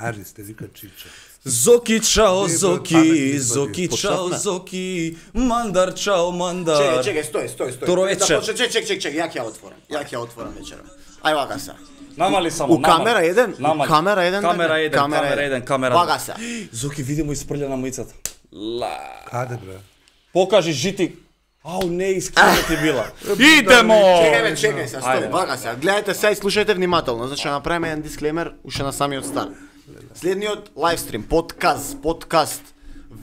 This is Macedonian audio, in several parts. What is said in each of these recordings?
Ари сте вика Чичо. Зоки чао Зоки, Зоки чао Зоки, Мандар чао Мандар. Чекај, стој. Второ вечер. Чек, ја ќе отворам вечера. Ај вака се. Намали само. У камера 1, камера 1. Камера. Вака се. Зоки види му испрља на маицата. Каде бре? Покажи жити. Ау, не искрено ти била. Идемо! Чекај се, стој, вака се. Гледајте се и слушајте внимателно, значи направиме еден дисклеймер уште на самиот старт. Следниот лайвстрим, подкаст,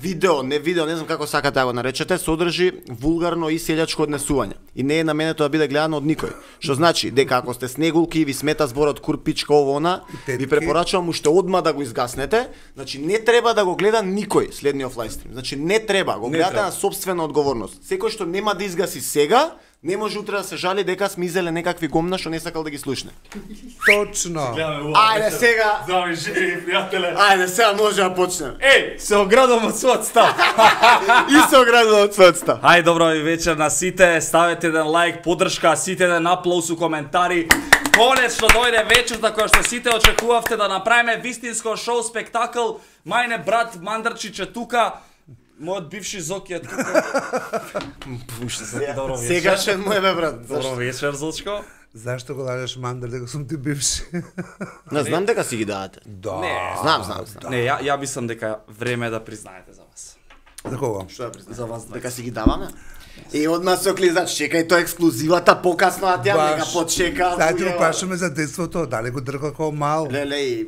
видео, не знам како сакате да го наречете, содржи вулгарно и селјачко однесување. И не е наменето да биде гледано од никој. Што значи, дека ако сте снегулки и ви смета зборот курпичка она, ви препорачувам уште одма да го изгаснете. Значи не треба да го гледа никој следниот лайвстрим. Значи не треба, го гледате на собствена одговорност. Секој што нема да изгаси сега, не може утре да се жали дека сме изеле некакви гомна што не сакал да ги слушне. Точно. Ајде сега. Здрави, живи, пријателе. Ајде сега може да почнеме. Еј, се оградувам од својот став. И се оградувам од својот став. Ај, добро вечер на сите, ставете еден лайк, поддршка, сите еден аплауз у коментари. Конечно дојде вечерта која што сите очекувавте да направиме вистинско шоу спектакл. Мајне брат Мандарчич е тука. Мојот бивши Зоки е тука. Пуште се, добро вечер. Сегашен му е бе брат. Добро вечер, Зочко. Зашто го лажеш Мандар дека сум ти бивши? Не знам дека си ги давате. Да. Знам. Не, ја мислам дека време е да признаете за вас. За кого? Што да признаеш? За вас Дека си ги даваме? И од нас се клизач, чекај тоа ексклузивата покасно на тја нека почека. Сега ти го прашаме за детството, дали го дрка како мал? Леле.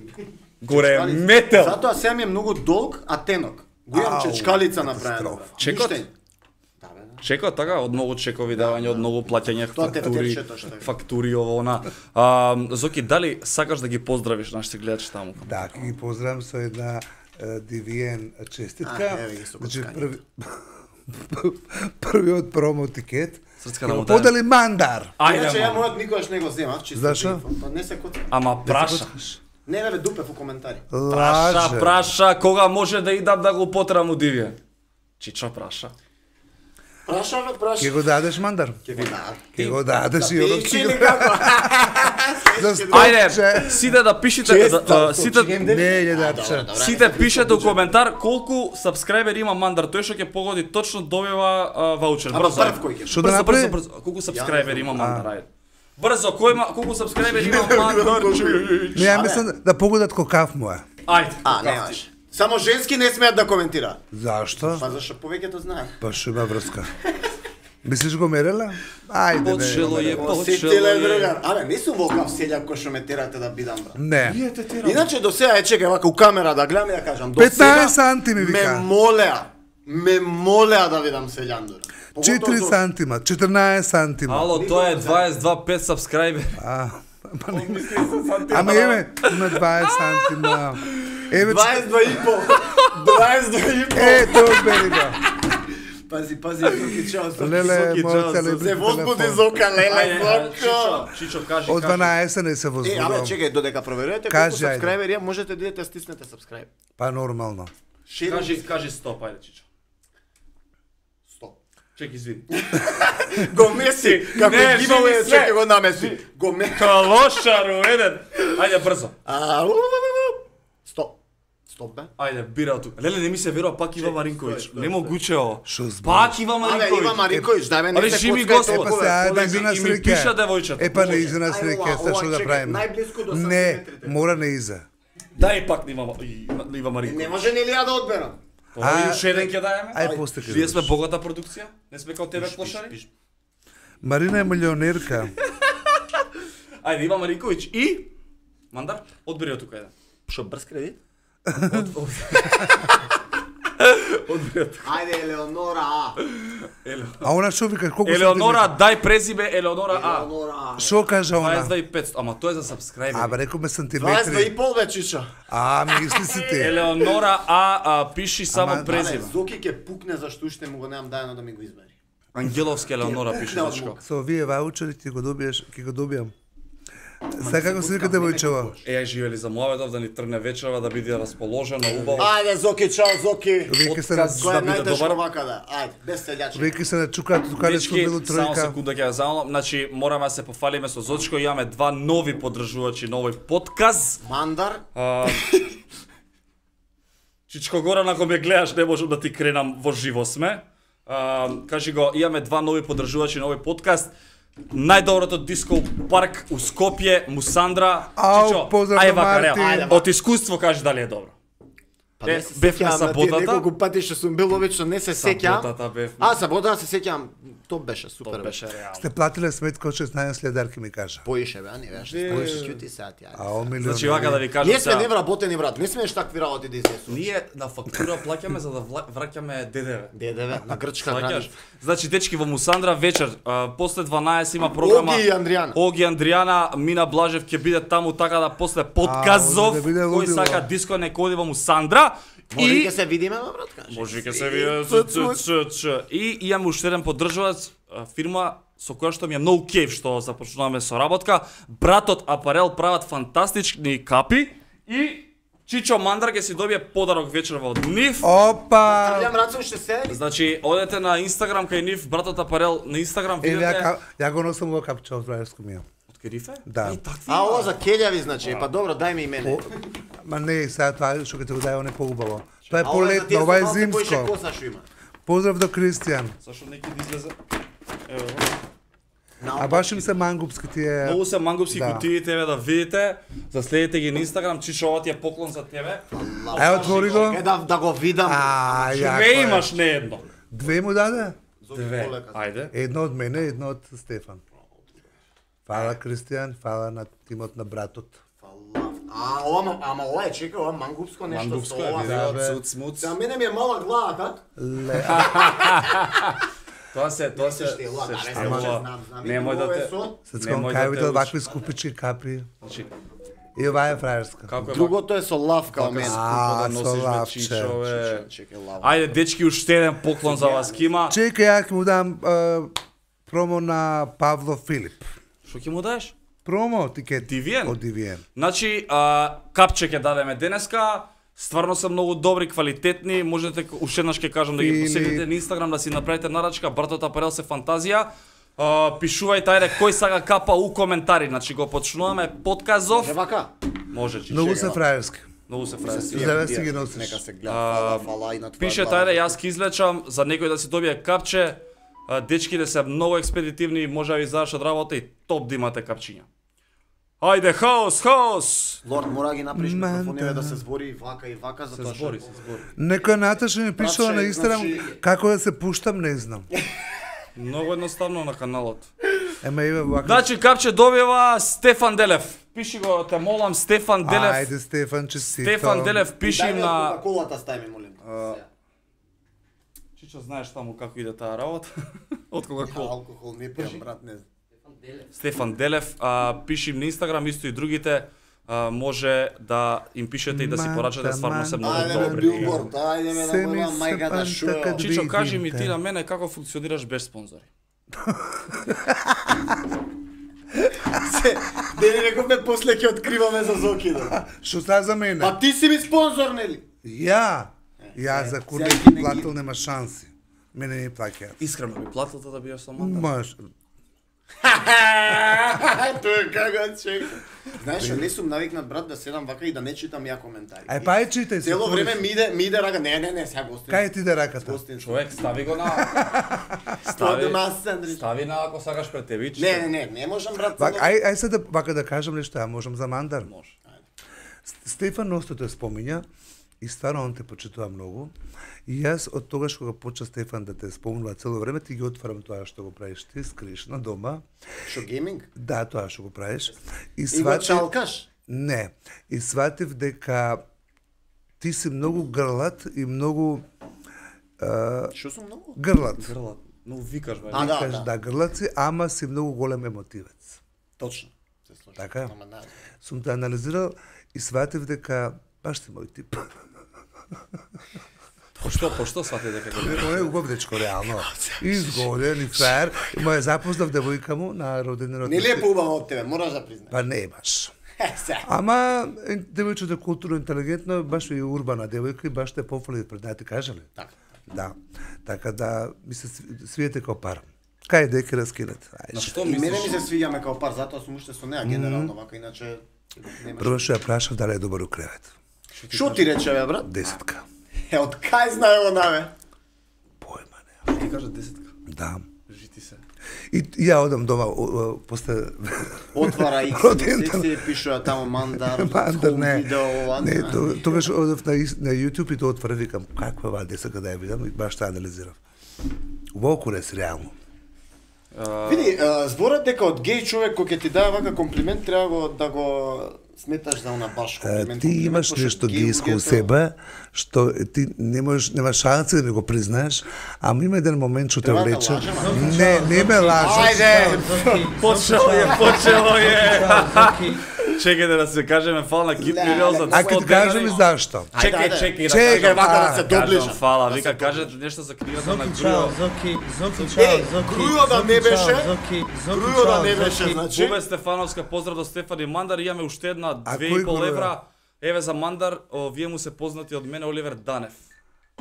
Горе метел. Затоа сега ми е многу долг, а тенок. Го имам чечкалица направена. Чекот? Чекот, така, од многу чекови давање, од многу плаќање фактури, ово, она. Зоки, дали сакаш да ги поздравиш нашите гледачи таму? Да, ќе ги поздравам со една дивиен честитка. Значи, првиот промо тикет. Подали Мандар. Иначе ја мојот никогаш не го земав, чисто. Зашо? Не се коцам. Ама праша. Не, бе, дупев у коментари. Праша, кога може да идам да го потрам у дивиен? Чичо праша. Праша. Ке го дадеш Мандар? Ке го дадеш и одов Пичи ли како? Ајде, сите да пишете, сите Не, дадче. Сите пишете у коментар колку сабскрајбери има Мандар, тој што ќе погоди точно добива ваучер. Брзо. Што да направи? Брзо. Колку сабскрајбери има Мандар, ајде. Брзо, колку сабскрајбери има Мандар? Не, ја мислам да погодат кокав му е. Ајде. Немаш. Само женски не смеат да коментира. Зашто? Па зашто повеќето знаат. Па што има врска. Мислиш го мерела? Ајде, Почело е, Посетиле другар. Абе, не сум волкав селјак кој што ме терате да бидам брат. Не. Иначе до сега чекај вака у камера да гледам и да кажам. 15 сантими вика. Ме молеа да видам селјандур. 4 сантима, 14 сантима. Ало, тоа е 22,5 сабскрајбери. Ама еме, има 20 сантима. 22,5. Тоа бери го. Пази, Зоки, чао. Леле, мојот телефон. Се возбуди Зока, леле, Зоко. Чичо, кажи. Од 12 не се Абе, возбудувам. чекај, додека проверувате колку сабскрајбери можете да идете стиснете сабскрајб. Па нормално. Кажи стоп, ајде, Чичо. Стоп. Чек, извини. Го меси, како гивауе, чекај го намеси. Го меси. Калошару, еден. Ајде, брзо. Стоп, бе. Ајде, бира од тука. Леле, не ми се верува, пак Ива Маринковиќ. Немогуче ово. Шо збориш? Пак Ива Абе, Ива Маринковиќ. Маринковиќ, дај ме не се Режими коцкај Господ. Епа се, ајде, изу на И ми пиша среќа. девојчето. Епа не изу на среќа, што да правиме? Најблиску до Не, сантиметрите. мора не иза. Дај пак на Ива Не Маринковиќ. може нели ја да одберам. Уште еден ќе даеме. Ај после ќе. Ние сме богата продукција. Не сме као тебе клошари. Марина е милионерка. Ајде, Ива Маринковиќ и Мандар, одбери од тука еден. Шо брз кредит? Одбери од тука. Ајде, Елеонора А. А она што вика, колку Елеонора, дај презиме Елеонора А. Елеонора А. Што кажа она? 22,500, ама тоа е за сабскрајбери. Абе, рекоме сантиметри. 22,5 бе, чичо. Мисли си ти. Елеонора А, пиши само презиме. Зоки ќе пукне зашто уште му го немам дајано да ми го избери. Ангеловски Елеонора пише Зачко. Со овие ваучери ќе го добијам. Сега како се вика девојчева? Еј, живели за муаведов да ни тргне вечерва, да биде расположено, убаво. Ајде, Зоки, чао, Зоки. Веќе се Отказ Кој да е биде најтешко добар. вака да? Ајде, без селјачи. веќе се начукаат тука нешто Дечки, било само тројка. секунда ќе ја замолам. Значи, мораме да се пофалиме со Зочко, имаме два нови поддржувачи на овој подкаст. Мандар. Чичко Горан, ако ме гледаш, не можам да ти кренам во живо сме. Кажи го, имаме 2 нови поддржувачи на овој подкаст. Најдоброто диско парк у Скопје, Мусандра. Чичо, ај вака, реал. Од искуство кажи дали е добро. Па не се бевме сеќавам на тие саботата. неколку пати што сум бил обично, не се сеќавам. Саботата бевме. Саботата се сеќавам. То беше супер. Тоа беше реално. Сте платиле сметка од 16 следарки ми кажа. Поише бе, а не беше. Поише ќути сати. Значи вака да ви кажам Ние сме невработени брат, не смееш такви работи да изнесуваш. Ние на фактура плаќаме за да враќаме ДДВ. ДДВ на грчка Сваќаш? храни. Значи дечки во Мусандра вечер, после 12 има програма. Оги и Андријана. Оги Андријана, Мина Блажев ќе биде таму така да после подказов да биде кој лудило. сака диско нека оди во Мусандра. Може И ќе се видиме, брат, кажи. може ќе се види. И имам уште еден поддржувач, фирма со која што ми е многу кеф што започнуваме со работка. Братот Апарел прават фантастични капи и Чичо Мандар ќе си добие подарок вечерва од нив. Опа! Трљам раце уште се. Значи, одете на Инстаграм кај нив, братот Апарел на Инстаграм Еве, видите. ја го носам во капче од Врајско ми. Од Керифе? Да. И такви. Ова за келјави значи, па добро, дај ми и мене. Ма не, сега тоа што ќе те го дај, он е поубаво. Тоа е А ова за тие полетно, ова е со малку поише зимско. коса што има. Поздрав до Кристијан. Зашо неки да излезе? Ево. А баш им се мангупски тие. Многу се мангупски Да. кутии тебе да видите. Заследите ги на Инстаграм, Чичо, ова ти е поклон за тебе. Ај отвори го. Е да го видам. Ја. Две имаш, не едно. Две му даде? Две. Ајде. Едно од мене, едно од Стефан. Фала Кристијан, фала на тимот на братот. Ама ова е, чека, ова мангупско нешто Мангупско со е, ова. видео, бе. цуц, муц. За мене ми е мала глава, как? Тоа се се штила, да, не се штилува. знам. Немој да те... Се Немој скон да кај те видел учи. вакви скупички капи. Значи, И ова е фраерска. како е Другото е со лав као мене. скупо да со носиш бе, лавче. Чичове. Чекай, лав. Ајде, дечки, уште еден поклон за вас кима. Чекај, ја ќе му дам промо на Павло Филип. Што ќе му даеш? Промо тикет Дивиен? од Дивиен. Значи, капче ќе дадеме денеска. Стварно се многу добри, квалитетни. Можете уште еднаш ќе кажам да ги Фини. посетите на Инстаграм да си направите нарачка. Братот Апарел се фантазија. Пишувајте ајде кој сага капа у коментари. Значи го почнуваме подказов. Е вака. Може, Чичо. Многу се фраерски. Многу се фраси. Здраве си ги носиш. Нека се гледа, фала и на твоја Пишете глава. ајде, јас ќе излечам за некој да си добие капче. Дечките се многу експедитивни, може да ви завршат работа и топ да имате капчиња. Ајде, хаос, хаос! Лорд, мора да ги направиш Ман, микрофониве да. да се збори и вака, Се затоа збори, што... се збори. Некоја Наташа ми пишала Братче, на Инстаграм значи- како да се пуштам, не знам. Многу едноставно на каналот. Ема има вака. Значи, капче добива Стефан Делев. Пиши го, те молам, Стефан Делев. Ајде Стефан, честито. Стефан Делев, пиши Дај им ми на... од Кока-колата стави ми, молим. Чичо, знаеш таму како иде таа работа? Од кога кол. Алкохол не пијам, брат, не знам. Стефан Делев, пиши им на Инстаграм, исто и другите. Може да им пишете и да си порачате, стварно се многу Ајде ме добри. билборд, ајде ме Се да ми моја се мајка да панта шуја. кад Чичо, кажи ми видите. ти на мене како функционираш без спонзори. Дели рековме после ќе откриваме за Зоки, да. Што става за мене? Па ти си ми спонзор, нели? Ја за курне сега ти платил нема шанси. Мене не плаќа. Искрено би платил да биеш со манда? Маш. Тоа е како чека. Знаеш, не сум навикнат брат да седам вака и да не читам ја коментари. Ај па ај читај се. Цело време ми иде рака. Не, сега гостин. Кај ти да раката? Гостин. Човек, стави го на... Стави нас, Андрич. Стави на ако сакаш пред тебе. Не можам брат. Вака, ај се да вака да кажам нешто, ја можам за Мандар. Може. Стефан Носто те спомиња и стварно он те почитува многу. И јас од тогаш кога почна Стефан да те спомнува цело време, ти ги отварам тоа што го правиш ти, скриш на дома. Шо гейминг? Да, тоа што го правиш. И го чалкаш? Не. И сватив дека ти си многу грлат и многу Шо сум многу? грлат. Грлат. Но викаш, бе. А, да, Кажеш да грлат си, ама си многу голем емотивец. Точно. Се слушам. Така е. Ама да. Сум те анализирал и сватив дека баш ти мој тип. Пошто свати дека го викаш? Оне убав дечко реално. Изгоден и фраер. И ме запознав девојка му на роденденот. Нели е поубава од тебе, мораш да признаеш. Па не баш. Се. Ама девојчето е културно интелигентно, баш и урбана девојка и баш те пофали пред најте кажале. Така. Да. Така да ми се свиете као пар. Кај дека раскинат. На Ајде. што И мене ми мислиш? се свиѓаме као пар, затоа сум уште со неа генерално вака, иначе немаш. Прво што ја прашав дали е добар у кревет. Шо ти рече бе брат? 10. Од кај знае она, бе? Појма не. Ти кажа 10. Да. Жити се. И ја одам дома после Отвара X, се пишува таму мандар, не. видео, Не, тогаш одев на YouTube и тоа отвора, викам, каква ова десака да ја видам и баш таа анализирав. Волку не реално. Види, зборот дека од геј човек кој ќе ти даде вака комплимент треба да го сметаш за она баш комплимент. Ти имаш нешто гејско у себе, што ти нема шанса да го признаеш, ама има еден момент што те влече. Не ме лажеш. Ајде! Почело е. Чекајте да се кажеме фала на Кит Мирел за 100 А ќе ти кажем и зашто. Чекај, вака да се доближа. Фала, вика кажете нешто за книгата на Грујо. Грујо да не беше. Грујо да не беше, значи. Бубе Стефановска, поздрав до Стефани Мандар, имаме уште една 2,5 евра. Еве за Мандар, вие му се познати од мене Оливер Данев.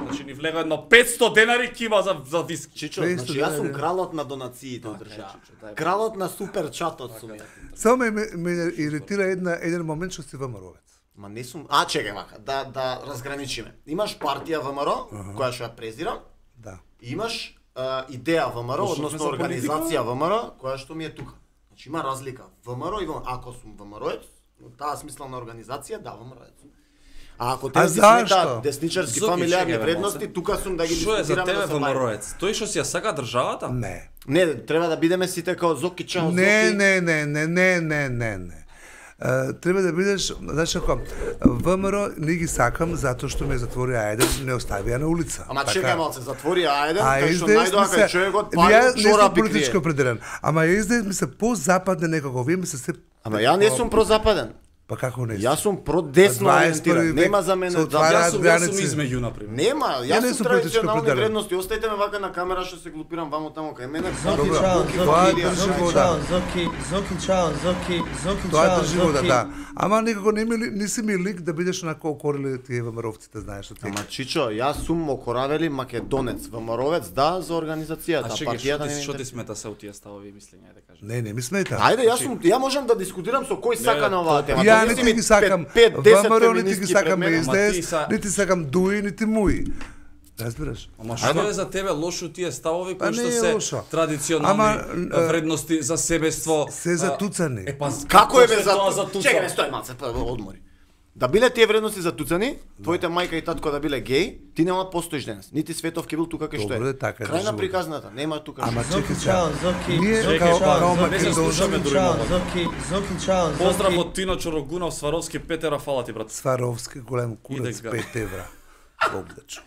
Значи ни влега едно 500 денари кима за виски. Чичо, значи јас сум кралот на донациите од држава. Кралот на супер чатот сум ја. Само ме иритира еден момент што си ВМРО-вец. Ма не сум. Чекај вака, да разграничиме. Имаш партија ВМРО, која што ја презирам. Да. И имаш идеја ВМРО, односно организација ВМРО, која што ми е тука. Значи има разлика. ВМРО и ако сум ВМРО-ец, во таа смисла на организација, да, ВМРО-ец. А ако те си сметаат десничарски фамилиарни вредности, тука сум да ги дискутирам. Што е за тебе ВМРО-ец? Тој што си ја сака државата? Не. Не, треба да бидеме сите као Зоки Чао Зоки. Не. Треба да бидеш, значи ако ВМРО не ги сакам затоа што ме затвори Ајден, не оставија на улица. Ама чекај малце, затвори Ајден, кај што најдоа кај човекот пали чорапи крие. Ја не сум политички крие. определен, ама СДС ми се по-западне некако, вие ми се се... Ама ја не сум прозападен. Па како не? Јас сум продесно ориентиран. Нема за мене Јас сум измеѓу например. Нема, Ја не јас сум сум политички традиционални определен. вредности. Остајте ме вака на камера што се глупирам вамо тамо кај мене. Тоа држи вода, да. Ама некако не си ми лик да бидеш онако окорили тие ВМРО-вците, знаеш што ти. Ама Чичо, јас сум окоравели македонец, ВМРО-вец, да, за организацијата, партијата не. Што ти смета се од тие ставови и мислења, да кажам? Не ми смета. Ајде, ја можам да дискутирам со кој сака на оваа тема. Ја не ти ги сакам ВМРО, не ти ги сакам СДС, не ти сакам Дуи, нити Муи. Разбираш? Ама што е за тебе лошо тие ставови кои што се лошо. традиционални вредности за себество? Се затуцани. Како е бе за затуцани? Чекај, стој малце, одмори. Да биле тие вредности затуцани, твоите мајка и татко да биле геј, ти нема постоиш денес. Нити Светов ќе бил тука кај што е. Добро, така е. Крај на приказната, нема тука. Ама што. чекај сега. Ние Чекај, као не се слушаме дури момак. Зоки. Поздрав од Тино Чорогунов, Сваровски, 5 евра, фала ти брат. Сваровски голем курец, Иде 5 евра. Богдачо.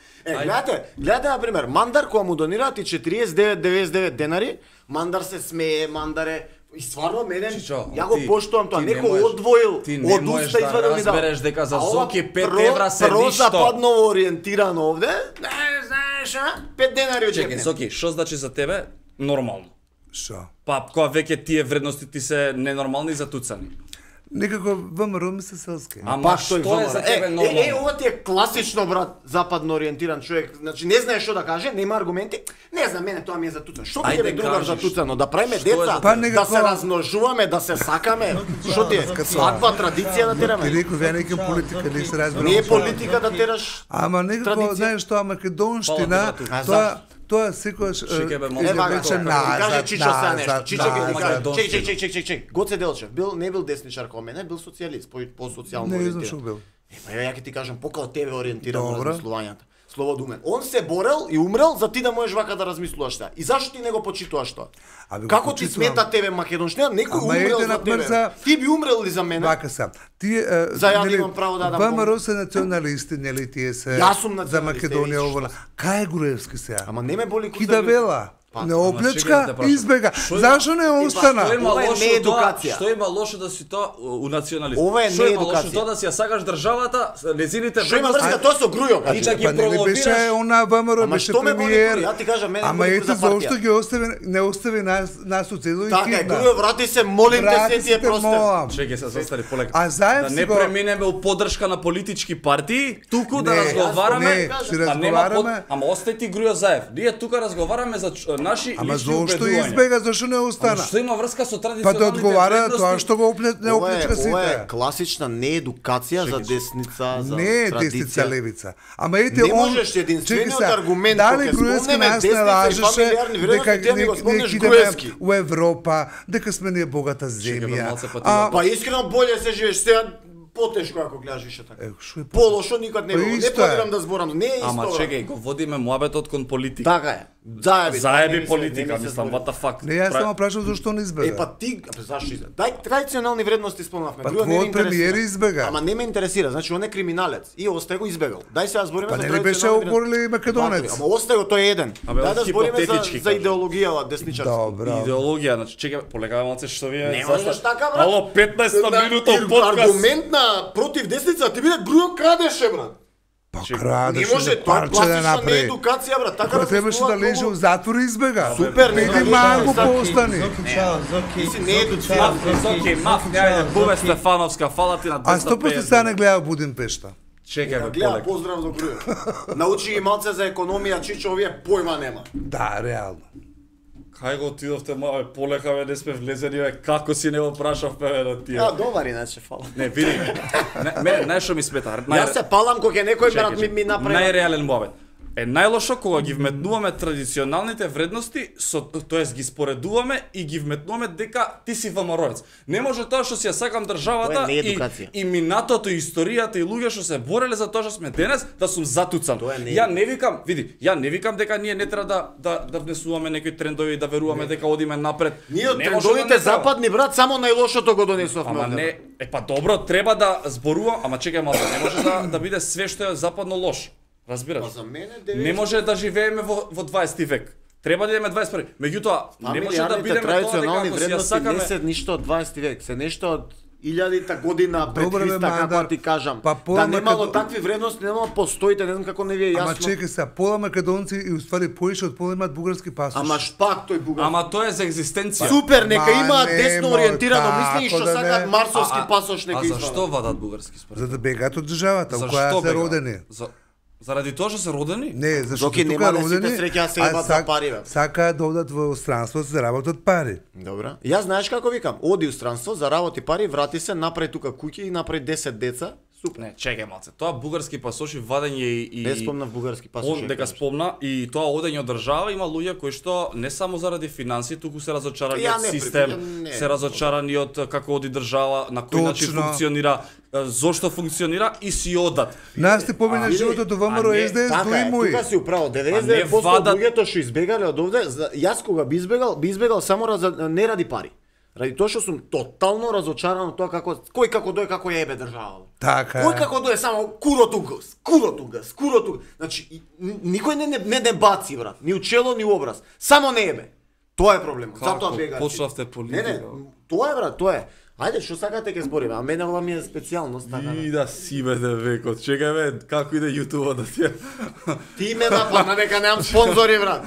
Гледате на пример, Мандар кога му донираат и 49,99 денари, Мандар се смее, Мандар е и стварно мене, ја го поштувам тоа, некој одвоил, од уста извадил ми да. Разбереш дека за Зоки 5 евра се ништо. Прозападно ориентиран овде, знаеш, 5 денари од Чекај, Зоки, што значи за тебе нормално? Шо? Па кога веќе тие вредности ти се ненормални и затуцани. Некако ВМРО ми се селски. Ама што е за тебе нормално? Ова ти е класично, брат, западно ориентиран човек. Значи не знае што да каже, нема аргументи. Не знам, мене тоа ми е затуцано. Што ти е другар затуцано? Да правиме деца, да се размножуваме, да се сакаме. Што ти е? Свадба, традиција да тераме. Ти реков, ја некам политика, не се разбира. Не е политика да тераш. Ама некако, знаеш, тоа македонштина, тоа секогаш вече назад. Чичо са нешто. Чичо ќе чек. Гоце Делчев не бил десничар како мене, бил социјалист, по социјално ориентиран. Не знам што бил. Ја ќе ти кажам, покао тебе ориентиран во размислувањата. Слободумен. Он се борел и умрел за ти да можеш вака да размислуваш тоа. И зашто ти не го почитуваш тоа? Како ти смета тебе македонштина? Некој умрел за тебе. Ти би умрел ли за мене? Вака сам. Тие за ја имам право да дам. ВМРО се националисти, нели тие се за Македонија овола. Кај е Груевски сега? Ама не ме боли кој да вела. Не оплечка, избега. Зашо не остана? Што има лошо да си тоа у националист? Ова е не едукација. Што да си ја сакаш државата, незините вредности. Што има врска тоа со Грујо, кажи. И да ги провокираш. Беше она ВМРО, беше премиер. Ја ти кажам, мене ама ето зошто ги не остави нас у цело и кидна. Така, Грујо, врати се, молим те, се ти е просте. Чекај се, застани полека. А заев да не преминеме у поддршка на политички партии, туку да разговараме, ама ама остај ти Грујо Заев. Ние тука разговараме за наши Ама лични зошто убедувања. избега, зашто не остана? Ама што има врска со Па традиционалните да одговара вредности? тоа што го не Ова оплечка ова е сите. класична неедукација за десница, за Не е десница традиција. левица. Ама ете Не он можеш единствениот чекай сега, аргумент дали кога ќе Груевски спомнеме нас не десница и лажеше фамилиарни вредности, ти ми го спомнеш идеме Груевски. у Европа, дека сме ние богата земја. малце па ти А Па искрено боле се живееш сега потешко ако гледаш више така. шо е Полошо никад не Па било. Не исто е. планирам да зборам, не е исто. Ама брат. чекај, го водиме муабетот кон политика. Така е. Заеби. Заеби не ми политика, се мислам, збори. what the fuck. Не, јас само прашам зашто не избега. Па ти, зашто избега? Дај традиционални вредности спомнавме. Па Друго не ме твојот интересира. премиер избега. Ама не ме интересира, значи он е криминалец и остај го избегал. Дај сега збориме Па за не ли беше традиционални оговорили вредности. Македонец? Ама остај го, тој е еден. Абе, Дај да збориме хипотетички за кажа. идеологија десничарска. Добро. Идеологија, значи чекај, полегаваме малце што вие. Не можеш така, брат. Ало, 15 минута подкаст. Аргумент на против десница, ти биде Груо крадеше, брат. Па Не крадеше може, да тоа е парче да класична направи. неедукација, брат. Така Кој да требаше да леже у затвор и избега. Супер, не Иди да малку лежи. поостани. Ти си неедуциран. Окей, маф, ајде, Бубе Стефановска, фала ти на 250. А 100% сега не гледа Будимпешта. Чекај, бе, Гледа, полек. поздрав за Груо. Научи ги малце за економија, Чичо, овие појма нема. Да, реално. Кај го отидовте, мале, полека, бе, не сме влезени, бе, како си не го прашавме, бе, на тие. Добар иначе, фала. Не, види, мене, знаеш што ми смета? Јас се палам кога некој брат ми направи. Најреален муабет. Е најлошо кога ги вметнуваме традиционалните вредности, тоест ги споредуваме и ги вметнуваме дека ти си ВМРО-ец. Не може тоа што си ја сакам државата Тоа е неедукација. и минатото, историјата и луѓе што се бореле за тоа што сме денес, да сум затуцан. Тоа е не- Ја не викам, види, ја не викам дека ние не треба да внесуваме некои трендови и да веруваме дека одиме напред. Ние од Не може трендовите не треба. западни брат само најлошото го донесовме. Ама овде. не, па добро, треба да зборувам, ама чекај малку, не може да биде све што е западно лош. Разбираш? Па за мене Не може да живееме во 20 век. Треба да идеме 21. Меѓутоа, не може да Фамилиарните бидеме тоа дека традиционални ако си ја вредности сакаме. не се ништо од 20 век, се нешто од 1000-та година пред Добре, бе, Христа, како Мандар. ти кажам. Па пола Да немало Македон- такви вредности, немало постоите, не знам како не ви е Ама јасно. чекај сега, пола македонци и уствари поише од пола имаат бугарски пасош. Ама шпак тој бугар. Ама тоа е за екзистенција. Супер, нека Ма, имаат нема десно ориентирано тако мислење што да сакаат не. марсовски пасош нека А зашто извадат. вадат бугарски според? За да бегаат од државата, во Зашто која се бега? родени. Заради тоа што се родени? Не, зашто Доки тука немале сите родени, среќа се а имаат за пари, бе. сакаат да одат во странство да заработат пари. Добро. Јас знаеш како викам, оди у странство, заработи пари, врати се, направи тука куќи и направи 10 деца. Супер. Не, чекај малце. Тоа бугарски пасоши вадење и Не спомнав бугарски пасош. Он дека спомна и тоа одење од држава има луѓе кои што не само заради финансии, туку се разочарани Ја од не систем, не. се разочарани од како оди држава, на кој начин Точно. функционира, зошто функционира и си одат. Нас ти помине види, животот до а ВМРО не, СДС до Така е, имој. тука си управо. не 99% од вадат- луѓето што избегале од овде, јас кога би избегал само не ради пари. Ради тоа што сум тотално разочаран од тоа како кој како дое како ја ебе држава. Така Кој е. како дое само курото гас. Значи никој не баци брат, ни у чело ни у образ. Само не ебе. Тоа е проблемот. Како Затоа бегаат. почнавте Не, политика? тоа е брат, тоа е. Ајде, што сакате ќе збориме, а мене ова ми е специјалност, така. И да си беде векот. Чекај бе, како иде YouTube да ти Ти ме нападна дека немам спонзори, брат.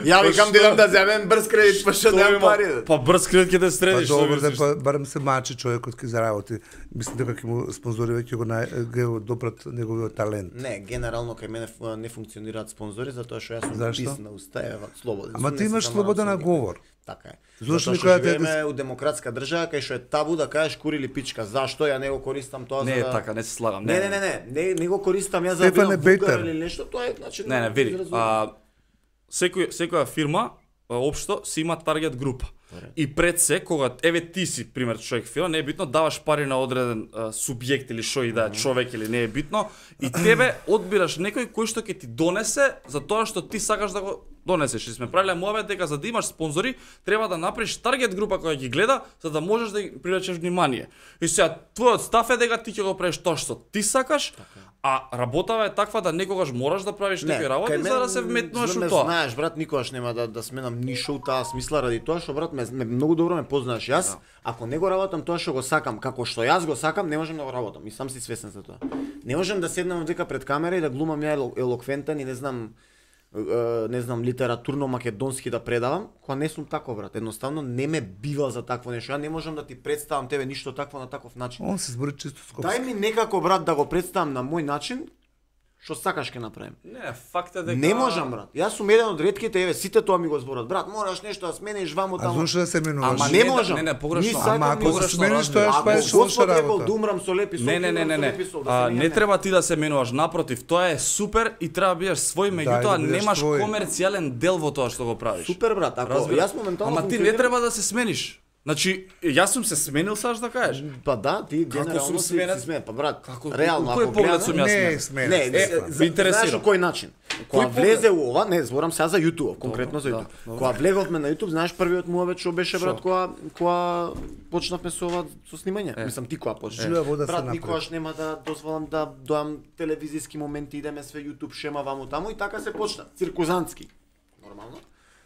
Ја викам да идам да земем брз кредит, па што немам пари. Па брз кредит ќе те Па средиш, што добро, мислиш? да барем се мачи човекот ке заработи. Мислам дека ќе му спонзори веќе го допрат неговиот талент. Не, генерално кај мене не функционираат спонзори затоа што јас сум Зашто? пис на уста, еве, слободен. Ама сум, ти не се имаш замарам слобода со на никој. говор. Така е. Зошто Затоа што никоја те- живееме у демократска држава кај што е табу да кажеш кури или пичка. Зашто ја не го користам тоа Не за е да... така, не се слагам. Не го користам јас за да Стефан е бидам вулгар бейтер. или нешто, тоа е значи Не, види, изразувам. секоја фирма општо си има таргет група. И пред се, кога еве ти си пример човек фирма, не е битно даваш пари на одреден субјект или што и да е човек или не е битно, и тебе одбираш некој кој што ќе ти донесе за тоа што ти сакаш да го донесеш. И сме правиле муабет дека за да имаш спонзори, треба да направиш таргет група која ги гледа за да можеш да ги привлечеш внимание. И сега твојот став е дека ти ќе го правиш тоа што ти сакаш, а работава е таква да некогаш мораш да правиш некои работи кај за да мен, се вметнуваш за ме у тоа. Знаеш, брат, никогаш нема да сменам ништо у таа смисла ради тоа што брат ме многу добро ме познаеш. Јас ако не го работам тоа што го сакам, како што јас го сакам, не можам да го работам. И сам си свесен за тоа. Не можам да седнам дека пред камера и да глумам ја елоквентен и не знам литературно македонски да предавам, кога не сум тако брат. Едноставно не ме бива за такво нешто. Ја не можам да ти представам тебе ништо такво на таков начин. Он се збори чисто скопски. Дај ми некако брат да го представам на мој начин, Што сакаш ќе направим. Не, факт е дека Не можам, брат. Јас сум еден од ретките, еве, сите тоа ми го зборат. Брат, мораш нешто да смениш ваму А таму. зошто да се менуваш? Ама не, не можам. не, погрешно. Ни сакам, Ама ни ако погрешно се смениш, разбирам. тоа Ако е лоша Господ рекол работа. да умрам со леп и со Не треба ти да се менуваш, напротив, тоа е супер и треба да бидеш свој, меѓутоа да бидеш немаш твој. комерцијален дел во тоа што го правиш. Супер, брат. Ако јас моментално Ама ти не треба да се смениш. Значи, јас сум се сменил, саш да кажеш. Па да, ти генерално сум си сменет? сменет. Па брат, Како реално у кој ако поглед гледаме- сум јас Не, сменет? сменет. Не, ме интересира. Знаеш кој начин? Кога поглед? влезе у ова, не, зборам сега за YouTube, конкретно за да, YouTube. добро. Кога влеговме на YouTube, знаеш првиот муавет што беше, брат, кога почнавме со ова со снимање. Мислам ти кога почна. Жива вода се Брат, направи. никогаш нема да дозволам да доам телевизиски моменти, идеме све YouTube шема ваму таму и така се почна. Циркузантски. Нормално.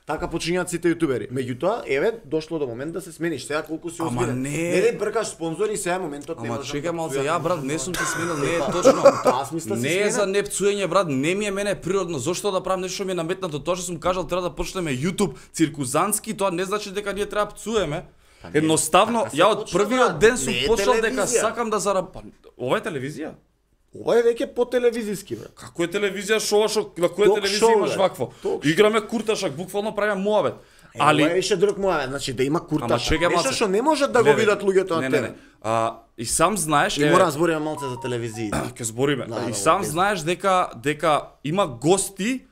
Така почињаат сите јутубери. Меѓутоа, еве, дошло до момент да се смениш. Сега колку си Ама озбирен. не. Не бркаш спонзори, сега моментот не Ама можам чекај да малце, пцујам, ја брат, не сум се сменил, не е Па, точно. Таа смисла си Не е сменет. за непцуење, брат, не ми е мене природно. Зошто да правам нешто што ми е наметнато? Тоа што сум кажал треба да почнеме YouTube циркузантски, тоа не значи дека ние треба пцуеме. Едноставно, така се ја од почна, првиот брат. ден сум Не е почнал дека телевизија. сакам да зарабам. Ова е телевизија? Ова е веќе по телевизиски, брат. Како е телевизија, шоу, на која Ток телевизија шоу, имаш бе. вакво? Ток Играме курташак, буквално правиме муавет. Ова е Али више друг муавет, значи да има курташ. Ама чекај Нешто малце. што не можат да го Гледај, видат луѓето на тебе. И сам знаеш, И мора да збориме малце за телевизија. ќе збориме. Да, И да, сам без- знаеш дека има гости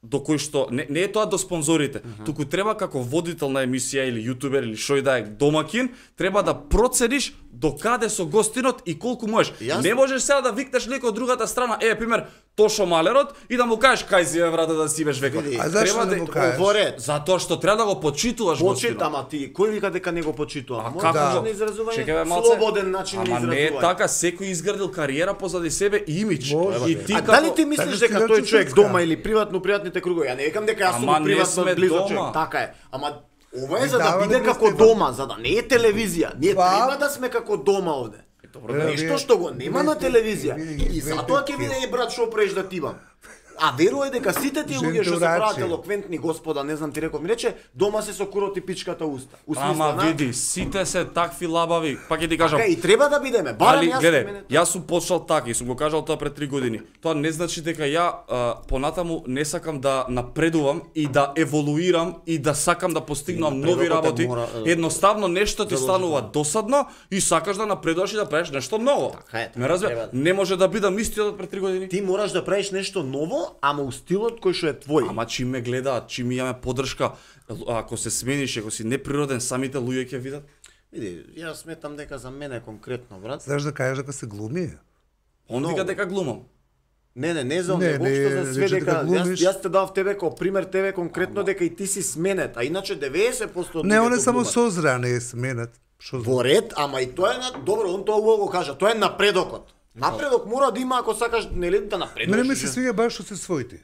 до кои што не е тоа до спонзорите, туку треба како водител на емисија или јутубер или шој да е домакин, треба да процениш до каде со гостинот и колку можеш. Јас- Не можеш сега да викнеш некој од другата страна, пример Тошо Малерот и да му кажеш кај си брате да си беш векот. Види, А зашто Треба да му кажеш? Говорет. Затоа што треба да го почитуваш гостинот. Почит, ама ти, кој вика дека не го почитува? А Може како да го- на изразување, Чекај, бе, малце. слободен начин на Ама изразување. не е така, секој изградил кариера позади себе и имидж. Може, И бе. ти А како дали ти мислиш Така дека ти тој да човек се дома ска. или приватно пријатните кругови? Ја не викам дека јас сум Ама у не приватно сме близок дома. човек. Така е. Ама ова е И за да дава ли биде го како Стефан? дома, за да не е телевизија. Ние Па- треба да сме како дома овде. Добро, Нешто што го нема на телевизија. И затоа ќе биде и брат што преш да тибам. А верувај дека сите тие луѓе што се прават Жентурачи. елоквентни господа, не знам ти реков, ми рече, дома се со курот и пичката уста. У смисла, Ама види, сите се такви лабави. Пак ќе ти кажам. Така и треба да бидеме. Барем Али јас гледај, мене- јас сум почнал така и сум го кажал тоа пред 3 години. Тоа не значи дека ја понатаму не сакам да напредувам и да еволуирам и да сакам да постигнам нови Напредокот е работи. мора, Едноставно нешто ти станува досадно и сакаш да напредуваш и да правиш нешто ново. Така е, Ме разбира? треба. Не може да бидам истиот од пред 3 години. Ти мораш да правиш нешто ново, ама у стилот кој што е твој. Ама чим ме гледаат, чим имаме поддршка, ако се смениш, ако си неприроден, самите луѓе ќе видат. Види, јас сметам дека за мене конкретно, брат. Знаеш да кажеш дека се глуми? Он Много. вика дека глумам. Не за Не, него, не, општо за све рече дека дека глумиш. јас те дав тебе како пример тебе конкретно дека и ти си сменет, а иначе 90% од Не, он е луѓето само глумат. созреа, не е сменет. Што Во ред, ама и тоа е на добро, он тоа убаво го кажа, тоа е напредокот. Напредок мора да има ако сакаш нели да напредуваш. Мене ми се свиѓа баш што се своите.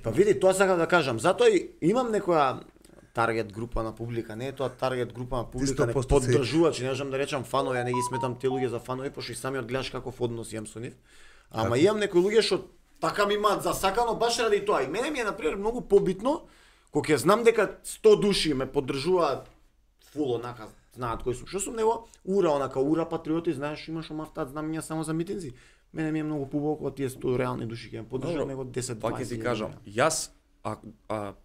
Па види, тоа сакам да кажам. Затоа и имам некоја таргет група на публика, не е тоа таргет група на публика, не 100% поддржувачи, не можам да речам фанови, ја не ги сметам тие луѓе за фанови, пошто и самиот гледаш каков однос имам со нив. Ама имам некои луѓе што така ми имаат засакано баш ради тоа. И мене ми е например многу побитно кога ќе знам дека 100 души ме поддржуваат фул онака, знаат кој сум. Што сум него? Ура, онака ура патриоти, знаеш, имаш омафтат знамења само за митинзи. Мене ми е многу побитно кога тие 100 реални души ќе ме поддржат него 10-20. Пак ќе ти кажам, јас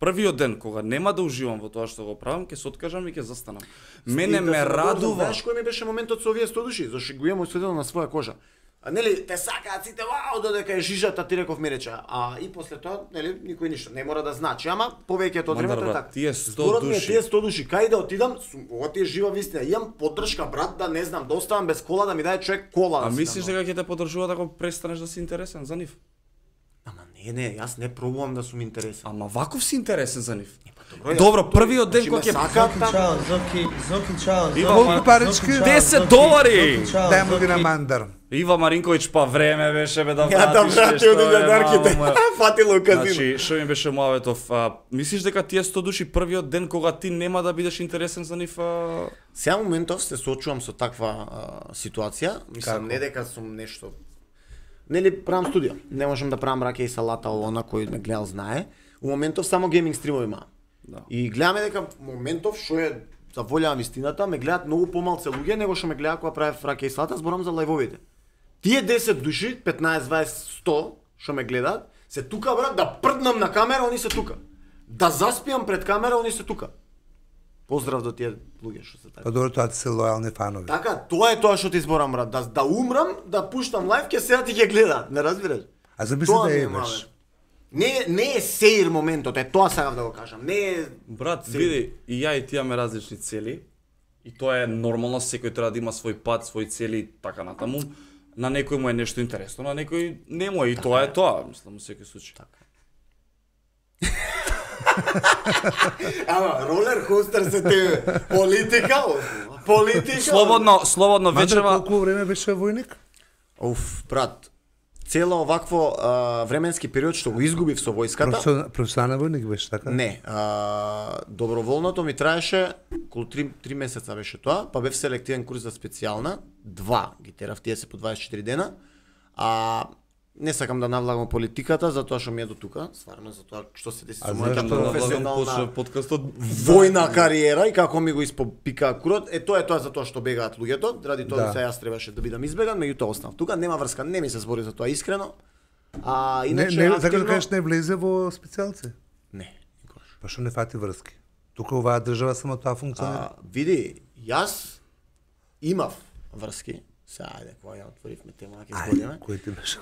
првиот ден кога нема да уживам во тоа што го правам, ќе се откажам и ќе застанам. Мене ме радува. Знаеш кој ми беше моментот со овие 100 души, зашто го имам осветено на своја кожа. А нели те сакаат сите вау додека е жижата, ти реков ми рече, а и после тоа нели никој ништо не мора да значи, ама повеќето од времето е брат, така. тие 100 Зборот ми е души. тие 100 души, кај да отидам, ова ти е жива вистина, имам поддршка брат да не знам, да оставам без кола, да ми даде човек кола. А да си мислиш дам. дека ќе те поддржуваат ако престанеш да си интересен за нив? Ама не, јас не пробувам да сум интересен. Ама ваков си интересен за нив. јас- Добро, првиот ден Значи, кога ме ќе сакаат таму. Чао, Зоки, чао. Ива, Колку парички? 10 долари! Дај му ги на мандар. Ива Маринковиќ, па време беше бе да Ја да вратиш врати нешто, од илјадарките. мамо. Фатило казино. Значи, што ми беше муаветов? Мислиш дека тие 100 души првиот ден кога ти нема да бидеш интересен за нив? Сега моментов се соочувам со таква ситуација, мислам Како? не дека сум нешто. Нели правам студија, не можам да правам раке и салата, она кој ме гледал знае. У моментов само гейминг стримови има. Да. И гледаме дека моментов што е заволјавам истината, ме гледаат многу помалце луѓе него што ме гледаат кога правев раке и салата, зборам за лајвовите. Тие 10 души, 15, 20, 100, што ме гледаат, се тука брат, да прднам на камера, они се тука. Да заспиам пред камера, они се тука. Поздрав до тие луѓе што се така. Па добро, тоа се лојални фанови. Така, тоа е тоа што ти зборам брат, да умрам, да пуштам лајв, ќе седат и ќе гледаат, не разбираш? А замисли Тоа да ми е имаш. мале. Не е сеир моментот, е тоа сакав да го кажам. Не е Брат, види, и ја и ти имаме различни цели. И тоа е нормално, секој треба да има свој пат, свои цели, така натаму. На некој му е нешто интересно, на некој не му е, и тоа е тоа, мислам, во секој случај. Ама, ролер костер се тебе. Политика, политика. Слободно Мандра, вечерва. колку време беше војник? Оф, брат. Цело овакво временски период што го изгубив со војската. Професионален војник беше така? Не, доброволното ми траеше околу 3 месеца беше тоа, па бев селективен курс за специјална, 2 ги терав, тие се по 24 дена. Не сакам да навлагам политиката затоа што ми е до тука, стварно затоа што се деси со мојата професионална подкастот војна кариера и како ми го испопика курот, тоа е тоа затоа што бегаат луѓето, ради тоа се јас требаше да бидам избеган, меѓутоа останав тука, нема врска, не ми се збори за тоа искрено. Иначе не, така да кажеш не влезе во специјалци? Не, никогаш. Па што не фати врски? Тука оваа држава само тоа функционира. Види, јас имав врски. Ајде, кога ја отворивме тема, ќе збориме. Кој ти беше?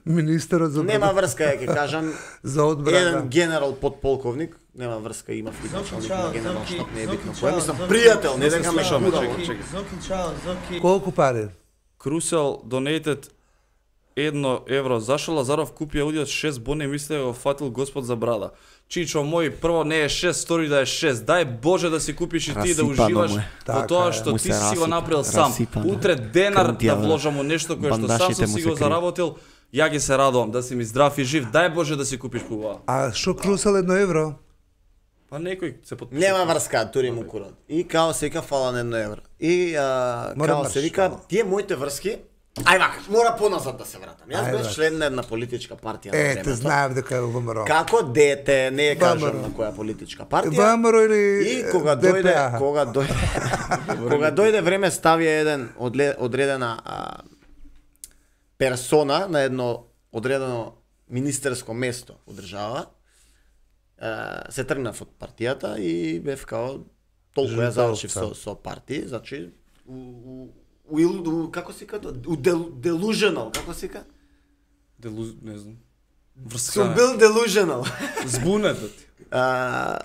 Министерот за Нема врска, ќе кажам. За одбрана. Еден генерал подполковник, нема врска, имав и началник на генерал штаб, не е битно кој. Zoki, Мислам, пријател, не дека ме слушаме, шкудало. чекай. Zoki, ciao, Zoki. Колку пари? Крусел donated 1 евро. Зашо Лазаров купи аудио 6 бони, мисле го фатил Господ за брада. Чичо мој, прво не е 6, стори да е 6. Дај Боже да си купиш и ти да Расипано уживаш му е. во Така тоа е. што Му ти се си го направил сам. расипано. Утре денар да Крнтија, вложам во нешто кое што сам бандашите сум му си се го кријат. заработил. Ја ги се радувам да си ми здрав и жив. Дај Боже да си купиш пува. А што крусел 1 евро? Па некој се подпиша. Нема врска, тури му курот. И као се вика фала на 1 евро. И Мора као се вика, тие моите врски, ај вака, мора поназад да се вратам. Јас Ај, бев брат. член на една политичка партија на Те времето. знаев дека е во ВМРО. Како дете, не ја кажам ВМРО. на која политичка партија. ВМРО или И кога ДПА? кога дојде време ставија еден одредена персона на едно одредено министерско место во држава, се тргнав од партијата и бев као толку ја завршив со партии, значи како се као delusional, како се као? Не знам. Сум бил delusional. Збунет да ти.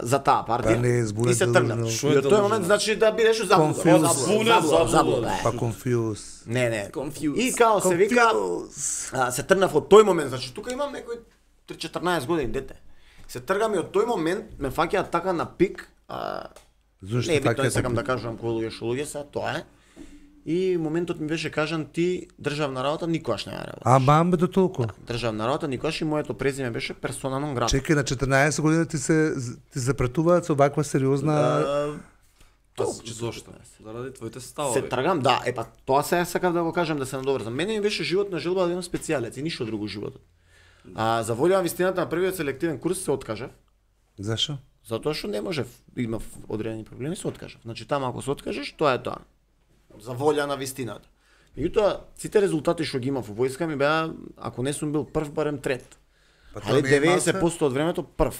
За таа партија. Па не е збунет и се тргнав. delusional. Шо И е од тој delusional? момент значи да бидеш заблуда. Confused. Заблуда. Па confused. Не. Confused. И као се вика, се тргнав од тој момент, значи тука имам некој 14 години дете. Се тргам и од тој момент ме фаќаат така на пик, Зошто не е битно, така не сакам да кажувам кој луѓе што луѓе се, тоа е. И моментот ми беше кажан ти државна работа никогаш не ја работиш. А мамбе до толку. Државна работа никогаш и моето презиме беше персона нон грата. Чекај, на 14 години ти запретуваат со ваква сериозна... Зошто? Заради твоите ставови. Се тргам, да, па тоа се сакав да го кажам да се надоврзам. Мене ми беше животна желба да имам специјалец и ништо друго животот. За волјава вистината на првиот селективен курс се откажав, Зашо? затоа што не можев, имав одредени проблеми, се откажав. Значи таму ако се откажеш, тоа е тоа. За волја на вистината. Меѓутоа, сите резултати што ги имав во војска ми беа, ако не сум бил прв, барем трет. Па Али тоа не е 90% од времето прв.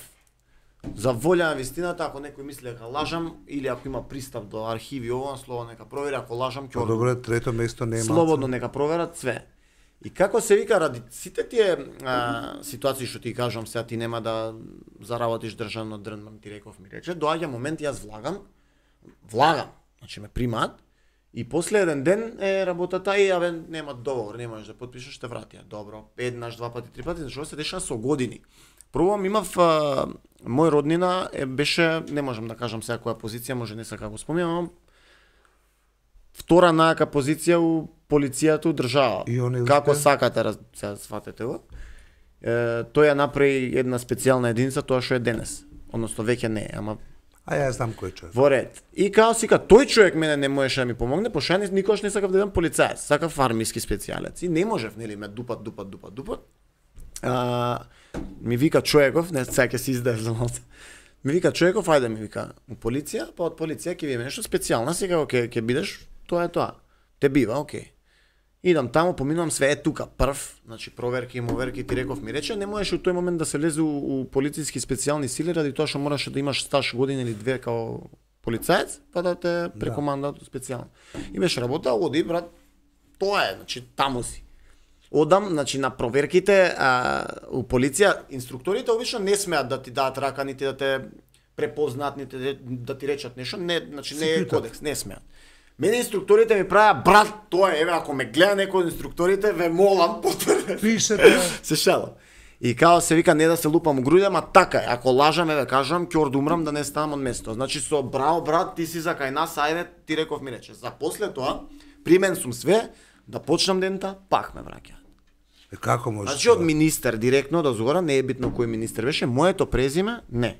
За волја на вистината, ако некој мисли дека лажам или ако има пристап до архиви ово, слободно нека провери, ако лажам ќе Па добре, трето место не е слободно нека проверат све. И како се вика, ради сите тие ситуации што ти кажам, сега ти нема да заработиш државно дрнман, ти реков ми рече, доаѓа момент јас влагам, значи ме примаат, и после еден ден е работата и абе нема договор, не можеш да потпишеш, те вратија. Добро, еднаш, два пати, три пати, зашто се деша со години. Прво имав мој роднина беше, не можам да кажам сега која позиција, може не сакам да го спомнам, втора најака позиција у полицијата у држава. И он Како успе? сакате, сега сватете го. Тој ја направи една специјална единица, тоа што е денес. Односно веќе не е, ама А ја знам кој човек. во ред. И као сика, тој човек мене не можеше да ми помогне, пошто ја никогаш не сакав да бидам полицаец, сакав армиски специјалец. И не можев, нели, ме дупат. Ми вика човеков, не сега ќе се издаеш за малце. Ми вика човеков, ајде ми вика, у полиција, па од полиција ќе видиме нешто специјално, сега ќе бидеш, тоа е тоа. Те бива, окей. Идам таму, поминувам све тука прв, значи проверки, моверки, ти реков ми рече, не можеш у тој момент да се влезе у полициски специјални сили ради тоа што мораше да имаш стаж година или две као полицаец, па да те прекомандат специјално. И беше работа, оди брат, тоа е, значи таму си. Одам, значи на проверките у полиција, инструкторите обично не смеат да ти дадат рака, нити да те препознаат, нити да ти речат нешто, не, значи не е кодекс, не смеат. Мене инструкторите ми правеа, брат, тоа е, еве, ако ме гледа некој од инструкторите, ве молам, потврдете. Пишете. Се шалам. И као се вика, не да се лупам у груди, ама така е, ако лажам, еве, кажам, ќе ордумрам да не ставам од место. Значи со браво, брат, ти си за кај нас, ајде, ти реков ми рече. За после тоа, при мен сум све, да почнам дента, пак ме враќа. Како може? Значи од министер директно до згора, не е битно кој министер беше, моето презиме, не.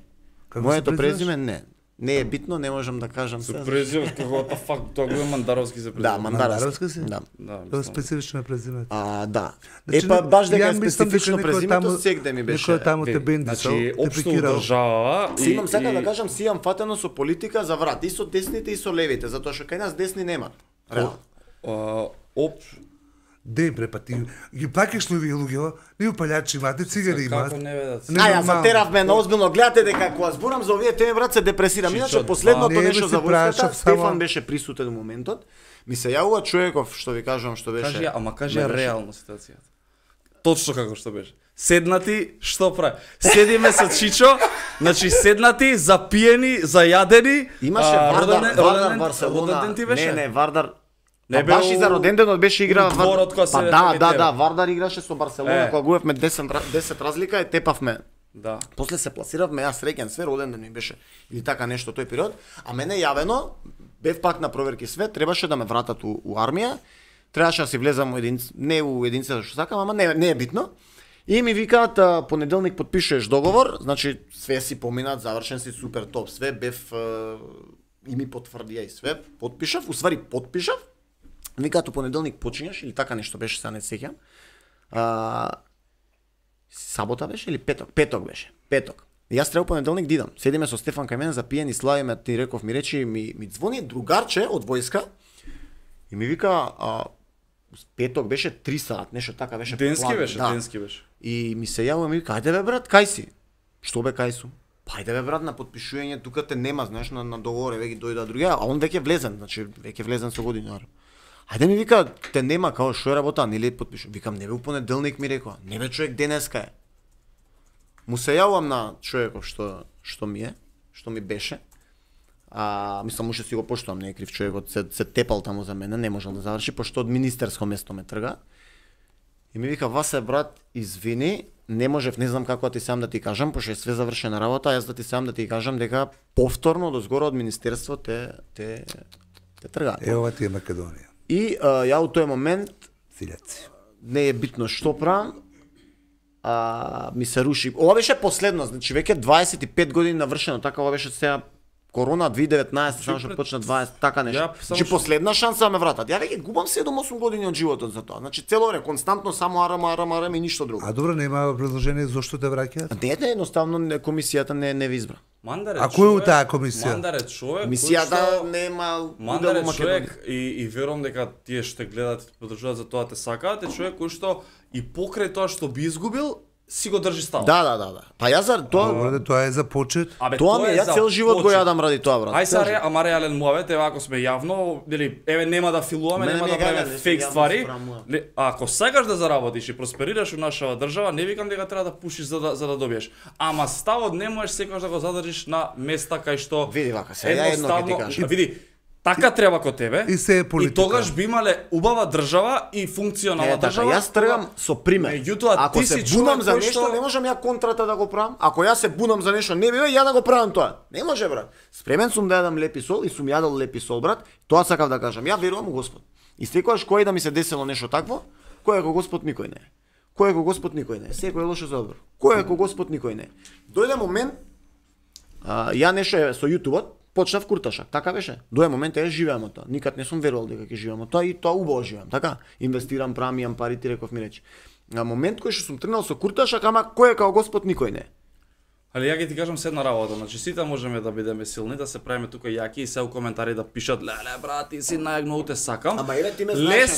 Како Моето се презиме, не. Не е битно, не можам да кажам се. Презивот како та фак, тоа го е Мандаровски се презивот. Да, Мандаровски си? Да. Тоа специфично е презимето. Да. Значи, Па баш дека е ја мислам специфично дека некој презимето, таму- сегде ми беше. Некој таму те бендисал, Значи, те општо прикирал. држава Си имам сака да кажам, си имам фатено со политика за врат, и со десните и со левите, затоа што кај нас десни немат. Реално. Ден пре, па ти ги плакаш ли овие луѓе, не упалјачи имате, цигари имаат. Како не ведат? Ја затерав ме на озбилно, гледате дека кога зборам за овие теми брат се депресирам. Иначе Чичо, последното не, нешто бе, за си војската, прашав само- Стефан беше присутен во моментот. Ми се јавува човеков што ви кажам што беше. Кажи, ама кажи не беше. реално ситуацијата. Точно како што беше. Седнати, што прави? Седиме со Чичо, значи седнати, запиени, зајадени. Имаше Вардар Барселона. Роден ти беше? Не, Вардар. Не Не бе баш и за роден денот беше играа у дворот кога се Па ветаме тебе. да, Вардар играше со Барселона Е. кога губевме 10 разлика и тепавме. Да. После се пласиравме, јас среќен све, роден ден ми беше или така нешто тој период, а мене јавено бев пак на проверки све, требаше да ме вратат у армија, требаше да си влезам не у единицата што сакам, ама не е битно. И ми викаат понеделник потпишуваш договор, значи све си поминат, завршен си супер топ, све бев и ми потврдија и све, потпишав, усвари потпишав. Викаат у понеделник почињаш или така нешто беше, сега не се сеќам. Сабота беше или петок? Петок беше. Петок. И јас треба понеделник да идам. Седиме со Стефан кај мене, запиени, славиме, ти реков ми речи, ми звони другарче од војска и ми вика, петок беше 3 сат, нешто така беше. Денски план, беше, да. денски беше. И ми се јавува, ми вика, ајде бе брат, кај си? Што бе кај сум? Па ајде бе брат, на потпишување тука те нема, знаеш, на договор, веќе дојда другија, а он веќе влезен, значи веќе влезен со години. Ајде ми вика, те нема, као што е работа, нели потпишувам. Викам, не бе у понеделник ми рекоа, не бе човек денеска е. Му се јавувам на човеков што ми беше. Мислам, уште си го поштувам, не е крив човекот, се тепал таму за мене, не можел да заврши, пошто од министерско место ме трга. И ми вика, Васе брат, извини, не можев, не знам како да ти сам да ти кажам, пошто е све завршена работа, јас да ти сам да ти кажам дека повторно до згора од министерство те тргаат. Ова ти е Македонија. И ја у тој момент Сиљаци. не е битно што правам, ми се руши. Ова беше последно, значи веќе 25 години навршено, така ова беше сега корона 2019, само што почна 20, така нешто. Значи последна шанса да ме вратат. Ја веќе губам 7-8 години од животот за тоа. Значи цело време константно само арам и ништо друго. А добро, нема предложение зошто те враќаат? Не, едноставно комисијата не ви избра. Мандар е А кој е у таа комисија? Мандар е човек. Комисијата нема Мандар е удел во човек и верувам дека тие што гледат и подржуваат за тоа те сакаат, е човек кој што и покрај тоа што би изгубил, си го држи стал. Да. Па јас за тоа Добро, тоа е за почет. тоа ми ја цел живот го јадам ради тоа, брат. Ај сега ама реален муавет, еве ако сме јавно, нели, еве нема да филуваме, нема да правиме фейк ствари. Ако сакаш да заработиш и просперираш во нашава држава, не викам дека треба да пушиш за да добиеш. Ама ставот не можеш секогаш да го задржиш на места кај што Види вака, сега едно ќе ти кажам. Види, така треба кон тебе. И се е политика. И тогаш би имале убава држава и функционална држава. Јас тргам со пример. Меѓутоа, ако ти се си бунам човек за кој нешто, што- не можам ја контрата да го правам. Ако јас се бунам за нешто, не бива ја да го правам тоа. Не може, брат. Спремен сум да јадам лепи сол и сум јадал лепи сол, брат. Тоа сакав да кажам. Ја верувам у Господ. И секогаш кој да ми се десело нешто такво, кој е ко Господ никој не е. Кој е ко Господ никој не е. Секој е лошо за добро. Кој е ко Господ никој не е. Дојде момент, ја нешто е со јутубот, почнав курташак, така беше. Дојде момент живеам од тоа. Никад не сум верувал дека ќе живеам од тоа и тоа убаво живеам, така. Инвестирам, правам, имам пари, ти реков ми рече. На момент кој што сум тргнал со курташак, ама кој е као Господ никој не е. Али ја ќе ти кажам се една работа, значи сите можеме да бидеме силни, да се правиме тука јаки и се у коментари да пишат леле брат, ти си најмногу те сакам. Ама еве ти ме знаеш,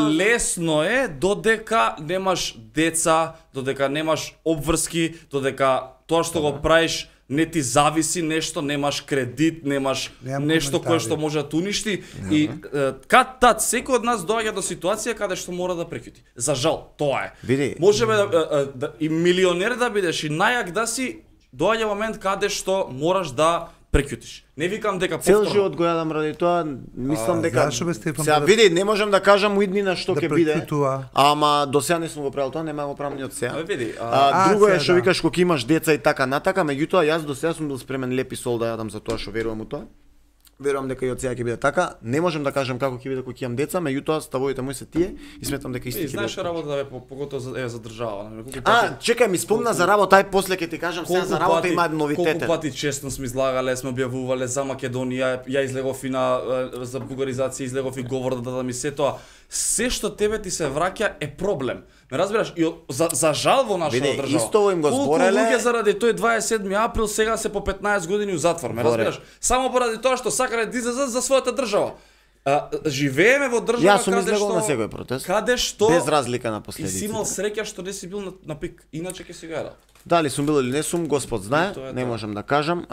Лесно е додека немаш деца, додека немаш обврски, додека тоа што го правиш не ти зависи нешто, немаш кредит, немаш нешто кое што може да уништи и кад секој од нас доаѓа до ситуација каде што мора да прекјути. За жал, тоа е. Види. Можеме да и милионер да бидеш и најак да си, доаѓа момент каде што мораш да прекјутиш. Не викам дека Цел повторно. живот го јадам ради тоа, мислам дека Зашо бе Стефан? сега види, не можам да кажам уиднина што Да ќе биде. прекјутува. Ама до сега не сум го правил тоа, нема го правам ни од сега. Види, Друго е сега, што да. викаш кога имаш деца и така натака, меѓутоа јас до сега сум бил спремен лепи сол да јадам за тоа што верувам у тоа. Верувам дека и од сега ќе биде така. Не можам да кажам како ќе биде кога ќе имам деца, меѓутоа ставовите мои се тие и сметам дека исти ќе знаеш бидат. работа да поготово за држава, нели? Чекај, ми спомна за работа, ај после ќе ти кажам сега за работа има новитете. Колку пати честно сме излагале, сме објавувале за Македонија, ја излегов и на за бугаризација, излегов и говор да ми се тоа. Се што тебе ти се враќа е проблем. Ме разбираш? И за жал во нашата Види, држава. исто им го збореле. Колку луѓе заради тој 27 април сега се по 15 години у затвор, ме разбираш? Само поради тоа што сакале да излезат за својата држава. Живееме во држава Јас сум излегол на секој протест. Каде што Без разлика на и си последиците. имал среќа што не си бил на пик, иначе ќе си го јадал. Дали сум бил или не сум, Господ знае, Тоа е не тоа. можам да кажам.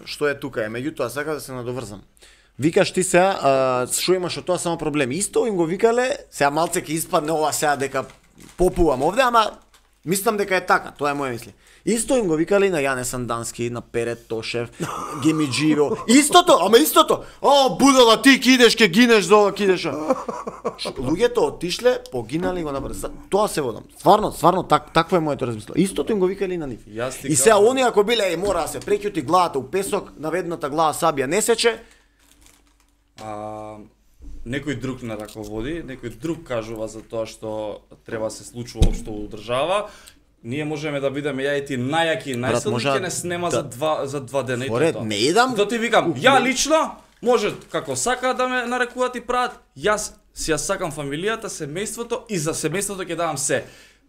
Што е тука е, меѓутоа сака да се надоврзам. Викаш ти сега, што имаш од тоа само проблеми. Исто им го викале, сега малце ќе испадне ова сега дека попувам овде, ама мислам дека е така, тоа е моја мисли. Исто им го викале и на Јане Сандански, на Перет Тошев, Гемиџиро. Истото, ама истото. Будала, ти ки идеш, ке гинеш за ова, ки идеш. Луѓето отишле, погинали го направи. Тоа се водам. Стварно такво е моето размислување. Истото им го викале и на нив. Јас ти И сега кажам. они ако биле мора да се преќути главата у песок, наведната глава сабија не сече, Некој друг не раководи, некој друг кажува за тоа што треба се случува општо у држава. Ние можеме да бидеме ја и ти најаки и најсилни, може ќе не снема да- за два дена и Поред, тоа. не идам. Тоа ти викам, ја лично може како сака да ме нарекуваат и прават, јас си ја сакам фамилијата, семејството и за семејството ќе давам се.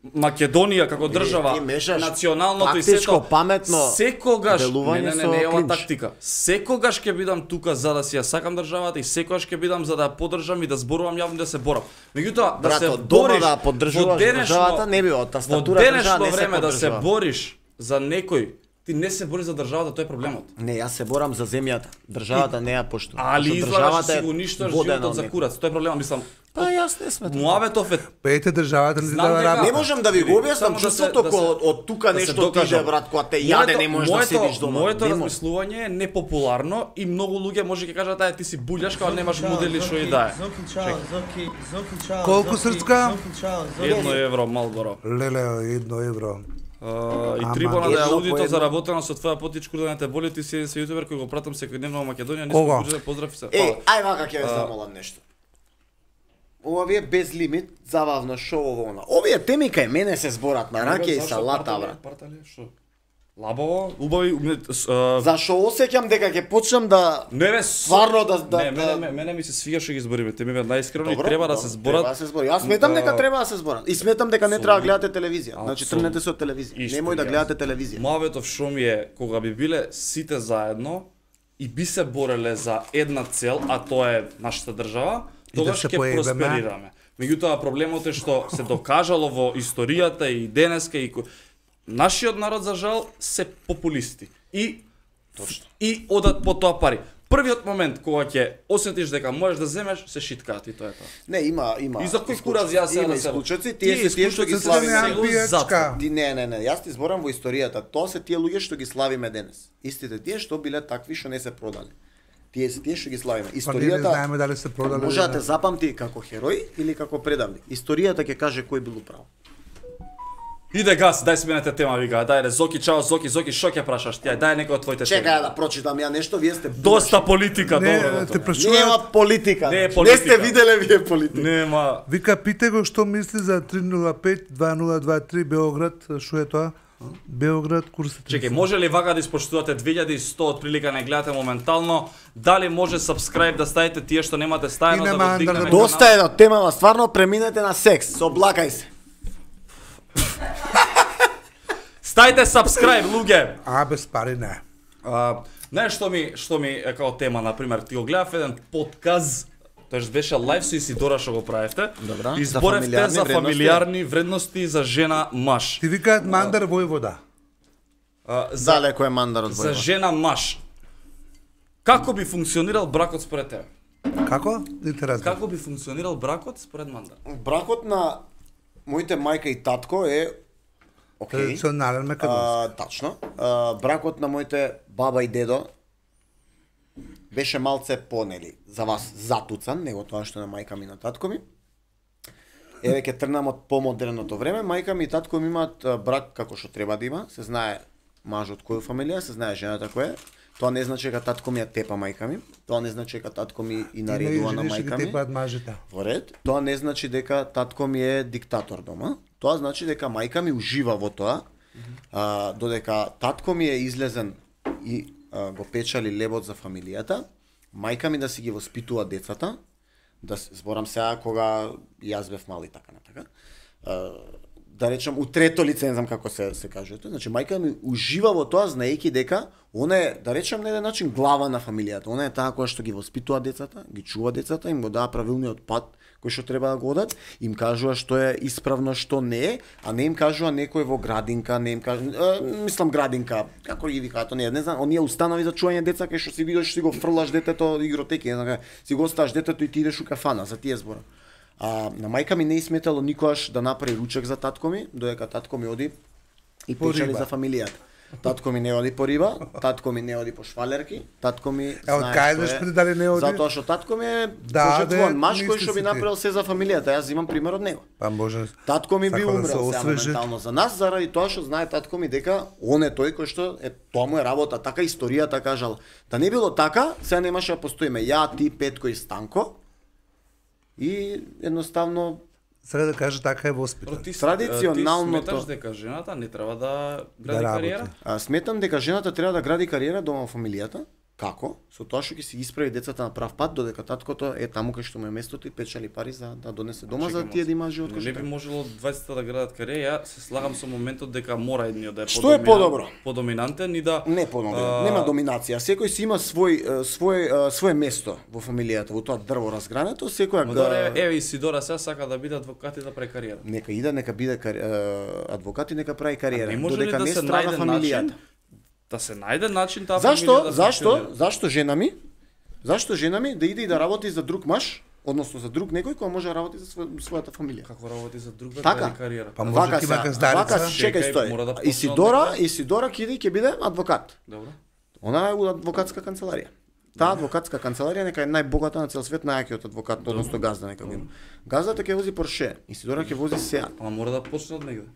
Македонија како држава, ти мешаш националното и тактичко, сето, паметно секогаш, делување со не, ова клинч. тактика. Секогаш ќе бидам тука за да си ја сакам државата и секогаш ќе бидам за да ја поддржам и да зборувам јавно и да се борам. Меѓутоа, да се Брато, дома бориш да поддржуваш државата не би од тастатура во држава денешно не се време да се поддржува. бориш за некој, ти не се бориш за државата, тоа е проблемот. Не, јас се борам за земјата. Државата не ја поштува. Али Зашто излагаш државата си е го ништаш водена животот од за некој. курац, тоа е проблемот, мислам. Па јас не сметам. Муаветов е Пејте државата не ти Знам дава дека- работа. Не можам да ви го објаснам Само да се- чувството да се- кога од тука да се нешто ти докажам. иде, брат, кога те јаде не можеш да седиш дома. Моето Не може. размислување е непопуларно и многу луѓе може ќе кажат ај ти си булјашка, а немаш модели што и да е. Zoki Charles, Zoki Charles. Колку Zoki- срцка? Zoki Charles, 1 евро Малборо. Леле, 1 евро. И Ама, трибуна да ја едно по аудито едно. заработено со твоја потичку да не те боли, ти си јутубер кој го пратам секојдневно во Македонија, не Кога? сум поздрав и се. Еј, Фала. ај вака ќе ве замолам нешто. Ова ви е без лимит, забавно шоу ово она. Овие теми кај мене се зборат на раке и Зашто салата, партали- брат. партали, што? Лабаво, убави, Зашо осеќам дека ќе почнам да не бе, стварно да не, мене ми се свига што ги збориме, те ми бе најискрено и Добро, треба да добро, се зборат. Треба да се збори. Јас сметам дека треба да се зборат. И сметам дека не треба да гледате телевизија. Значи Апсолутно. тргнете се од телевизија. Исто Немој да јас. гледате телевизија. Муаветов шо ми е кога би биле сите заедно и би се бореле за една цел, а тоа е нашата држава, да тогаш се ќе поебеме. просперираме. Меѓутоа проблемот е што се докажало во историјата и денеска и нашиот народ за жал се популисти и одат по тоа пари. Првиот момент кога ќе осетиш дека можеш да земеш, се шиткаат и тоа е тоа. Не, има. И за кој кураз јас има се исклучоци, тие се тие што ги исклучоци славиме. се сега. пијачка. Не, јас ти зборам во историјата. Тоа се тие луѓе што ги славиме денес. Истите тие што биле такви што не се продали. Тие се тие што ги славиме. Па ние не Историјата знаеме дали се продали. може да или те не. запамти како херој или како предавник. Историјата ќе каже кој бил управо. Иде газ, дај сменете тема, вика, дај Зоки, чао Зоки, што ќе прашаш ти? Дај некој од твоите теми. Чекај да прочитам ја нешто, вие сте Доста политика, Не, добро. те добро. прашуваат. Нема политика. Не е Не политика. сте виделе вие политика. Нема. Вика, пите го што мисли за 305-2023 Белоград, што е тоа? Белоград, курсот. Чекај, може ли вака да испоштувате 2100 отприлика не гледате моментално? Дали може subscribe да ставите тие што немате стајано И да нема го дигнеме андер- канал? Доста е од темава, стварно преминете на секс, соблакај се. Стајте subscribe, луѓе. А без пари не. Знаеш што ми е као тема, например, ти го гледав еден подкаст, тоест беше лайв со Исидора што го правевте. Добра. Изборевте за фамилиарни вредности за жена маж. Ти викаат мандар војвода. Далеко е мандар од За војвода. жена маж. Како би функционирал бракот според тебе? Како? Интересно. Како би функционирал бракот според мандар? Бракот на моите мајка и татко е окей. Традиционален меканизам. Тачно. Бракот на моите баба и дедо беше малце понели за вас затуцан, него тоа што на мајка ми и на татко ми. Еве ќе тргнам од помодерното време, мајка ми и татко ми имаат брак како што треба да има, се знае мажот која фамилија, се знае жената која е. Тоа не значи дека татко ми ја тепа мајка ми, тоа не значи дека татко ми и наредува на мајка ми. Тепаат мажите. Во ред, тоа не значи дека татко ми е диктатор дома. Тоа значи дека мајка ми ужива во тоа, додека татко ми е излезен и го печали лебот за фамилијата, мајка ми да си ги воспитува децата, да зборам сега кога јас бев мал и така натака. Да речам у трето лице, не знам како се кажува тоа. Значи мајка ми ужива во тоа знаејќи дека она е, да речам на еден начин глава на фамилијата. Она е таа која што ги воспитува децата, ги чува децата, им го дава правилниот пат кој што треба да го одат, им кажува што е исправно, што не е, а не им кажува некој во градинка, не им кажува, мислам градинка, како ги викаат оние, не знам, оние установи за чување деца кај што си видиш си го фрлаш детето игротеки, не знам, си го оставаш детето и ти идеш у кафана, за тие збора. На мајка ми не изметало никогаш да направи ручек за татко ми, додека татко ми оди и печали за фамилијата. Татко ми не оди по риба, татко ми не оди по швалерки, татко ми од кај деш дали не оди? Затоа што татко ми е пожртвуван маж кој што би направил се за фамилијата. Јас имам пример од него. Па може. Татко ми би умрел моментално за нас заради тоа што знае татко ми дека он е тој кој што е тоа му е работа, така историјата кажал. Да не било така, сега немаше да постоиме ја, ти, Петко и Станко. И едноставно сега да кажа така е воспитан. Традиционалното. Ти сметаш дека жената не треба да гради кариера? Сметам дека жената треба да гради кариера дома во фамилијата. Како? Со тоа што ќе си исправи децата на прав пат, додека таткото е таму кај што му е местото и печали пари за да донесе дома за тие да има живот кој не би можело двајцата да градат кариера. Ја се слагам со моментот дека мора едниот да е што е подобро? Подоминантен и да не подобро. Нема доминација. Секој си има свое место во фамилијата, во тоа дрво разгрането, секоја еве Исидора сега сака да биде адвокат и да прави кариера. Нека иде, нека биде адвокат и нека прави кариера, додека не страда фамилијата. Да се најде начин таа фамилија да Зашто жена ми? Зашто жена ми да иде и да работи за друг маж, односно за друг некој кој може да работи за својата фамилија? Како работи за друг така, кариера? Па може ќе има газдарица. Чекај стој. Исидора ќе иде ќе биде адвокат. Добро. Она е у адвокатска канцеларија. Таа адвокатска канцеларија нека е најбогата на цел свет, најакиот адвокат, односно газда нека го има. Газдата ќе вози Порше, Исидора ќе вози Сеат. Ама мора да почне од негде.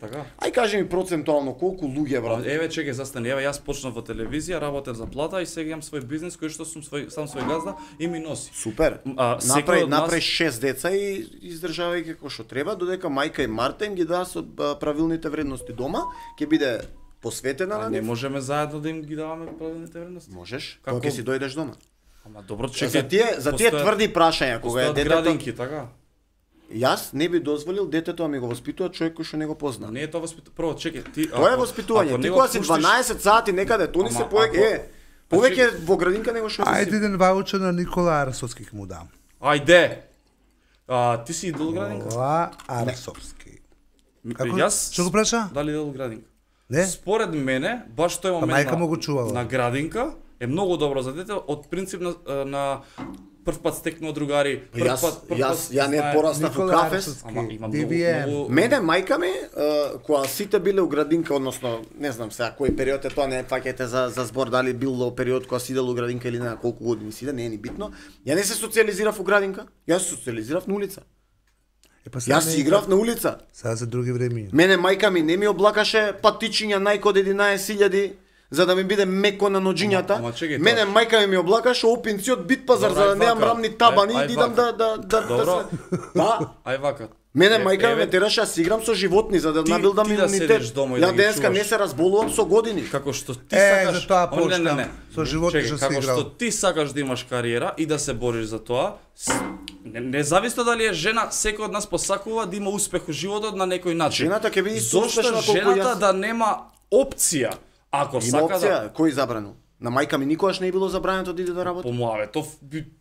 Така? Ај кажи ми процентуално колку луѓе брат. Еве чекај застани, еве јас почнав во телевизија, работев за плата и сега имам свој бизнис кој што сум сам свој газда и ми носи. Супер. Направи 6 деца и издржавај како што треба, додека мајка и Марта им ги даа со правилните вредности дома, ќе биде посветена на нив. Не можеме заедно да им ги даваме правилните вредности. Можеш. Кога ќе си дојдеш дома. Ама добро, чекај. За тие тврди прашања кога е детето. Градинки, така. Јас не би дозволил детето да ми го воспитува човек кој што не го позна. Не е тоа воспитување. Прво чекај, ти тоа е воспитување. Ти кога си 12 сати некаде, тони се повеќе во градинка него што си. Ајде еден ваучер на Никола Арсовски ќе му дам. Ајде. Ти си идол градинка? Никола Арсовски. Јас што го праша? Дали идол градинка? Не. Според мене, баш тој момент на градинка е многу добро за дете, од принцип на прв пат стекнува другари, ја не пораснав у кафес. Ама имам многу. Мене мајка ми кога сите биле у градинка, односно не знам сега кој период е тоа, не фаќајте за збор дали било период кога сидел у градинка или на колку години сиде, не е ни битно. Ја не се социализирав у градинка, јас се социализирав на улица. Јас си играв на улица. Сега за други времиња. Мене мајка ми не ми облакаше патичиња најкод 11.000 за да ми биде меко на ноџињата. Мене мајка ми облакаше опинци од Битпазар за да немам рамни табани и идам да. Добро. Да. Ај вака. Мене мајка ме тераше да си играм со животни за да набилдам имунитет. Ја денеска не се разболувам со години. Како што ти сакаш, за тоа почнам. Со животни што си играл. Како што ти сакаш да имаш кариера и да се бориш за тоа, независно дали е жена, секој од нас посакува да има успех во животот на некој начин. Жената ќе биде исто Зошто успешна колку жената јас. да нема опција? Ако Има сака опција, да кој забрано? На мајка ми никогаш не е било забрането да иде да работи. помоаве,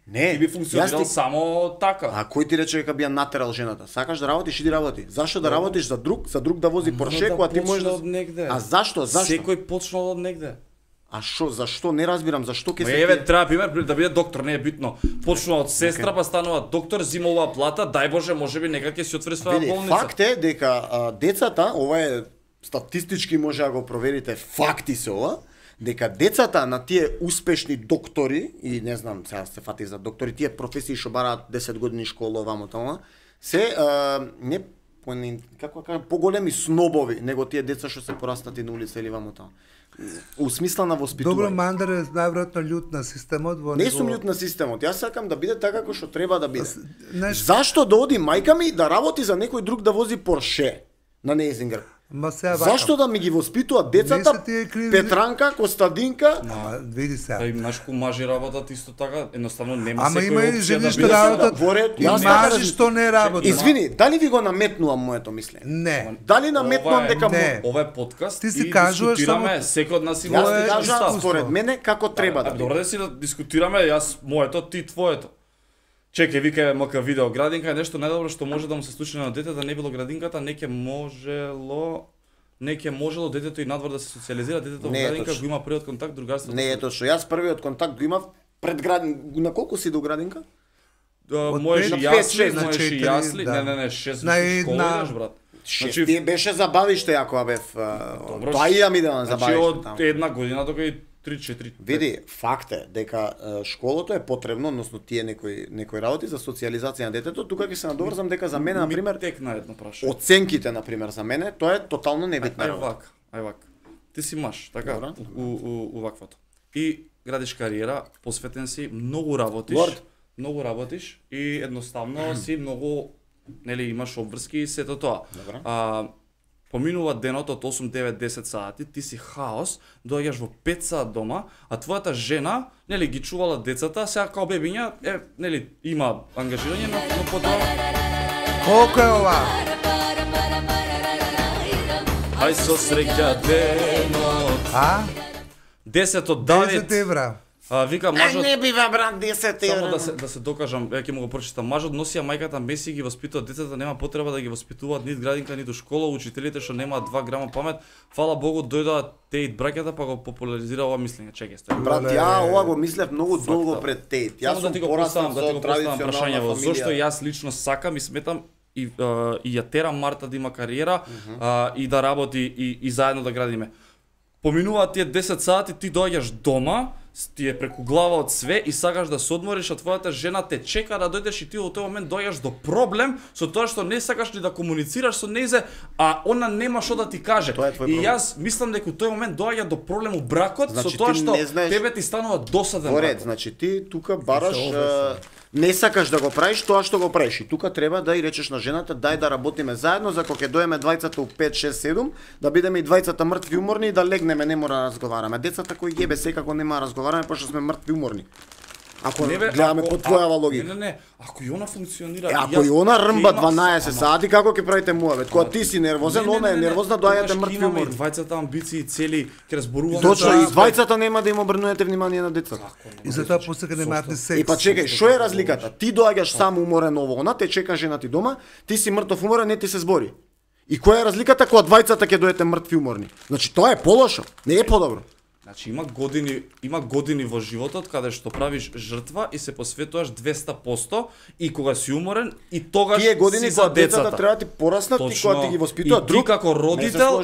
Не, ти би функционирал јас ти- само така. А кој ти рече дека би ја натерал жената? Сакаш да работиш, иди работи. Зашто да работиш за друг да вози Порше, кога ти можеш од негде. А зашто? Секој почнал од негде. А шо, зашто? Не разбирам, зашто ќе се Еве треба пример да биде доктор, не е битно. Почнува од сестра, па станува доктор, зима оваа плата, дај Боже, можеби некај ќе си отвори своја Види, болница. факт е дека децата, ова е статистички може да го проверите, факти се ова, дека децата на тие успешни доктори и не знам, сега се фати за доктори, тие професии што бараат 10 години школа вамо таму, се не како кажам, поголеми снобови него тие деца што се порастати на улица или вамо таму. У смисла на воспитување. Добро, Мандар е најверојатно лют на системот во Не сум лют на системот. Јас сакам да биде така како што треба да биде. Знаеш- Зашто да оди мајка ми да работи за некој друг да вози Порше на нејзин грб? Ма сега Зашто да ми ги воспитуваат децата Не се тие криви- Петранка, Костадинка? Ама види сега. Па и нашко мажи работат исто така, едноставно нема Ама секој има и опција жени да што биде работат. Во ред, И јас така мажи што не работат. Извини, дали ви го наметнувам моето мислење? Не. Дали наметнувам дека не. Ова е подкаст Ти си и кажуваш дискутираме, само- секој од нас има Јас Тоа е ти кажам искуство. според мене како треба да биде. Добро да си да дискутираме, јас моето, ти твоето. Чекај, вика МК видео градинка е нешто најдобро што може да му се случи на дете, да не било градинката, не ќе можело детето и надвор да се социализира, детето во Не е градинка точно. го има првиот контакт, другарството. Не е точно. Јас првиот контакт го имав пред на колку си до градинка? Можеш пет и на јасли, пет, на можеш и четири, јасли, да. не, 6 На една- школа идеш, брат. Значи, тие беше забавиште ако ја бев. Тоа и ја ми да Значи забавиште од таму. една година до кај 3-4. Види, факт е дека школото е потребно, односно тие некои работи за социализација на детето. Тука ќе се надоврзам дека за мене на пример текна едно прашање. оценките на пример за мене тоа е тотално небитна работа. Ај вак. Ти си маж, така, Добра. у ваквото. И градиш кариера, посветен си, многу работиш и едноставно си многу, нели, имаш обврски и сето тоа. Добра. Поминува денот од 8, 9, 10 сати, ти си хаос, доаѓаш во 5 сат дома, а твојата жена, нели, ги чувала децата, сега као бебиња, нели, има ангажирање, но потоа Колку е ова? ај со среќа денот. А? 10 од 10 9. евра. Вика мажот. Не бива брат 10 евра. Само да се докажам, ќе му го прочитам. Мажот носи, а мајката меси ги воспитува децата, нема потреба да ги воспитуваат нит градинка, ниту школа, учителите што немаат 2 грама памет. Фала Богу, дојдоа Тейт браќата па го популаризира ова мислење. Чекај, стој. Брат, ја ова го мислев многу долго пред Тейт. Јас Само сум да ти го пораснал поставам, да ти со го поставам традиционална прашањево. Зошто фамилија. јас лично сакам и сметам и ја терам Марта да има кариера и да работи и заедно да градиме. Поминуваат тие 10 сати, ти доаѓаш дома, ти е преку глава од све и сакаш да се одмориш, а твојата жена те чека да дојдеш и ти во тој момент доаѓаш до проблем со тоа што не сакаш ни да комуницираш со нејзе, а она нема што да ти каже. Тоа е твој И проблем. јас мислам дека во тој момент доаѓа до проблем у бракот Значи, со тоа ти што не знаеш- тебе ти станува досаден Во ред, бракот. значи ти тука бараш не сакаш да го правиш тоа што го правиш. И тука треба да и речеш на жената дај да работиме заедно за кога ќе доеме двајцата у 5 6 7 да бидеме и двајцата мртви уморни и да легнеме, не мора да разговараме. Децата кои ебе секако нема да разговараме пошто сме мртви уморни. Ако Не, бе, гледаме ако- по твојава логика. Не, ако и она функционира. Ако и она рмба 12 сати, како ќе правите муавет? Кога ти си нервозен, она е нервозна, доаѓате мртви Имаме и уморни. двајцата амбиции и цели, ќе разборуваме. Точно, за- и двајцата нема да им обрнувате внимание на децата. И затоа посека немаат ни секс. И па чекај, што е разликата? Ти доаѓаш сам уморен ово, она те чека жена ти дома, ти си мртов уморен, не ти се збори. И која е разликата кога двајцата ќе дојдете мртви уморни? Значи тоа е полошо, не е подобро. Значи има години во животот каде што правиш жртва и се посветуваш 200% и кога си уморен и тогаш Тие години си за кога децата децата. треба да ти пораснат и кога ти ги воспитуваат И ти друг. како родител,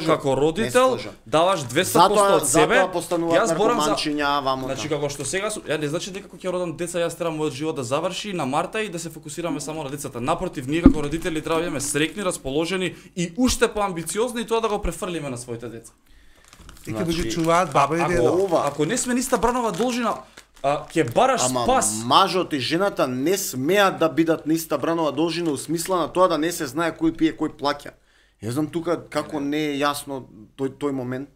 даваш 200% од себе. Затоа постануваат борам за наркоманчиња, вамо. Значи како што сега ја не значи дека кога ќе родам деца јас треба мојот живот да заврши на Марта и да се фокусираме само на децата. Напротив, ние како родители треба да бидеме среќни, расположени и уште поамбициозни и тоа да го префрлиме на своите деца. И ќе ги чуваат баба и дедо. ова- Ако не сме ниста Бранова должина, ќе бараш спас. Мажот и жената не смеат да бидат на иста бранова должина, у смисла на тоа да не се знае кој пие, кој плаќа. Ја знам тука како не е јасно тој момент.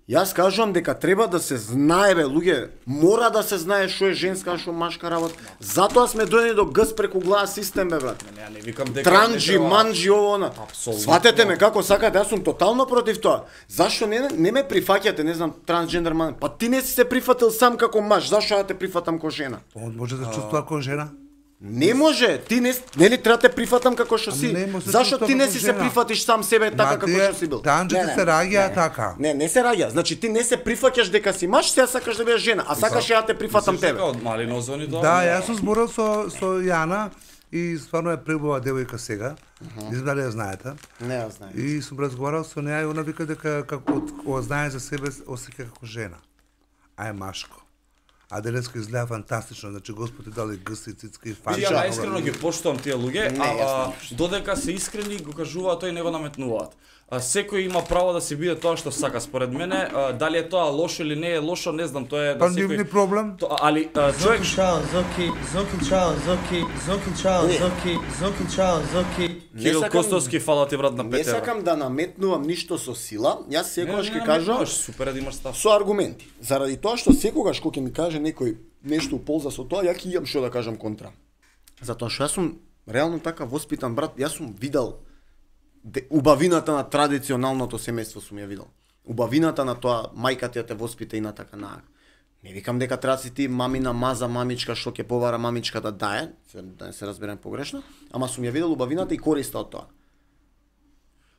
Јас кажувам дека треба да се знае, бе, луѓе, мора да се знае што е женска, што машка работа. Затоа сме дојдени до гс преку глава систем, бе, брат. Не викам дека Транџи, манџи, ово, она. Апсолутно. Сватете ме како сакате, јас сум тотално против тоа. Зашто не ме прифаќате, не знам, трансджендер ман? Па ти не си се прифатил сам како маж, зашто ја те прифатам како жена? Он може да чувствува како жена. Не може, ти нели треба те прифатам како што си. Зашто ти не си се прифатиш сам себе така како што си бил? Танџите се раѓаат така. Не се раѓа. Значи ти не се прифаќаш дека си маж, сега сакаш да бидеш жена, а сакаш ја те прифатам тебе. Од мали нозони до. Да, јас сум зборил со Јана и стварно е преубава девојка сега. Не знам дали ја знаете. Не ја знаем. И сум разговарал со неа и она вика дека како знае за себе осеќа како жена. А е машко. А денеска изгледа фантастично, значи Господ е дали гъси, цицки, фанча. Ја најискрено ги поштувам тие луѓе, додека се искрени го кажуваат тој не го наметнуваат. Секој има право да си биде тоа што сака според мене, дали е тоа лошо или не е лошо, не знам, тоа е да секој. Па нивни проблем. Али човек Zoki. Кирил Костовски, фала ти брат на Не Петер. сакам да наметнувам ништо со сила, јас секогаш ќе кажам Супер да имаш став. со аргументи. Заради тоа што секогаш кога ќе ми каже некој нешто у полза со тоа, ја ќе имам што да кажам контра. Затоа што јас сум реално така воспитан брат, јас сум видел убавината на традиционалното семејство сум ја видел. Убавината на тоа мајка ти ја те воспита и на така на. Не викам дека треба си ти мамина маза мамичка што ќе повара мамичката да не се разберем погрешно, ама сум ја видел убавината и користа од тоа.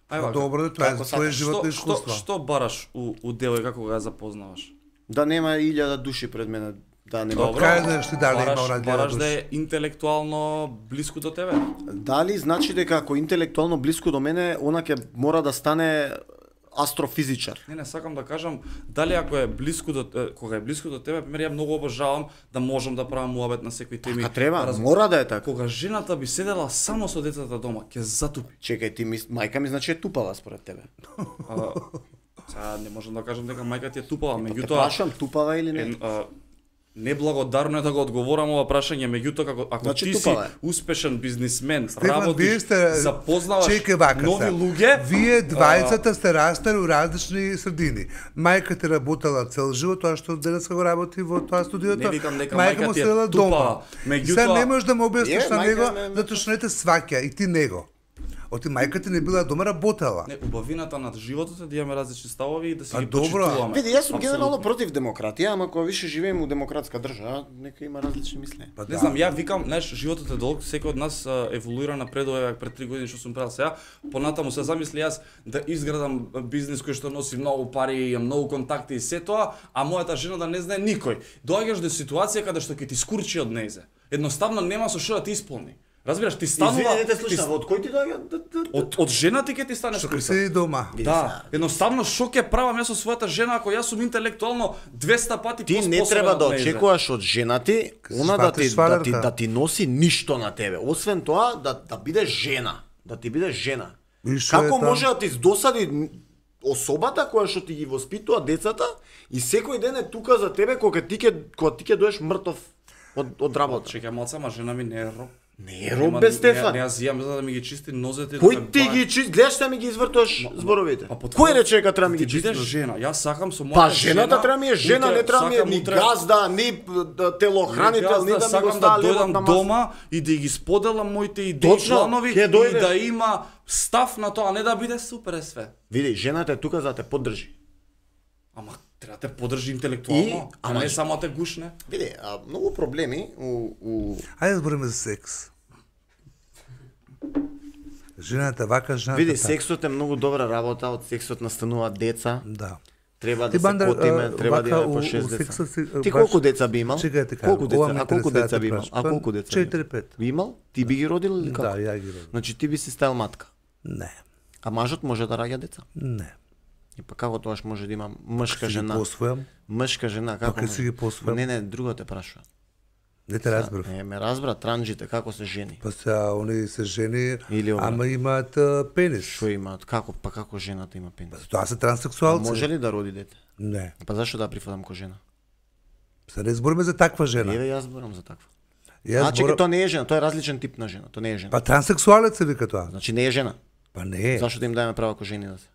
Ајде, Добро, тоа е твој животно искуство. Што бараш у девојка кога ја запознаваш? Да нема 1000 души пред мене, да нема. Добро. Кај знаеш ти дали има Бараш радија да е интелектуално блиску до тебе. Дали значи дека ако интелектуално блиску до мене, она ќе мора да стане астрофизичар? Не, сакам да кажам, дали ако е блиску до кога е блиску до тебе, пример ја многу обожавам да можам да правам муабет на секои теми. Така треба, мора да е така. Кога жената би седела само со децата дома, ќе затупи. Чекај, ти мајка ми значи е тупава според тебе. Сега не можам да кажам дека мајка ти е тупава, Те меѓутоа прашам тупава или не? неблагодарно е да го одговорам ова прашање, меѓутоа ако Значи, ти си тупава е. успешен бизнисмен, Стефан, вие работиш, сте- запознаваш Чекај вака нови се. луѓе, Вие двајцата сте растали у различни средини. Мајка ти работела цел живот, тоа што денеска го работи во тоа студиото. Не викам дека мајка мајка му ти е седела дома. тупава, меѓутоа- Сега не можеш да му објасниш Е, на мајка него, ме- затоа што не те сваќа и ти него. Оти мајка ти не била дома, работела. не, убавината на животот е да имаме различни ставови и да си А, ги добро. почитуваме. Види, јас сум Апсолутно. генерално против демократија, ама кога више живееме у демократска држава, нека има различни мислења. Па Не знам, ја викам, знаеш, животот е долг, секој од нас еволуира напредува пред 3 години што сум правил сега. Понатаму се замисли јас да изградам бизнис кој што носи многу пари, имам многу контакти и се тоа, а мојата жена да не знае никој. Доаѓаш до ситуација каде што ќе ти скурчи од нејзе. Едноставно нема со што да ти исполни. Разбираш, ти станува Извини, не те слушам, од кој ти доаѓа? од жена ти ќе ти стане Што скурчи. седи дома. Да, едноставно што ќе правам јас со својата жена ако јас сум интелектуално 200 пати Ти поспособен не треба да од нејзе? очекуваш од жена ти, она да ти носи ништо на тебе. Освен тоа да бидеш жена, да ти бидеш жена. И што е Како там? може да ти досади особата која што ти ги воспитува децата и секој ден е тука за тебе кога ти ќе доеш мртов од работа. Чекај малце, ама жена ми не е роб. Не е роб бе, Стефан. Не, јас јам за да ми ги чисти нозете. Кој ти ги чисти? Гледаш да ми ги извртуваш зборовите. Кој рече дека треба ми ги Ти бидеш чисти? жена. Јас сакам со мојата Па жената треба ми е жена, не треба ми е сакам ни утре- газда, ни телохранител, ни да ми го сакам става да левот дојдам на маса. дома и да ги споделам моите идеи, Точно, планови ќе и дојде. да има став на тоа, а не да биде супер е све. Види, жената е тука за да те поддржи. Ама треба да те поддржи интелектуално, а ама не само да те гушне. Види, многу проблеми у Ајде да збориме за секс. Жената вака, жената Види, така. сексот е многу добра работа, од сексот настануваат деца. Да. Треба Ти, да се Бандер, котиме, треба да вака, имаме по у 6 деца. сексот си, Ти баш- колку деца би имал? Чекај те кажам, Колку ова деца? ме А колку интересира да деца те би имал? прашам. А колку деца? би имал? 4-5. Би имал? Ти би ги родил или како? Да, ја ги родам. Значи ти би си стајал матка. Не, А мажот може да раѓа деца? не. И па како тоаш може да има мшка Си ги жена? посвојам, Мшка жена, како? Па, ке си ги посвојам. Не, друго те прашувам. не те разбрав. Не, ме разбра транџите како се жени. Па сега, они се жени, Или ова. ама имаат пенис. Што имаат? Како жената има пенис? Тоа се А транссексуалци. може ли да роди дете? Не. Па зашто да ја прифатам ко жена? Се не збориме за таква жена. Еве јас зборам за таква. Јас Значи зборам- тоа не е жена, тоа е различен тип на жена, тоа не е жена. Па транссексуалец се вика тоа. Значи не е жена. Па не. Зашто да им даеме право ко жени да се?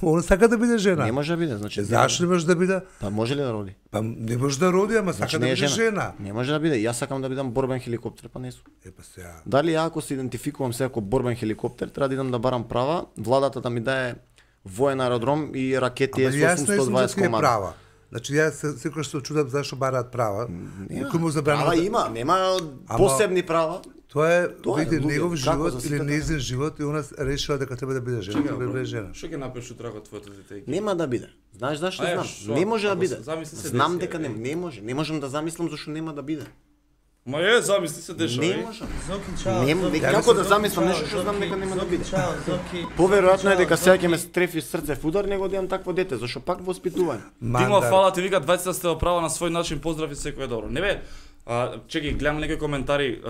Он сака да биде жена. Не може да биде, значи. Зашто не може да биде? Па може ли да роди? Па не може да роди, ама Значи сака да не е биде жена. жена. Не може да биде. Јас сакам да бидам борбен хеликоптер, па не сум. Па сега. Дали ја ако се идентификувам се како борбен хеликоптер, треба да идам да барам права, владата да ми дае воен аеродром и ракети Ама јас не сум за С-820 тие комада. права. Значи јас секогаш се чудам зашто бараат права. Некој му забранува. Права има, нема посебни права. Тоа е Тоа е, види луѓе, негов како живот за или сите нејзин живот и она решила дека треба да биде жена, треба да биде жена. Што ќе направиш утре ако твоето дете? Нема да биде. Знаеш зашто А, знам? шо? Не може да Ако биде. замисли се Знам деси, дека е. не може. Не можам да замислам зашто нема да биде. Ма замисли се дешава. Не можам. Зоки, чао. Не, Зоки, како да Зоки, замислам чао, нешто што знам Зоки, дека нема да Зоки, биде. чао, Зоки. Поверојатно е дека Чао, сега ќе Зоки. ме стрефи срце в удар него да имам такво дете, зашто пак воспитување. Тимо, фала ти вика, двајцата сте оправа на свој начин, поздрав и секој е добро. Не бе, чекај, гледам некои коментари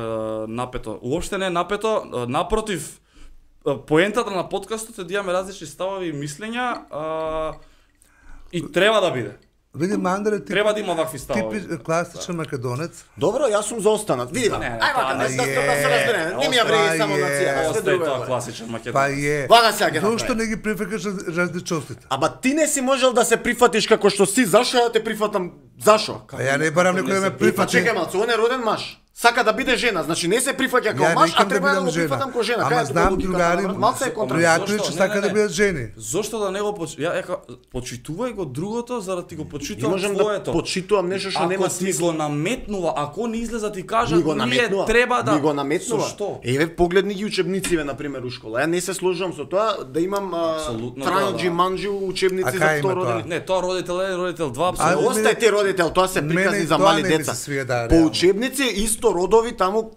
напето. Уопште не е напето, напротив, поентата на подкастот е да имаме различни ставови и мислења и треба да биде. Види Мандре, ти Треба да има вакви ставови. типи класичен македонец. Добро, јас сум за останат. Види, Не, ај тоа вака, не да се е. разбереме. Не ми ја вреди само Е. нација, све Остај друго. тоа е. класичен Па македонец. е. Вага сега ќе Зошто направи. не ги прифакаш различностите? Ама ти не си можел да се прифатиш како што си, зашо да те прифатам? Зашо? Па ја не барам некој да ме Па прифати. чекај малце, он е роден маж. Сака да биде жена, значи не се прифаќа како Ја маж, а некам да треба да бидам го жена. прифатам како жена. Ама Кај е знам логиката, другари, брат? Малце е контра. пријатели Зошто? што Не, сака не, да не. бидат жени. Зошто да не го почитувај го другото, за да ти го Не почитувам можам да твоето. почитувам нешто што Ако нема ти смисла. го наметнува, ако не излеза ти кажа, Ми го ние наметнува. треба да... Ми го наметнува. Со што? Еве погледни ги учебнициве на пример у школа. Ја не се сложувам со тоа да имам Апсолутно транџи да. манџи учебници А за кај има второродени. Не, тоа родител 1, родител 2, А, апсолутно. Остај ти родител, тоа се приказни Мене за тоа мали не ми деца. се свија, да, По реално. учебници исто родови таму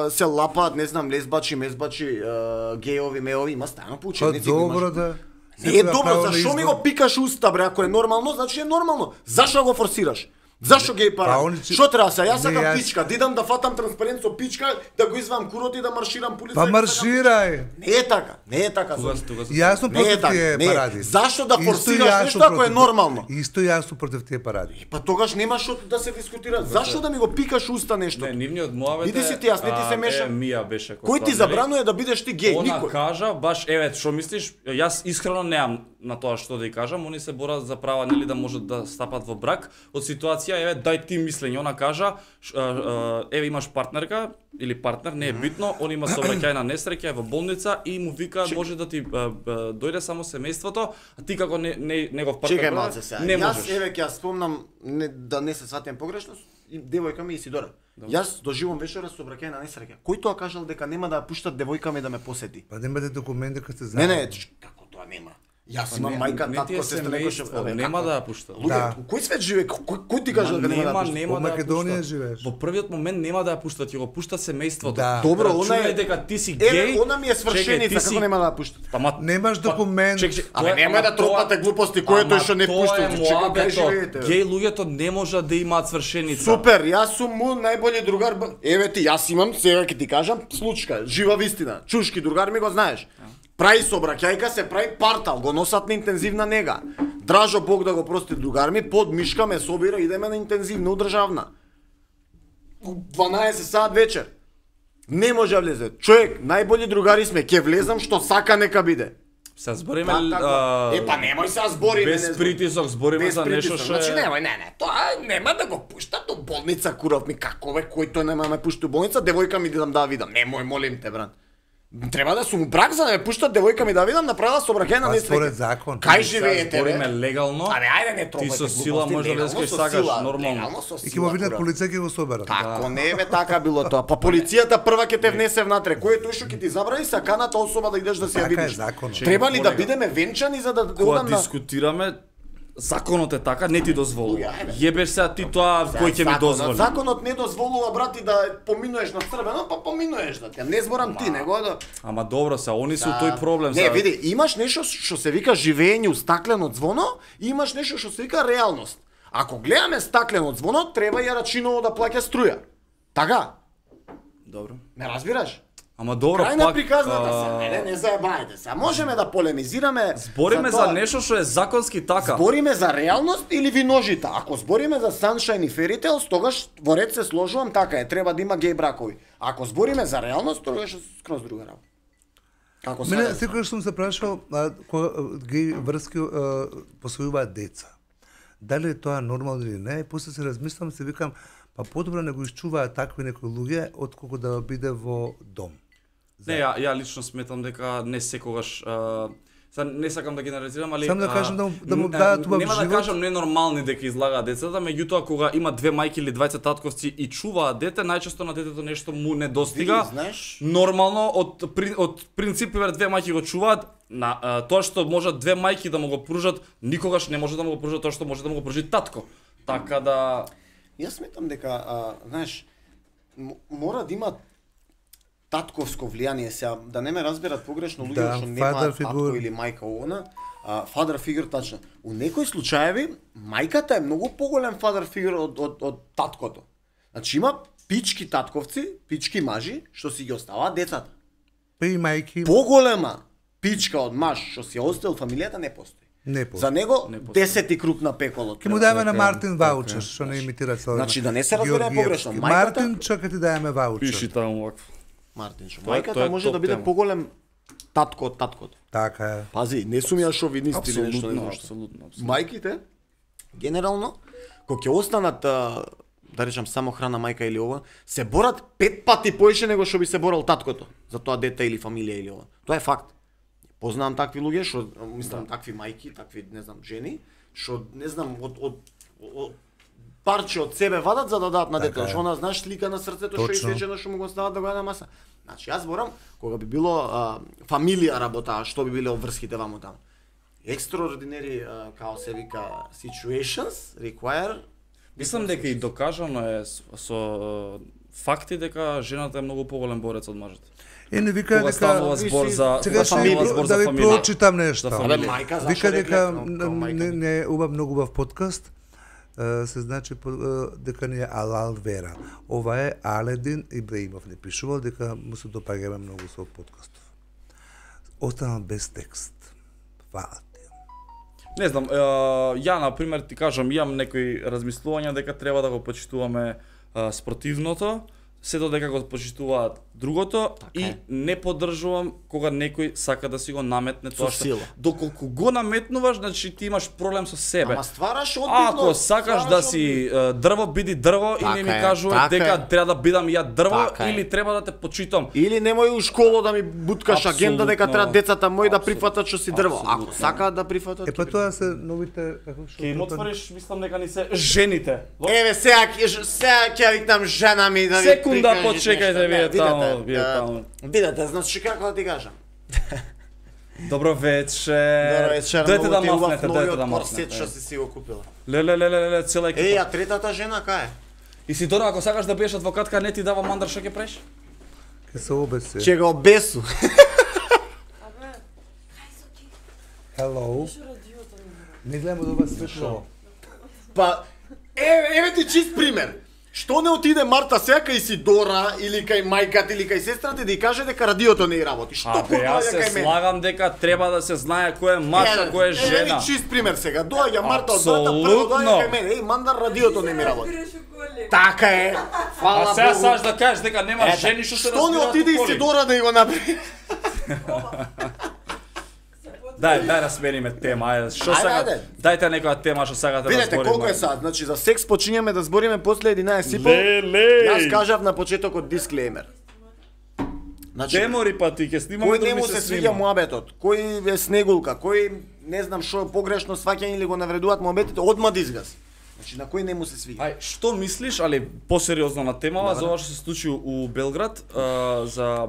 се лапаат, не знам, лесбачи, мезбачи, геови, меови, има стајано по Па учебници. го имаш. добро да. Не е Секој добро, право на зашо ми избор. го пикаш уста, бре, ако е нормално, значи е нормално. Зашо го форсираш? Зашо геј Па, пара? они че- Што треба се? Јас Не, сакам јас- пичка, да идам да фатам транспарент со пичка, да го извам курот и да марширам по улица. Па марширај. Не е така, не е така. Тука Зоки. се Јас сум Не е против така, тие не е. паради. Зашто да Исто форсираш јас нешто сум ако е против- нормално? Исто јас сум против тие паради. Па тогаш нема што да се дискутира. Зашто да ми го пикаш уста нешто? Не, нивниот муавет Иди си ти, јас не ти се мешам. Мија беше кој Кој ти тоа, нели? забранува да бидеш ти геј? Она Никој. кажа, баш, еве, што мислиш, јас искрено немам на тоа што да ја кажам, они се борат за права, нели, да можат да стапат во брак. Од ситуација, еве, дај ти мислење, она кажа, еве, имаш партнерка, или партнер, не е битно, он има сообраќајна несреќа, е во болница и му вика, може да ти дојде само семејството, а ти како негов партнер, Чекај малце сега. не Јас можеш. еве ќе ја спомнам да не се сватам погрешно, и девојка ми Исидора. Јас доживувам вечера со сообраќајна несреќа. Кој тоа кажал дека нема да ја пуштат девојка ми да ме посети? Па немате документи кога сте Не, заедно. не, како тоа нема. Јас имам мајка, не ти е татко, сестра, некој семејство, што нема да ја пушта. Луѓе, Да. кој свет живее? Кој ти кажа дека нема да ја пуштат? нема Во да ја Македонија пуштат. живееш. Во првиот момент нема да ја пуштат, ќе го пушта семејството. Да. Добро, она Рачунај е дека ти си Еве, геј. она ми е свршеница, чекај, ти како нема да ја пуштат? Ама Немаш документ. Аме немој да тропате глупости, кој е тој што не пушта, чекај кај живеете. Геј луѓето не може да имаат свршеница. Супер, јас сум му најбољи другар. Еве ти, јас имам, сега ќе ти кажам, случка, жива вистина. Чушки другар ми го знаеш. Прави сообраќајка, се прави партал, го носат на интензивна нега. Дражо Бог да го прости другар ми, под мишка ме собира, идеме на интензивна удржавна. 12 сат вечер. Не може да влезе. Човек, најбољи другари сме, ќе влезам што сака нека биде. Се збориме Па немој се збориме. без притисок, збориме за нешто што Значи е. немој, не, тоа нема да го пуштат до болница, куров ми, како бе, кој тој нема да ме пушти до болница, девојка ми дам да видам. Немој, молим те, брат. Треба да сум брак за да ме пуштат девојка ми да видам, направила сообраќајна Па несреќа. според закон. Кај Се живеете, збориме бе? легално. Абе, ајде не Ти тропајте со сила глупости, може да легално искаш со сакаш, сила, нормално. легално со И ќе сила, му видат курав. полиција ќе го соберат. Како не бе така било тоа. Па полицијата прва ќе те внесе внатре. Кој е тој што ќе ти забрани саканата особа да идеш да се ја Така е видиш? законот. Треба ли да Колега, бидеме венчани за да Кога одам на дискутираме, законот е така, не ти дозволува. Ајде. Јебеш се ти тоа кој ќе ми дозволи. Законот не дозволува, брати, да поминуеш на црвено, па поминуеш да те. Не зборам ти, него да. Ама добро се, они се тој проблем. Не, се. види, имаш нешто што се вика живење у стаклено ѕвоно, и имаш нешто што се вика реалност. Ако гледаме стаклено ѕвоно, треба ја рачиново да плаќа струја. Така? Добро. Ме разбираш? Ама добро, Крај на пак приказната се, не заебајте се. Можеме да полемизираме. збориме за нешто што е законски така. Збориме за реалност или ви ножите? Ако збориме за Sunshine и Fairy Tales, тогаш во ред се сложувам, така е, треба да има геј бракови. Ако збориме за реалност, тогаш е скроз друга работа. Како Мене сега? секогаш сум се прашал кога геј врски посвојуваат деца. Дали е тоа нормално или не? И после се размислам, се викам, па подобро не го исчуваат такви некои луѓе отколку да биде во дом. Не, ја лично сметам дека не секогаш не сакам да генерализирам, али Само да кажам да му дадат убав нема да живот. кажам ненормални дека излагаат децата, меѓутоа кога има две мајки или двајца татковци и чуваат дете, најчесто на детето нешто му не достига. Ти знаеш? Нормално од принцип две мајки го чуваат, на тоа што можат две мајки да му го пружат, никогаш не може да му го пружат тоа што може да му го пружи татко. Така да Јас сметам дека, знаеш, мора да има татковско влијание, сега да не ме разберат погрешно луѓе Да, што father немаат татко figure. или мајка она, father figure тачно. У некои случаеви мајката е многу поголем father figure од таткото. Значи има пички татковци, пички мажи што си ги оставаат децата. Па и мајки Поголема пичка од маж што си ја оставил фамилијата не постои. не по. За него Не постои. 10 круг на пеколот. Ке му даваме на Мартин ваучер, што не имитира цело. Значи, да не се разбереме погрешно, мајката- Мартин, чака ти даваме пиши ваучер. таму вакво. Мартинчо. Тоа е Мајката може топ да биде тема. поголем татко од таткото. Така е. Пази, не сум ја шовинист или нешто не знам што. Апсолутно. Мајките генерално кога ќе останат да речам само храна мајка или ова, се борат 5 пати поише него што би се борал таткото за тоа дете или фамилија или ова. Тоа е факт. Познавам такви луѓе што мислам такви мајки, такви не знам жени, што не знам од парче од себе вадат за да дадат на детето, Така е. што она знаеш слика на срцето што Точно. исечено што му го стават да го јаде на маса. Значи јас зборам кога би било фамилија работа, што би биле обврските ваму таму. Extraordinary, као се вика, situations require. Мислам дека и докажано е со факти дека жената е многу поголем борец од мажот. Не вика Кога станува дека збор за сега кога ще станува збор да за ви фамилија. прочитам нешто. За Абе, фамилија. мајка, зашто Вика дека мајка? не е многу убав подкаст. Се значи дека не е Алал Вера. Ова е Аледин Ибраимов не пишувал дека му се допаѓаме многу со подкастов. Останал без текст. Фала ти. Не знам, ја на пример ти кажам, имам некои размислувања дека треба да го почитуваме спротивното, сето дека го почитуваат другото и е. не поддржувам кога некој сака да си го наметне тоа Со сила. Доколку го наметнуваш, значи ти имаш проблем со себе. Ама ствараш одбивност. Ако сакаш да си дрво, биди дрво и не ми Така е, кажувај така дека е. треба да бидам ја дрво Така е. или треба да те почитам. Или немој у школо да ми буткаш агенда дека Апсолутно. треба децата мои да Апсолутно. прифатат што си дрво. Ако Апсолутно. сакаат да прифатат. Е па тоа се новите како што Ќе им отвориш, мислам дека ни се жените. Еве сега ќе викнам жена ми да ви Секунда прикажеш почекајте нешто. вие Не, таму, вие видете, таму. Видете, значи како да ти кажам. Добро вечер. Дојте да мафнете, дојте да корсет што мафнете. си го купила. Леле, цела екипа. Еј, а третата жена кај е? И си Дора, ако сакаш да биеш адвокатка, не ти дава мандар, што ќе правиш? ќе се обесе. Ќе го обесу. Hello. Не гледам од ова светло. Па еве ти чист пример. Што не отиде Марта сега кај Сидора или кај мајката или кај сестрата да ја каже дека радиото не работи? Што Абе, јас доаѓа се кај мене? слагам дека треба да се знае кој е маж, а кој е Еве жена. ви чист пример сега. Доаѓа Марта од брата, прво Апсолутно. доаѓа кај мене. Еј, мандар, радиото не ми работи. Така е. Фала А сега Богу. саш да кажеш дека нема Ете, жени што се Што не разбираат отиде и у коли? Сидора да ја го направи? Дај да смениме тема, ајде. Што Ајде, сега? ајде. Дајте некоја тема што сакате да Видете збориме. колку е сад. Значи за секс почињаме да збориме после 11 и пол. Леле. Јас кажав на почетокот дисклеймер. Значи, Демори па ти ќе снимаме кој да не ми му се свиѓа муабетот, кој е снегулка, кој не знам што погрешно сваќање или го навредуваат муабетите, одма да изгаси. Значи на кој не му се свиѓа. Ај, што мислиш, али посериозно на темава, за ова што се случи у Белград, за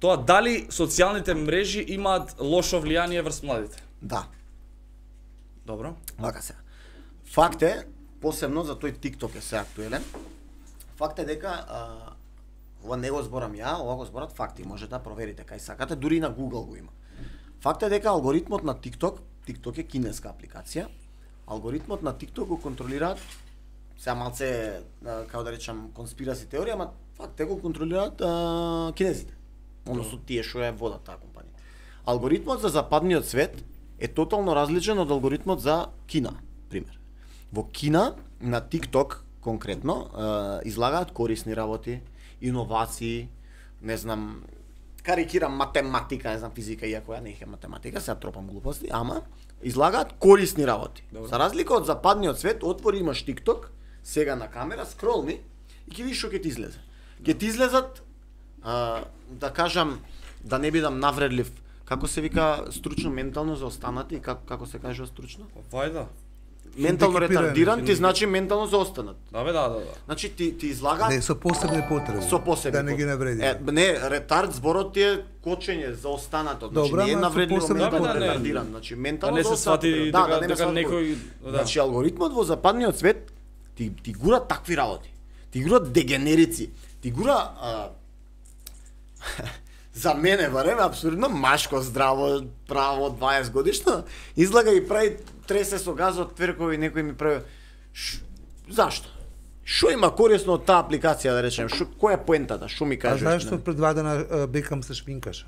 тоа дали социјалните мрежи имаат лошо влијание врз младите? Да, Добро. вака се. Факт е, посебно за тој TikTok е се актуелен. Факт е дека ова не го зборам ја, ова го зборат факти, можете да проверите кај сакате, дури и на Google го има. Факт е дека алгоритмот на TikTok е кинеска апликација, алгоритмот на TikTok го контролираат, сега малце, како да речам, конспираси теорија, ама факт е го контролираат кинезите. односно тие што ја водат таа компанија. Алгоритмот за западниот свет е тотално различен од алгоритмот за Кина, пример. Во Кина на TikTok конкретно излагаат корисни работи, иновации, не знам, карикирам математика, не знам физика, иако ја не е математика, сега тропам глупости, ама излагаат корисни работи. Добре. За разлика од западниот свет, отвори имаш TikTok, сега на камера, скролни и ќе видиш што ќе ти излезе. Ќе ти излезат, да кажам, да не бидам навредлив, како се вика стручно ментално заостанати, како се кажува стручно? Вајда. Ментално Хендикепирани. ретардиран ти значи ментално заостанат. Да бе, да. Значи ти излагаат Не, со посебни потреби. со посебни. Да не ги навреди. Не, ретард зборот ти е кочење за останато. Значи Добра, не е ама со навредливо посебни ментално потреби. ретардиран. Значи Да ментално не се свати дека некој Значи алгоритмот во западниот свет ти гура такви работи. Ти гура дегенерици. Ти гура за мене барем апсурдно машко здраво право 20 годишно излага и прави тресе со газ од тверкови, некој ми прави зашто? Што има корисно од таа апликација, да речем? Која е поентата? Што ми А кажеш? знаеш што пред 2 дена Бекам се шминкаше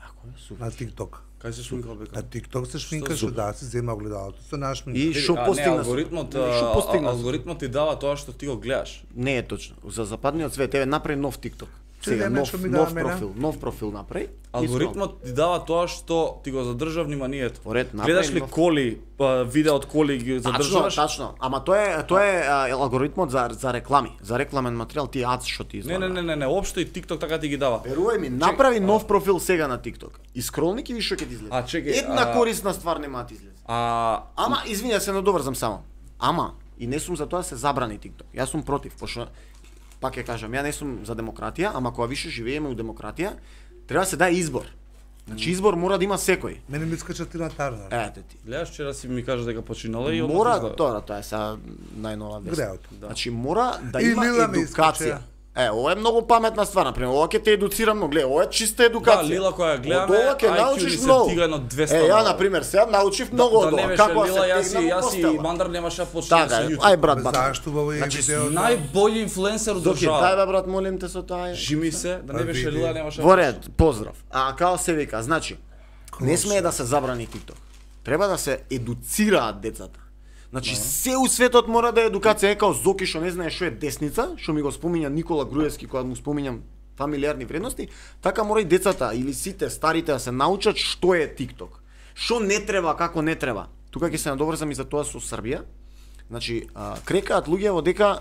Ако е супер. на TikTok. Кај се шминкал На бека? TikTok се шминкаше, супер? да, се зема огледалото, се нашминка. И што постигна? Што постигна? Алгоритмот ти дава тоа што ти го гледаш. Не е точно. За западниот свет еве направи нов TikTok. Сега Чекај, нов што ми дава нов мене? нов профил направи. Алгоритмот ти дава тоа што ти го задржа вниманието. Поред, направи Гледаш ли нов- коли, видео од коли ги Тачно, задржуваш? тачно. Ама тоа е алгоритмот за реклами, за рекламен материјал, ти ads што ти Не, излага. не, општо и TikTok така ти ги дава. Верувај ми, направи нов профил сега на TikTok. И скролни ќе видиш што ќе ти излезе. А, чекај, Една корисна ствар нема да ти излезе. Ама извиня се, надоврзам само. Ама и не сум за тоа да се забрани TikTok. Јас сум против, пошто пак ќе кажам, ја не сум за демократија, ама кога више живееме у демократија, треба да се даде избор. Значи избор мора да има секој. Мене ми искача Тина Тарнер. Ете ти. гледаш вчера си ми кажа дека починала и Мора, одмah тоа е сега најнова вест. Греото. Значи мора да И има Лила ми едукација. искача. Ова е многу паметна ствар, например, ова ќе те едуцира многу. Гледа, ова е чиста едукација. Да, Лила која ја гледаме, Од ова ќе IQ научиш ни се многу. дига едно 200 Ја, бала. например, сега научив многу од Да не ова. беше Како да Лила, се тегнам јас и постела. Мандар немаше да почнеме Така, со е. YouTube. Ај брат, бат. Зашто во овој Значи, видео? Најбољи инфлуенсер од Доки, дај држава. бе брат, молим те со тоа. Жими се, да не беше види. Лила, немаше. Во ред, поздрав. А као се вика, значи, не смее да се забрани TikTok. Треба да се едуцираат децата. Значи се у светот мора да е едукација, е као Зоки што не знае што е десница, што ми го спомиња Никола Груевски кога му спомињам фамилиарни вредности, така мора и децата или сите старите да се научат што е TikTok. Што не треба, како не треба. Тука ќе се надоврзам и за тоа со Србија. Значи, крекаат луѓе дека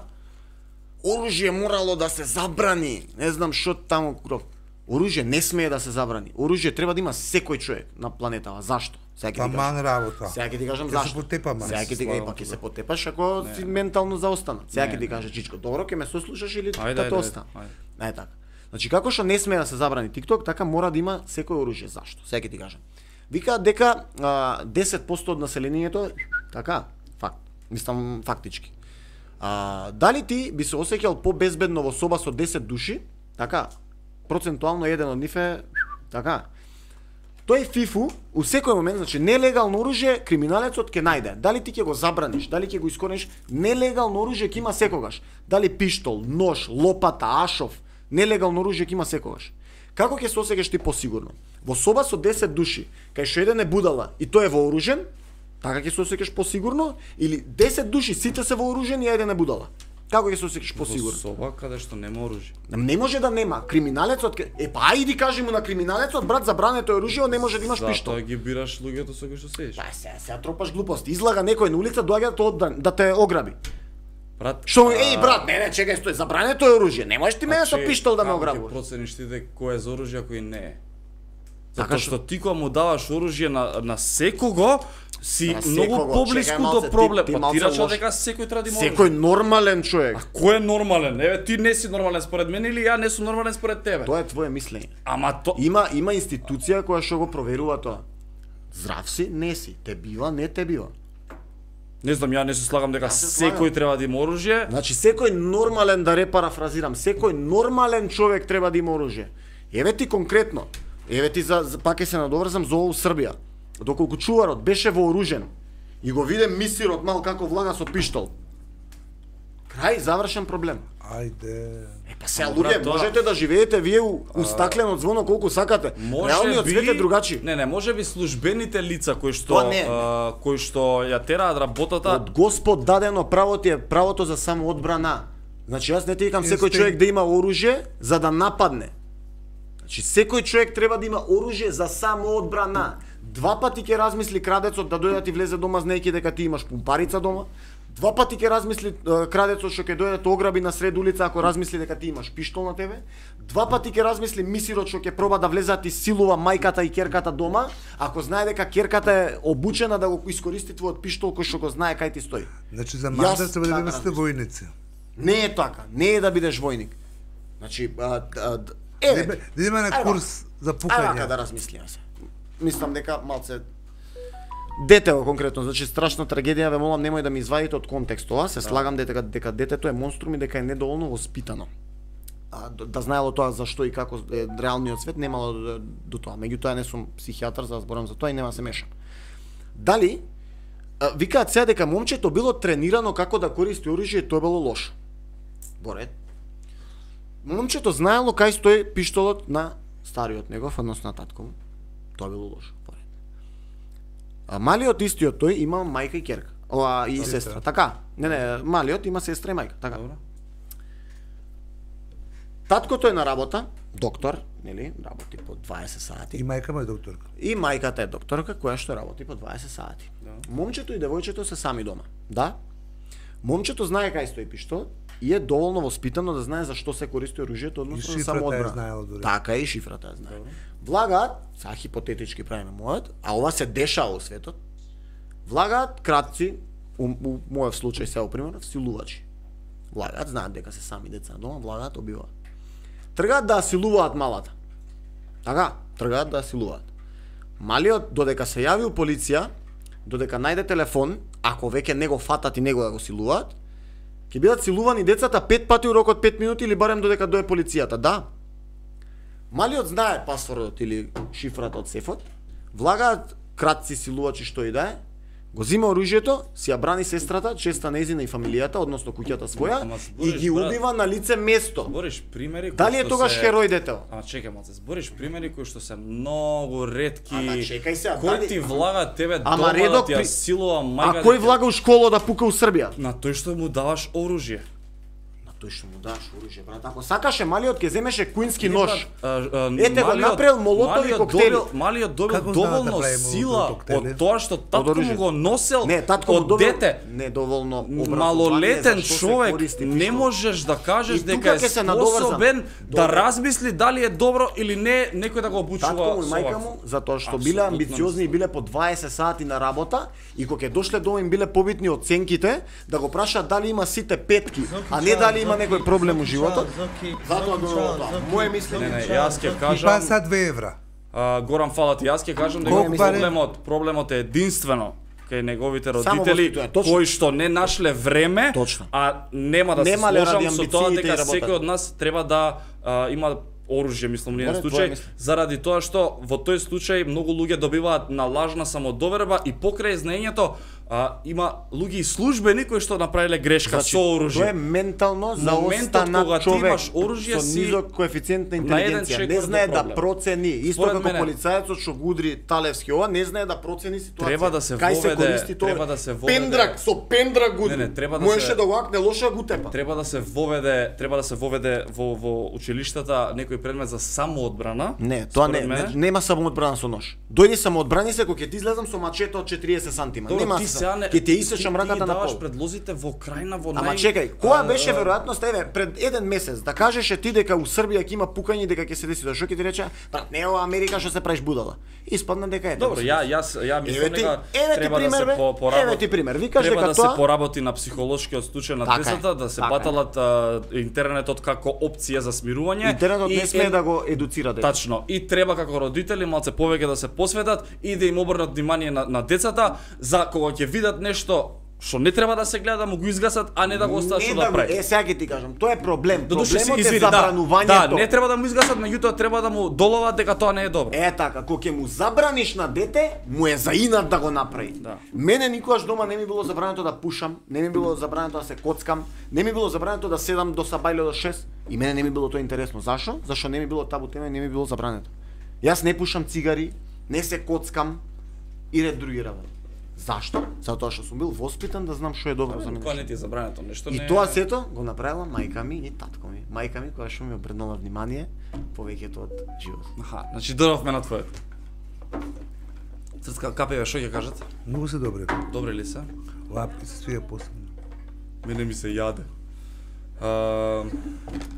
оружје морало да се забрани. Не знам што таму кров. Оружје не смее да се забрани. Оружје треба да има секој човек на планетава. Зашто? Сега ќе ти Таман кажам. работа. Сега ќе ти кажам Ќе се зашто. потепаме. Сега ќе ти кажам, ќе се потепаш ако си ментално заостанат. Сега ќе ти кажа Чичко, добро, ќе ме сослушаш или Ајде, да те ајде, остана. ајде. Така. Значи како што не смее да се забрани TikTok, така мора да има секој оружје. Зашто? Сега ќе ти кажам. Викаат дека 10% од населението така, факт. Мислам фактички. Дали ти би се осеќал побезбедно во соба со 10 души? Така. Процентуално еден од нив е така. Тој фифу у секој момент, значи нелегално оружје, криминалецот ќе најде. Дали ти ќе го забраниш, дали ќе го искорениш, нелегално оружје ќе има секогаш. Дали пиштол, нож, лопата, ашов, нелегално оружје ќе има секогаш. Како ќе се осеќаш ти посигурно? Во соба со 10 души, кај што еден е будала и тој е вооружен, така ќе се осеќаш посигурно, или 10 души сите се вооружени и еден е будала. Како ќе се осеќаш Во посигурно? соба каде што нема оружје. Не може да нема. Криминалецот па ајди кажи му на криминалецот, брат, забрането е оружје, не може да имаш пиштол. Затоа ги бираш луѓето со кои што седиш. Па сега тропаш глупости. Излага некој на улица, доаѓа да те ограби. Брат, Што еј брат, не, чекај, стој, забрането е оружје. Не можеш ти мене со пиштол да ме Ќе ограбуваш. процениш ти дека кој е за оружје, а кој не е. Така Затоа што ти кога му даваш оружје на секого, си На многу секого. поблиску Чекај до малце, проблем. ти Па малце ти рече лош. дека секој треба да има Секој оружје. нормален човек. Кој е нормален? Еве ти не си нормален според мене или ја не сум нормален според тебе. Тоа е твое мислење. Ама то Има институција која што го проверува тоа. Здрав си, не си, те бива, не те бива. не знам, ја не се слагам дека се секој слагам. треба да има оружје. Значи секој нормален, да репарафразирам, секој нормален човек треба да има оружје. Еве ти конкретно, еве ти пак ќе се надоврзам за ова Србија. Доколку чуварот беше вооружен и го виде мисирот мал како влага со пиштол. Крај, завршен проблем. Ајде. Па сега Брат, луѓе, тоа- можете да живеете вие у стаклено звоно колку сакате. Реалниот свет е другачи. Не, може би службените лица кои што Тоа не. кои што ја тераат работата. Од Господ дадено право ти е правото за самоодбрана. Значи јас не ти викам секој човек да има оружје за да нападне. Значи секој човек треба да има оружје за самоодбрана. Два пати ќе размисли крадецот да дојде да ти влезе дома знаејќи дека ти имаш пумпарица дома. Два пати ќе размисли крадецот што ќе дојде да те ограби на сред улица ако размисли дека ти имаш пиштол на тебе. Два пати ќе размисли мисирот што ќе проба да влезе да ти силува мајката и ќерката дома, ако знае дека ќерката е обучена да го искористи твојот пиштол кој што го знае кај ти стои. Значи за мандат треба да така сте војници. Не е така, не е да бидеш војник. Значи, еве, Да има на курс за ајде вака пукање. да размислиме се. Мислам дека малце детево конкретно, значи страшна трагедија, ве молам немој да ми извадите од контекст ова, се слагам дека детето е монструм и дека е недоволно воспитано. Да знаело тоа зашто и како е реалниот свет, немало до тоа. Меѓутоа не сум психијатар за да зборам за тоа и нема се мешам. Дали викаат сега дека момчето било тренирано како да користи оружје и тоа било лошо. Боред. Момчето знаело кај стои пиштолот на стариот негов, односно на татко му. Тоа било лошо. Боред. А малиот истиот тој има мајка и ќерка. И сестра. Така. Не, малиот има сестра и мајка. Така. Добро. Таткото е на работа, доктор, нели, работи по 20 сати. И мајка му е докторка. И мајката е докторка која што работи по 20 сати. Момчето и девојчето се сами дома. Да? Момчето знае кај стои пиштол и е доволно воспитано да знае зашто се користи оружјето, односно за шифрата самоодбрана. ја знаело дури. Така и шифрата ја знае. Влагаат, сега хипотетички правиме мојот, а ова се дешава во светот. Влагаат кратци, у мојот случај сега пример, силувачи. Влагаат, знаат дека се сами деца на дома, влагаат, убиваат. Тргаат да силуваат малата. Така, тргаат да силуваат. Малиот додека се јави у полиција, додека најде телефон, ако веќе него фатат и него да го силуваат, ќе бидат силувани децата 5 пати у рок од 5 минути или барем додека дое полицијата, да. Малиот знае пасвордот или шифрата од сефот, влагаат кратци силувачи што и да е, го зима оружјето, си ја брани сестрата, честа нејзина и фамилијата, односно куќата своја, Ама и збориш, ги брат, убива на лице место. Збориш примери кои Дали е што тогаш се- херој детево? Ама чекај малце, збориш примери кои што се многу ретки. Ама чекај сега, Кој дали- ти влага тебе Ама дома да редок ти ја при- силува А мајка? кој влага у школа да пука у Србија? На тој што му даваш оружје. На тој што му даш оружје, брат. Ако сакаше малиот ќе земеше куински нож. Ете Ете го направил молотови коктели. Малиот добил Како знае да доволно прави сила молотови коктели? од тоа што татко му оружје. го носел Не, татко му од добил дете. недоволно образование Малолетен зашто се човек користи не пиштол. можеш да кажеш И дека тука е ќе се надоврзам. способен да Добро. размисли дали е добро или не некој да го обучува Татко му и со мајка вакво. му, затоа што Апсолутно биле амбициозни и мислам. биле по 20 сати на работа и кога ќе дошле дома им биле побитни оценките, да го прашаат дали има сите петки, а не дали има некој проблем у животот. Затоа го тоа. Моje мислење. Не, јас ќе И кажам, па са 2 евра. Горан фала ти, јас ќе кажам дека Колку пари? проблемот е единствено кај неговите Само родители воспитување, точно. кои што не нашле време, Точно. а нема да се Немале ради сложам со тоа амбициите и дека работата. секој од нас треба да има оружје, мислам, ние Добре, твоја случај, мислење. заради тоа што во тој случај многу луѓе добиваат на лажна самодоверба и покрај знаењето има луѓе и службени кои што направиле грешка со Тоа е оружје. ментално Моментот кога заостанат ти човек имаш оружје со си низок коефициент на на еден интелигенција. чекор Не до знае да проблем. процени, исто Според како мене, полицајецот што го удри Талевски ова, не знае да процени ситуација. Треба да се Кај се воведе- користи тоа? треба да се воведе- Пендрак, со пендрак го удри. Не, треба да Можеше се- да го акне лоша го тепа. Треба да се воведе во училиштата некој предмет за самоодбрана. Не, тоа Според не, мене. нема самоодбрана со нож. Дојди самоодбрани се кога ќе ти излезам со мачето од 40 сантима. Добро, Нема ти сега не- ќе ти исечам раката ти на даваш пол. предлозите во крајна во Ама нај... чекај, која беше веројатноста, еве, пред еден месец, да кажеше ти дека у Србија ќе има пукање и дека ќе се деси тоа, што ќе ти рече? Брат, не е ова Америка што се правиш будала. Испадна дека е. Добро, јас Еве мислам ти- дека еве ти треба да пример, се бе. поработи. Еве ти пример. Викаш треба дека да се тоа- поработи на психолошкиот случај на Така е, децата, да се така е. баталат интернетот како опција за смирување. Интернетот и не смее да го едуцира дете. Тачно. И треба како родители малце повеќе да се посветат и да им обрнат внимание на децата за кога ќе видат нешто Што не треба да се гледа да му го изгасат, а не да го остават што да прави. Сега ќе ти кажам, тоа е проблем. Додуше Проблемот е извини, забранувањето. Да, не треба да му изгасат, меѓутоа треба да му доловат дека тоа не е добро. Така, кога ќе му забраниш на дете, му е заинат да го направи. Да. Мене никогаш дома не ми било забрането да пушам, не ми било забрането да се коцкам, не ми било забрането да седам до сабајле до 6 и мене не ми било тоа интересно. Зашо? Зашо не ми било табу тема и не ми било забрането. Јас не пушам цигари, не се коцкам и ред други работи. Зашто? Затоа што сум бил воспитан да знам што е добро за мене. Тоа не ти е забрането, нешто не. И тоа сето го направила мајка ми и татко ми. Мајка ми која што ми обрнала внимание повеќето од живот. Аха, значи доравме на твоето. Црцка капеве што ќе кажат? Многу се добри. Добри ли се? Лапки се свија посебно. Мене ми се јаде.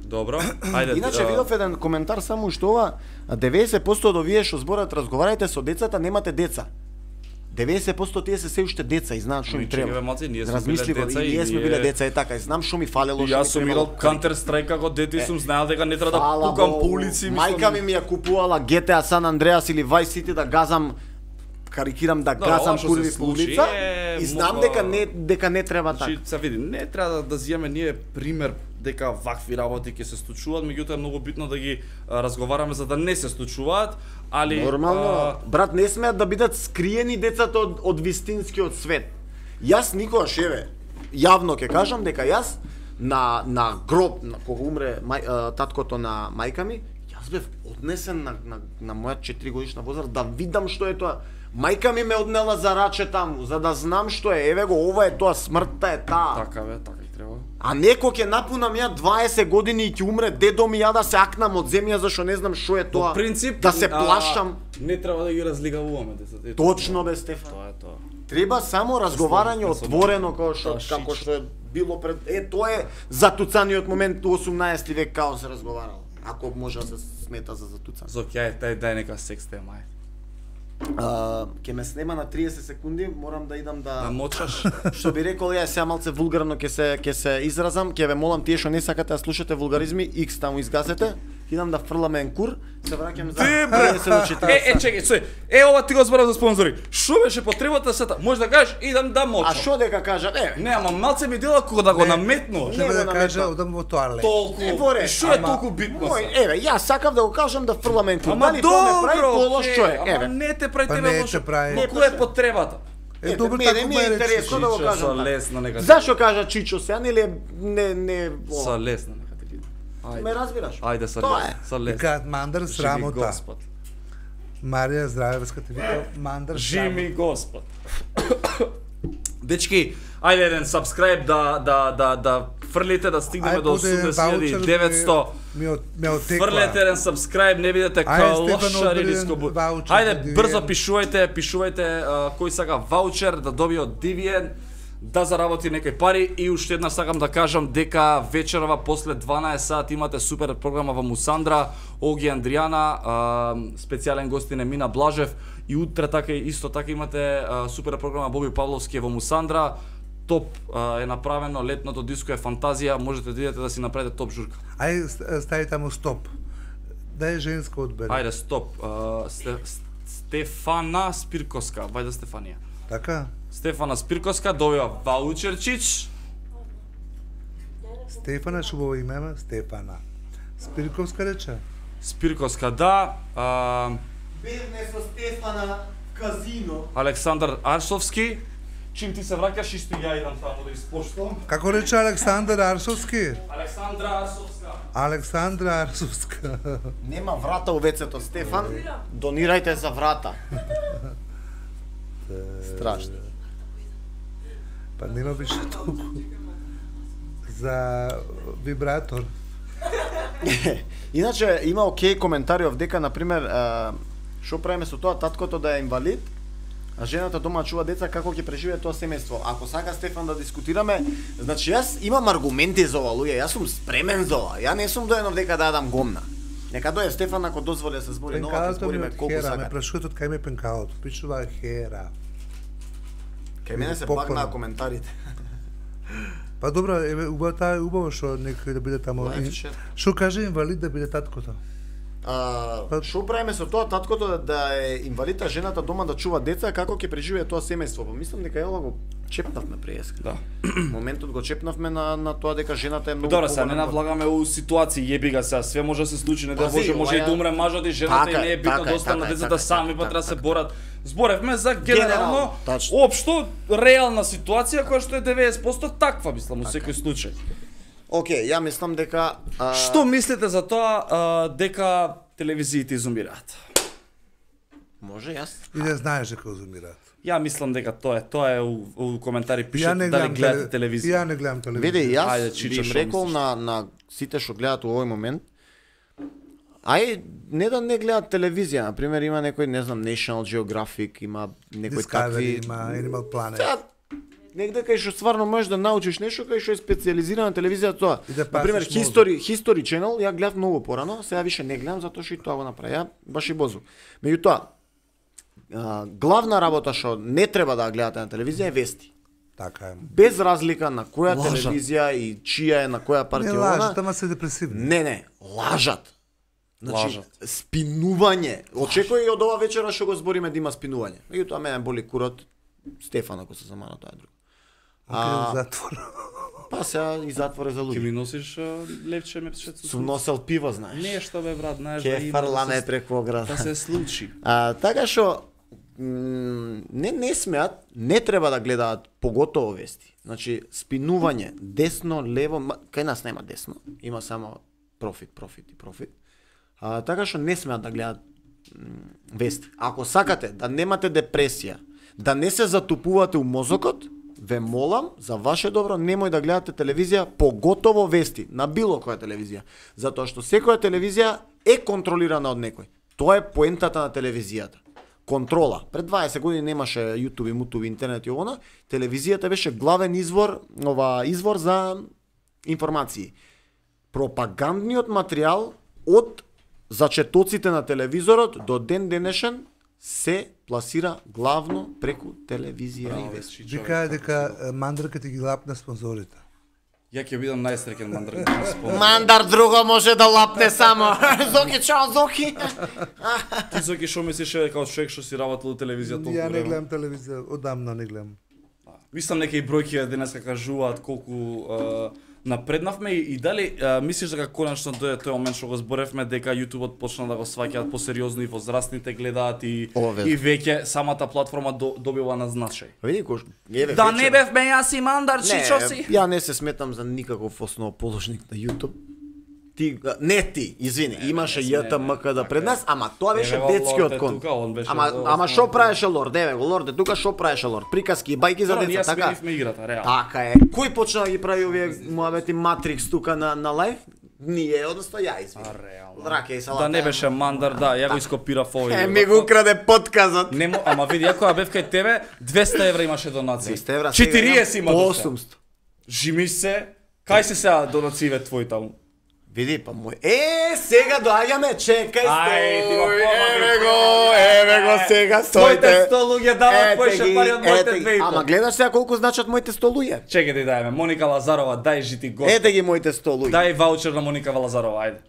Добро, ајде. Иначе видов еден коментар само што ова 90% од овие што зборат разговарајте со децата, немате деца. 90% тие се уште деца и знаат што им треба. Ние сме биле деца и ние сме биле деца и така и знам што ми фалело, што ми Јас сум играл Counter Strike како дете и сум знаел дека не треба да пукам по улици. Мајка ми ја купувала GTA San Andreas или Vice City да газам, карикирам да газам курви по улица и знам дека не треба така. Значи се види, не треба да зиеме ние пример дека вакви работи ќе се случуваат, меѓутоа е многу битно да ги разговараме за да не се случуваат, али нормално, брат, не смеат да бидат скриени децата од вистинскиот свет. Јас никогаш, еве, јавно ќе кажам дека јас на гроб, кога умре таткото на мајка ми, јас бев однесен на моја 4 годишна возраст да видам што е тоа. Мајка ми ме однела за раче таму, за да знам што е. Еве го, ова е тоа, смртта е таа. Така бе, така и треба. А некој ќе напунам ја 20 години и ќе умре дедо ми ја да се акнам од земја зашто не знам што е тоа. По принцип, да се плашам. Не треба да ги разлигавуваме децата. Точно бе, Стефан. Тоа е тоа. Треба само разговарање отворено како што е било пред тоа е затуцаниот момент у 18 век како се разговарало. Ако може да се смета за затуцан. Зоки, дај нека секс тема. Ќе ме снема на 30 секунди, морам да идам да мочаш. Што би рекол, ја сега малце вулгарно ќе се изразам, ќе ве молам тие што не сакате да слушате вулгаризми, X таму изгасете. Идам да фрламе енкур, се враќам за 30 до 40. Чекај, ова ти го зборам за спонзори. Што беше потребата сета? Може да кажеш идам да мочам. А што дека кажат? Не, ама малце ми дела кога да го наметнуваш. Треба да кажа одам во тоалет. Толку. Што е толку битно? Еве, јас сакав да го кажам да фрламе енкур. Ама добро, што е? Ама не те прави тебе лошо. прави. Која е потребата? Добро, мене ми е интересно да го кажам. Со лесно нека. Зашо кажа Чичо сега или не Со лесно нека ти биде. Ме разбираш? Ајде со лесно. Викаат Мандар срамота. Господ. Марија Здравевска ти вика Мандар срамота. Жими Господ. Дечки, ајде еден subscribe да фрлите да стигнеме до 80.900. Фрлете еден subscribe, не бидете калошари нискобу. Ајде брзо пишувајте кој сака ваучер да добие од Divian, да заработи некои пари и уште една сакам да кажам дека вечерова после 12 сат имате супер програма во Мусандра, Оги Андријана, специјален гостин е Мина Блажев и утре така исто така имате супер програма Боби Павловски во Мусандра. Топ е направено, летното диско е фантазија, можете да идете да си направите топ журка. Ајде стави таму стоп. Дај женска одбери. Ајде стоп. Стефана Спирковска, вајде Стефанија. Така? Стефана Спирковска добива ваучерчич. Стефана шубаво име, Стефана. Спирковска рече? Спирковска, да. Бевне со Стефана казино. Александар Арсовски. Чим ти се враќаш, исто ја идам таму да испоштувам. Како рече Александар Арсовски? Александра Арсовска. Александра Арсовска. Нема врата у вецето, Стефан. Донирајте за врата. Страшно. Па нема више толку. За вибратор. Иначе има окей коментари овдека, например, што правиме со тоа таткото да е инвалид, а жената дома чува деца, како ќе преживее тоа семејство. Ако сака Стефан да дискутираме, значи јас имам аргументи за ова, луѓе, јас сум спремен за ова. Ја не сум доен овдека да дадам гомна. Нека дојде Стефан ако дозволи да се збори нова, ќе збориме колку сака. Ме прашуваат од кај ме пенкалото, пишува хера. Кај мене се багнаа коментарите. Па добро, еве убаво што некој да биде таму. Што каже инвалид да биде таткото? Што правиме со тоа таткото да е инвалид, а жената дома да чува деца, како ќе преживее тоа семејство? Па мислам дека јава го чепнавме преска. Да. Моментот го чепнавме на тоа дека жената е многу Добро, сега не навлагаме у ситуации, јеби га сега, све може да се случи, не да Пази, може и да умре мажот и жената и не е битно да останат децата сами, па треба да се борат. Зборевме за генерално, општо, реална ситуација која што е 90% таква, мислам, во секој случај. Океј, ја мислам дека Што мислите за тоа дека телевизиите изумираат? може јас. И не знаеш дека изумираат. Ја мислам дека тоа е у коментари пишете дали гледате телевизија. Ја не гледам телевизија. Види, Ајде, јас Чичо, би им што рекол мислиш? на сите што гледат у овој момент, не да не гледат телевизија, на пример има некој, не знам, National Geographic, има некои Discovery, такви. има Animal Planet. Сега, негде кај што стварно можеш да научиш нешто, кај што е специализирана телевизија тоа. И да На пример, пасиш мозок. History Channel, ја гледав многу порано, сега више не гледам затоа што и тоа го направи. Ја баш и бозу. Меѓутоа, главна работа што не треба да ја гледате на телевизија е вести. Така е. Без разлика на која Лажат. телевизија и чија е, на која Не партија лажат, она. ама се депресивни. Не, лажат. Значи, Лажат. спинување. Очекувај и од ова вечера што го збориме да има спинување. Меѓутоа мене боли курот, Стефан ако се замана тоа е друго. Отидам во затвор. Па сега и затвор е за Ќе луѓе. ми носиш левче мепчето? Сум носел пиво, знаеш. Нешто бе брат, знаеш да Ке има фрламе да се, преку ограда. да се случи. Така што не смеат, не треба да гледаат поготово вести. Значи спинување десно, лево, кај нас нема десно, има само профит. Така што не смеат да гледаат вести. Ако сакате да немате депресија, да не се затупувате у мозокот, ве молам за ваше добро немој да гледате телевизија, поготово вести на било која телевизија, затоа што секоја телевизија е контролирана од некој. Тоа е поентата на телевизијата. Контрола. Пред 20 години немаше YouTube, мутуби, интернет и овона, телевизијата беше главен извор за информации. Пропагандниот материјал од зачетоците на телевизорот до ден денешен се пласира главно преку телевизија и вести. Вика дека мандраката ги лапна спонзорите. Ја ќе бидам најсреќен мандар да спомнам. Мандар друго може да лапне само. Зоки, чао, Зоки. Ти Зоки што мислиш дека од човек што си работел у телевизија толку Ја не време? гледам телевизија, одамна не гледам. Мислам некои бројки денеска кажуваат колку напреднавме и дали мислиш дека конечно дојде тој момент што го зборевме дека YouTube-от почна да го сваќаат посериозно и возрастните гледаат и веќе самата платформа добива на значај. Види кој Да не бевме јас и мандар чичо си. Ја не се сметам за никаков основоположник на YouTube. Извини, имаше JTMK да пред нас, ама тоа беше детскиот конт. Ама што правеше Лорд? Еве го Лорд, тука што правеше Лорд? Приказки и бајки за деца, така? Ние сменивме играта, реално. Така е. Кој почна да ги прави овие муабети Матрикс тука на лайв? Ние, односно ја, извини. Реално. Раке и салата. Да не беше мандар, да, ја го ископирав овој. Ми го украде подказот. Ама види, ја кога бев кај тебе, 200 евра имаше донации. 200 евра, 40 има до сега. 800. Жими се, кај се сега донациите твои таму? Види, па мој. Сега доаѓаме, чекај Еве го сега, Моите 100 луѓе дават поише пари од моите 2,5. Ама гледаш сега колку значат моите 100 луѓе. Чекај да дајме, Моника Лазарова, дај жити го. Ете ги моите 100 луѓе. Дај ваучер на Моника Лазарова, ајде.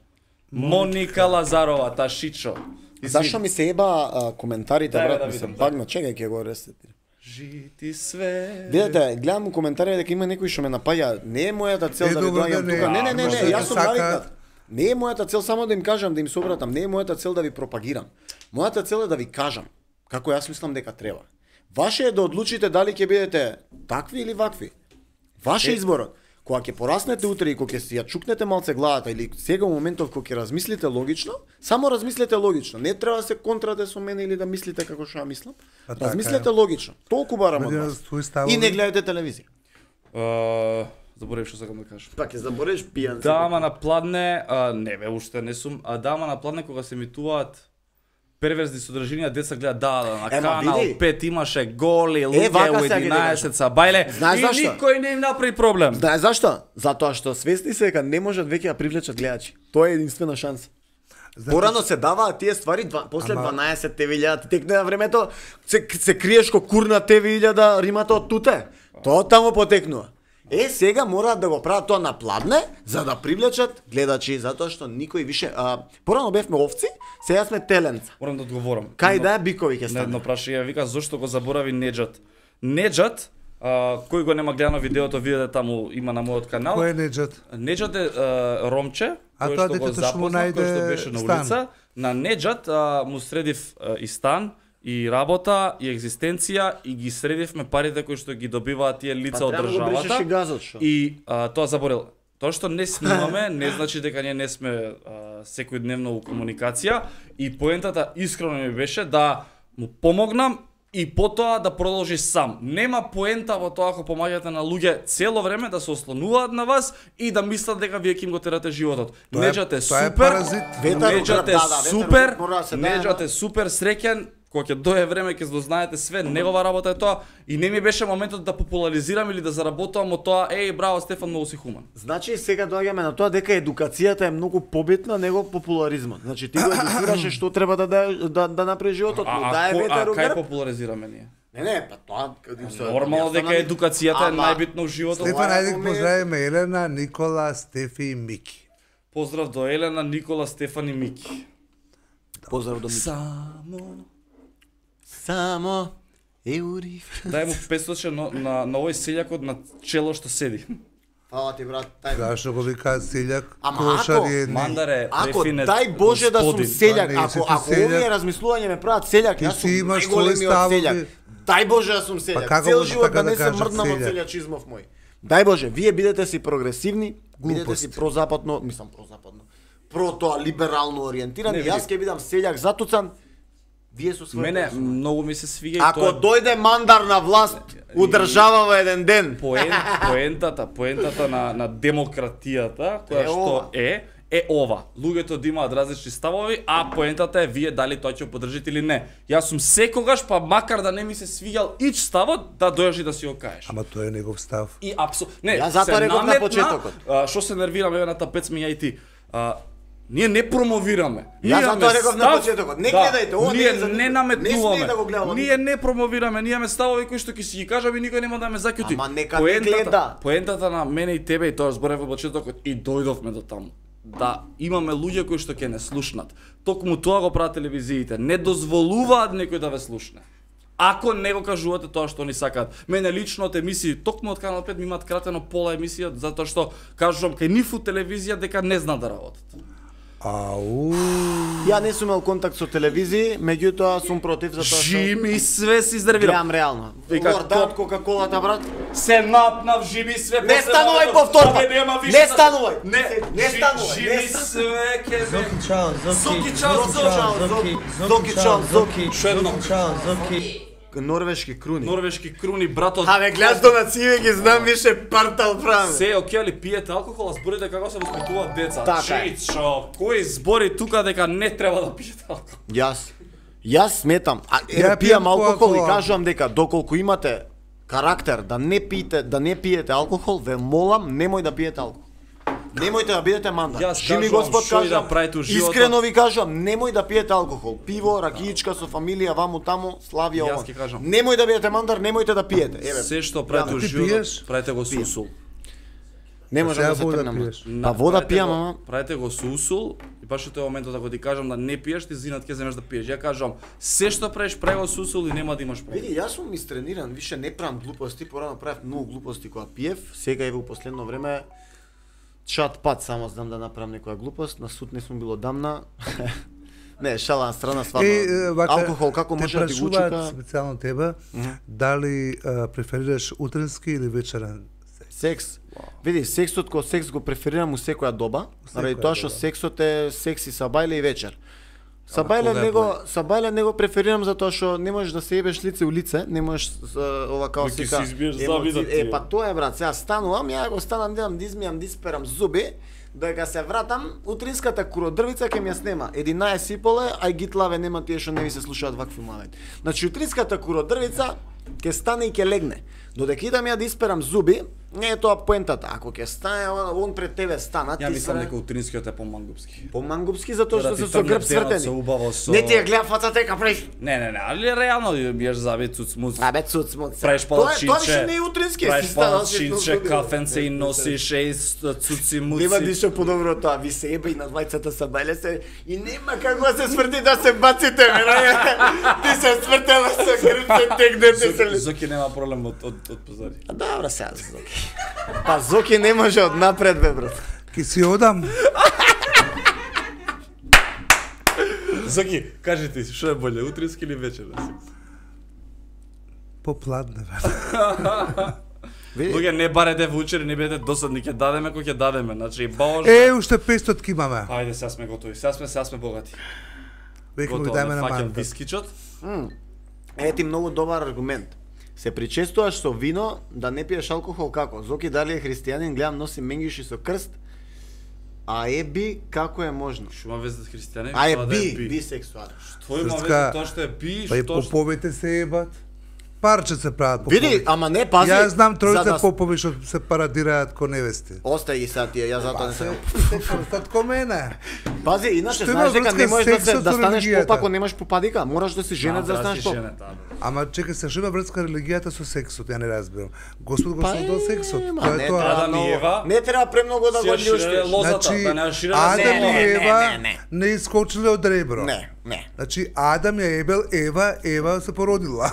Моника Лазарова, та шичо. Зашо ми се еба коментарите, Дај, брат, да ми се видам, багна, чекај ќе го ресетирам. Жити све. Видете, гледам коментари дека има некои што ме напаѓа. Не е мојата цел да ви добро, доаѓам да не, тука. Не, може јас да сум сака- навикнат. Не е мојата цел само да им кажам, да им се обратам. Не е мојата цел да ви пропагирам. Мојата цел е да ви кажам како јас мислам дека треба. Ваше е да одлучите дали ќе бидете такви или вакви. Ваше изборот. Кога ќе пораснете утре и кога ќе си ја чукнете малце главата или сега во моментов кога ќе размислите логично, само размислете логично. Не треба да се контрате со мене или да мислите како што ја мислам. А така Размислете е. логично. Толку барам од Бидеме вас. свои ставови. И не гледате телевизија. Заборев што сакам да кажам. Па ќе забореш пијан. Дама на пладне, не бе, уште не сум, дама на пладне кога се емитуваат перверзни содржинија, деца гледаат на канал види. 5 имаше голи луѓе вака у сега ги 11 са бајле Знаеш и зашто? никој не им направи проблем. Знаеш зашто? Затоа што свесни се дека не можат веќе да привлечат гледачи. Тоа е единствена шанса. Порано се даваат тие ствари после 12 TV.000, текне на времето се криеш ко курна TV.000 римата од туте. Тоа таму потекнува. Сега мораат да го прават тоа на пладне, за да привлечат гледачи, затоа што никој више порано бевме овци, сега сме теленца. Морам да одговорам. Кај да бикови ќе На стане. едно прашање вика зошто го заборави Неџат. Неџат, кој го нема гледано видеото, видете таму има на мојот канал. Кој е Неџат? Неџат е ромче, А кој тоа што го детето што му запозна, кој што најде беше на стан. улица. На Неџат му средив и стан, и работа, и екзистенција, и ги средивме парите кои што ги добиваат тие лица од Треба да го бришеш државата. и газот, шо? И тоа заборел. Тоа што не снимаме не значи дека ние не сме секојдневно у комуникација, и поентата искрено ми беше да му помогнам и потоа да продолжи сам. Нема поента во тоа ако помагате на луѓе цело време да се ослонуваат на вас и да мислат дека вие ќе им го терате животот. Неџат е Тоа е супер. паразит. Неџат е да, супер. ветерот мора да се дае, Неџат да. е супер среќен. Кога ќе дое време ќе дознаете све, негова работа е тоа и не ми беше моментот да популаризирам или да заработувам од тоа, браво Стефан, многу си хуман. Значи сега доаѓаме на тоа дека едукацијата е многу побитна него популаризмот. Значи ти го едукираше што треба да направи животот, му дае ветер у кај грб. популаризираме ние? Не, па тоа Нормално дека едукацијата е најбитно у животот. Стефан, ајде ги поздравиме Елена, Никола, Стефи и Мики. Поздрав до Елена, Никола, Стефан и Мики. Поздрав до Мики. Само еури. Дај му 500 на овој селјакот на чело што седи. Фала ти брат, тај. Зашто го вика селјак, Ама кошар ако- е Мандаре, Ако префинет, дај Боже да сум господин. селјак, Па не, си ти ако селјак. овие размислувања ме прават селјак, Ти јас си сум имаш најголемиот своји ставови. селјак. Дај Боже да сум селјак. како Цел може живот така да не да се кажат мрднам од селјак? селјачизмов мој. Дај Боже, вие бидете си прогресивни, бидете Глупост. си прозападно, мислам прозападно. Тоа либерално ориентирани, Не, види. јас ќе бидам селјак затуцан. Вие со својата. Мене осума. многу ми се свиѓа и Ако тоа дојде мандар на власт, удржава во еден ден. поентата на демократијата, која Е што ова. е ова. Луѓето да имаат различни ставови, а поентата е вие дали тоа ќе го поддржите или не. Јас сум секогаш, па макар да не ми се свиѓал ич ставот, да дојдеш и да си го кажеш. Ама тоа е негов став. И не, Јас затоа се реков на наметна, почетокот. Што се нервирам еве на тапец ми ја и ти. Ние не промовираме. Јас Ние затоа имаме реков на став- почетокот. Не гледајте, ова не ние е за не никој. Не наметнуваме. смее да го гледа ова Ние не промовираме, ние имаме ставови кои што ќе си ги кажаме и никој нема да ме заќути. Ама нека не гледа. Поентата на мене и тебе и тоа зборев во почетокот и дојдовме до таму. Да имаме луѓе кои што ќе не слушнат. Токму тоа го прават телевизиите. Не дозволуваат некој да ве слушне. Ако не го кажувате тоа што они сакаат. Мене лично од емисии, токму од Канал 5 ми имаат кратено пола емисија затоа што кажувам кај нив у телевизија дека не знаат да работат. Ау. Ја не сум имал контакт со телевизија, меѓутоа сум против затоа што Жими све се изнервира. гледам реално. Вика, Лорда од Кока-колата, брат. Се напнав, Жими све. Не после станувај малку. повторба. Абе, нема више Не да- станувај. Не, Не станувај. Жими Не станувај. све ке ме. Зоки чао, Зоки, Зоки. чао, Зоки. Зоки Зоки, чао, Зоки. Шо едно? Зоки чао, Зоки. Норвешки круни. Норвешки круни, братот. Абе, гледаш до нациве ги знам више партал правим. Се окей, али пиете алкохол, а зборите како се воспитуваат деца. Така е. Чичо, кој збори тука дека не треба да пиете алкохол? Јас сметам, Ја пијам пијам алкохол и Кока-кола. кажувам дека доколку имате карактер да не пиете алкохол, ве молам, немој да пиете алкохол. Немојте да бидете мандар. Јас Жими кажувам, Господ што и да кажам, правите у животот. искрено ви кажувам, немој да пиете алкохол. Пиво, ракиичка со фамилија, ваму таму, славија Јас ова. ќе кажам. Немој да бидете мандар, немојте да пиете. Еве, Се што правите у ти животот, пиеш? правите го со усул. не може Сега да се вода тргнам. пиеш. Па вода Правите пијам, го- ама Правите го со усул и баш во тој моментот ако ти кажам да не пиеш, ти зинат ќе земеш да пиеш. Ја кажам, се што правиш, прави го со усул и нема да имаш проблем. види, јас сум истрениран, више не правам глупости, порано правев многу глупости кога пиев, сега еве во последно време чат пат само знам да направам некоја глупост, на суд не сум бил одамна. Не, шала на страна, стварно. Алкохол како може да ти го прашуваат учука? специјално тебе, дали преферираш утренски или вечерен секс? Секс. Види, сексот кој секс го преферирам у секоја доба, заради секоја тоа што доба. сексот е секси сабајле и вечер. кога е Сабајле не го преферирам затоа што не можеш да се ебеш лице у лице, не можеш ова као Ма ќе сека. си избиеш емоци- завидот ти, па тоа е брат, сега станувам, ја го станам, дедам, дизмијам, дисперам зуби, дека се вратам, утринската куродрвица ќе ми ја снема. 11 и поле, ај гитлаве нема тие што не ви се слушаат вакви мавет. Значи утринската куродрвица ќе стане и ќе легне. Додека идам ја да исперам зуби, Не е тоа поентата. Ако ќе стане он пред тебе стана, Ја ти мислам дека утринскиот е помангупски. Помангупски затоа што Да ти се со грб тргне денот, свртени. се убаво со- Не ти ја гледа фацата дека правиш. Не, али реално биеш забит цуцмуц. Абе цуцмуц. Правиш Тоа палачинче. више не е утрински. Правиш палачинче, кафенце и носиш цуци муци. Нема ништо подобро од тоа. Ви се еба и на двајцата са бајле и нема како да се сврти да се баците, бе. Ти се свртела со грб се тегнете се. Зоки нема проблем од позади. А добро сега Зоки. Па Зоки не може од напред, бе, брат. Ки си одам. Зоки, кажи ти, што е боле, утрински или вечерен? Попладне, бе. Луѓе, не барете вучери, не бидете досадни, ќе дадеме кој ќе дадеме, значи баш. Уште 500 ки имаме. Ајде, сега сме готови, сега сме богати. Веќе му Готово, дајме не на фаќам манта. вискичот. Ти многу добар аргумент. Се причестуваш со вино да не пиеш алкохол како? Зоки дали е христијанин, гледам носи менгиши со крст. А еби како е можно? Што има веза с христијани? А е Тоа да бисексуален. Тоа има Срска, веза тоа што е би, Па и што поповите се ебат. Парче се прават попови. Види, ама не пази. Јас знам тројца за да- попови што се парадираат ко невести. Остај ги сега тие, јас затоа не Се сакам. крстат ко мене. Пази, иначе Што има знаеш дека врска не можеш да, сексот да со станеш религијата? поп ако немаш попадика. Мораш да си женет за да станеш поп. Ама чекај се, што има врска религијата со сексот, ја не разбирам. Господ го Па создал сексот. ма, Тоа не е тоа. треба Адам и многу- Ева Не треба премногу да го љуштиш. лозата, Значи, да не шире Адам и Ева не. не искочиле од ребро. Не, не. Значи Адам ја ебел Ева, Ева се породила.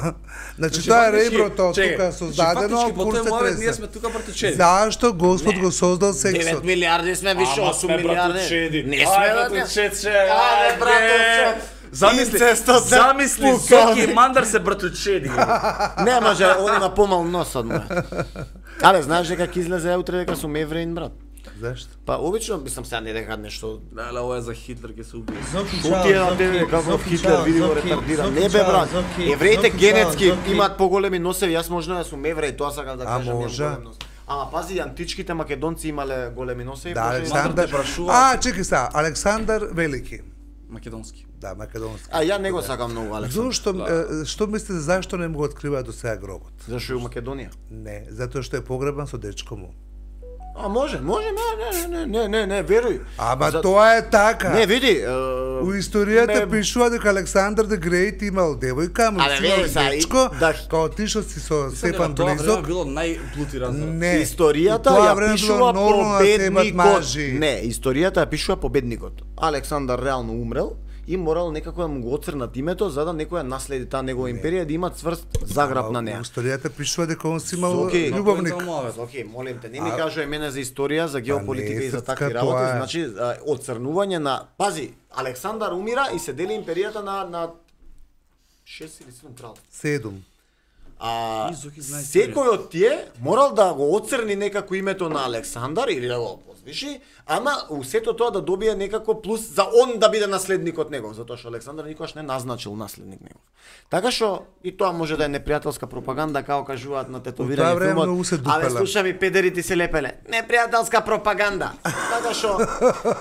Значи Значи, тоа е фактички, реброто чекај, тука создадено, фактички, по кур тој се момент ние тресе. сме тука братучеди. Зашто Господ го создал 9 сексот? милиарди сме, више 8 милиарди. Не сме, Ајде, бе. братучече. Ајде, братовче. Замисли, Инцестот се замисли, пука. Зоки и Мандар се братучеди. Не може, он има помал нос од мојот. Але знаеш дека ќе излезе утре дека сум евреин, брат? Зашто? Па обично мислам сега не дека нешто. Леле, ова е за Хитлер ќе се убие. Зоки, Што чао, ти е на Зоки, тебе како Зоки, Хитлер чао, види го Зоки, ретардира? Зоки, Не бе чао, брат. Зоки, Евреите Зоки, генетски чао, Зоки. имаат поголеми носеви, јас можно да сум евреј, тоа сакам да кажам. имам може? голем нос. Ама пази, античките македонци имале големи носеви. Да, може и- Александар. те прашуваат. Чекај сега, Александар Велики. Македонски. Да, македонски. А ја не го сакам многу Александар. Што мислите зашто не му го откриваат до сега гробот? Зашо е у Македонија? Не, затоа што е погребан со дечко му. А може, не, веруј. Ама тоа е така. Не, види. У историјата ме- пишува дека Александар the Great имал девојка, му Абе, си имал види сега, дечко, да. као отишол си со Стефан Тоа време Близок. било најплути разрад. Не, Историјата у тоа ја време пишува било нормално да се имат победникот. мажи. Не, историјата ја пишува победникот. Александар реално умрел и морал некако да му го оцрнат името за да некој ја наследи таа негова империја да има цврст заграб на У неа. историјата пишува дека он си имал Зоки, љубовник. Океј, молим те, не ми кажувај мене за историја, за геополитика не, и за срцка, такви тоа работи, е. значи оцрнување на пази, Александар умира и се дели империјата на 6 или 7 крал. 7. А И Зоки знае секој од тие морал да го оцрни некако името на Александар или да го позвиши, ама у сето тоа да добие некако плюс за он да биде наследникот негов, затоа што Александар никогаш не назначил наследник негов. Така што и тоа може да е непријателска пропаганда, како кажуваат на У тоа тетовирање време филмот. многу се Абе дупеле. слушам и педерите се лепеле. Непријателска пропаганда. Така што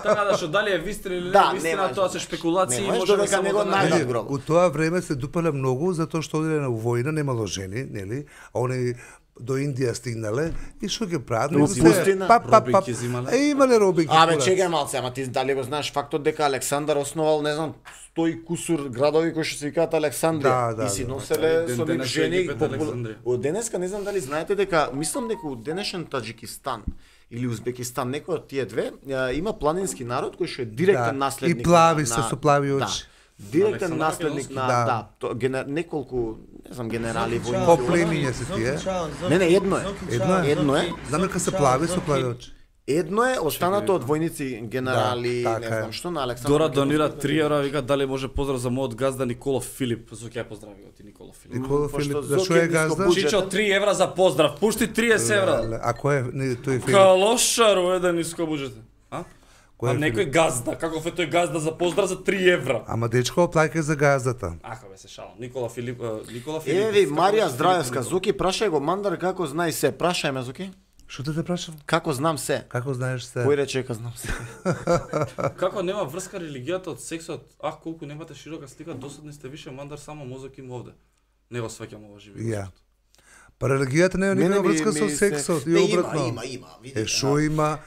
Така да што дали е вистина или Да, не вистина, немаш тоа да. се шпекулации, Немаш можеме додека само не го да најдат најдеме. гроб. У тоа време се дупеле многу затоа што оделе на војна, немало жени, нели? А они до Индија стигнале и што ќе прават? У пустина. Робинки земале. Имале робинки. Абе курац. чекај малце, ама ти дали го знаеш фактот дека Александар основал, не знам, 100 и кусур градови кои што се викаат Александрија Да, и си да. носеле Ден со нив денес жени. Египет, Александрија. Од денеска не знам дали знаете дека мислам дека од денешен Таџикистан или Узбекистан, некој од тие две, има планински народ кој што е директен Да, наследник. и плави на- се со плави да, очи. Директен Александар наследник Македонски? на Да. неколку, не знам, генерали Зоки, војници. По чао, племиња Зоки, се тие. чао, Зоки, Не, не, едно е. Зоки, Едно чао, е. Едно е. Зоки, Знам дека се чао, плави со Зоки. плави очи. Едно е останато од војници, генерали, Да, не така е. знам што, на Александар. Дора Македонски. донира 3 евра, вика дали може поздрав за мојот газда Никола Филип. Зоки ја поздрави го ти Никола Филип. Никола Пошто Филип, Зоки зашо е е газда? нискобуџен. Чичо 3 евра за поздрав. Пушти 30 евра. Леле, а кој е не, тој Филип? Калошару е да ниско буџете. А? Кој е А некој газда, каков е тој газда за поздрав за 3 евра? Ама дечко плаќа за газдата. Аха бе се шалам. Никола Филип. Еви, Марија Филип, Здраевска, Никола. Зоки, прашај го Мандар како знај се. Прашај ме, Зоки. Што те прашам? Како знам се? Како знаеш се? Кој рече дека знам се? Како нема врска религијата од сексот? Ах, колку немате широка слика, досадни сте више Мандар само мозок им овде. Не го сваќам ова живи. Ја. Па религијата не е никаква врска со сексот и обратно. Има, видите. Шо има?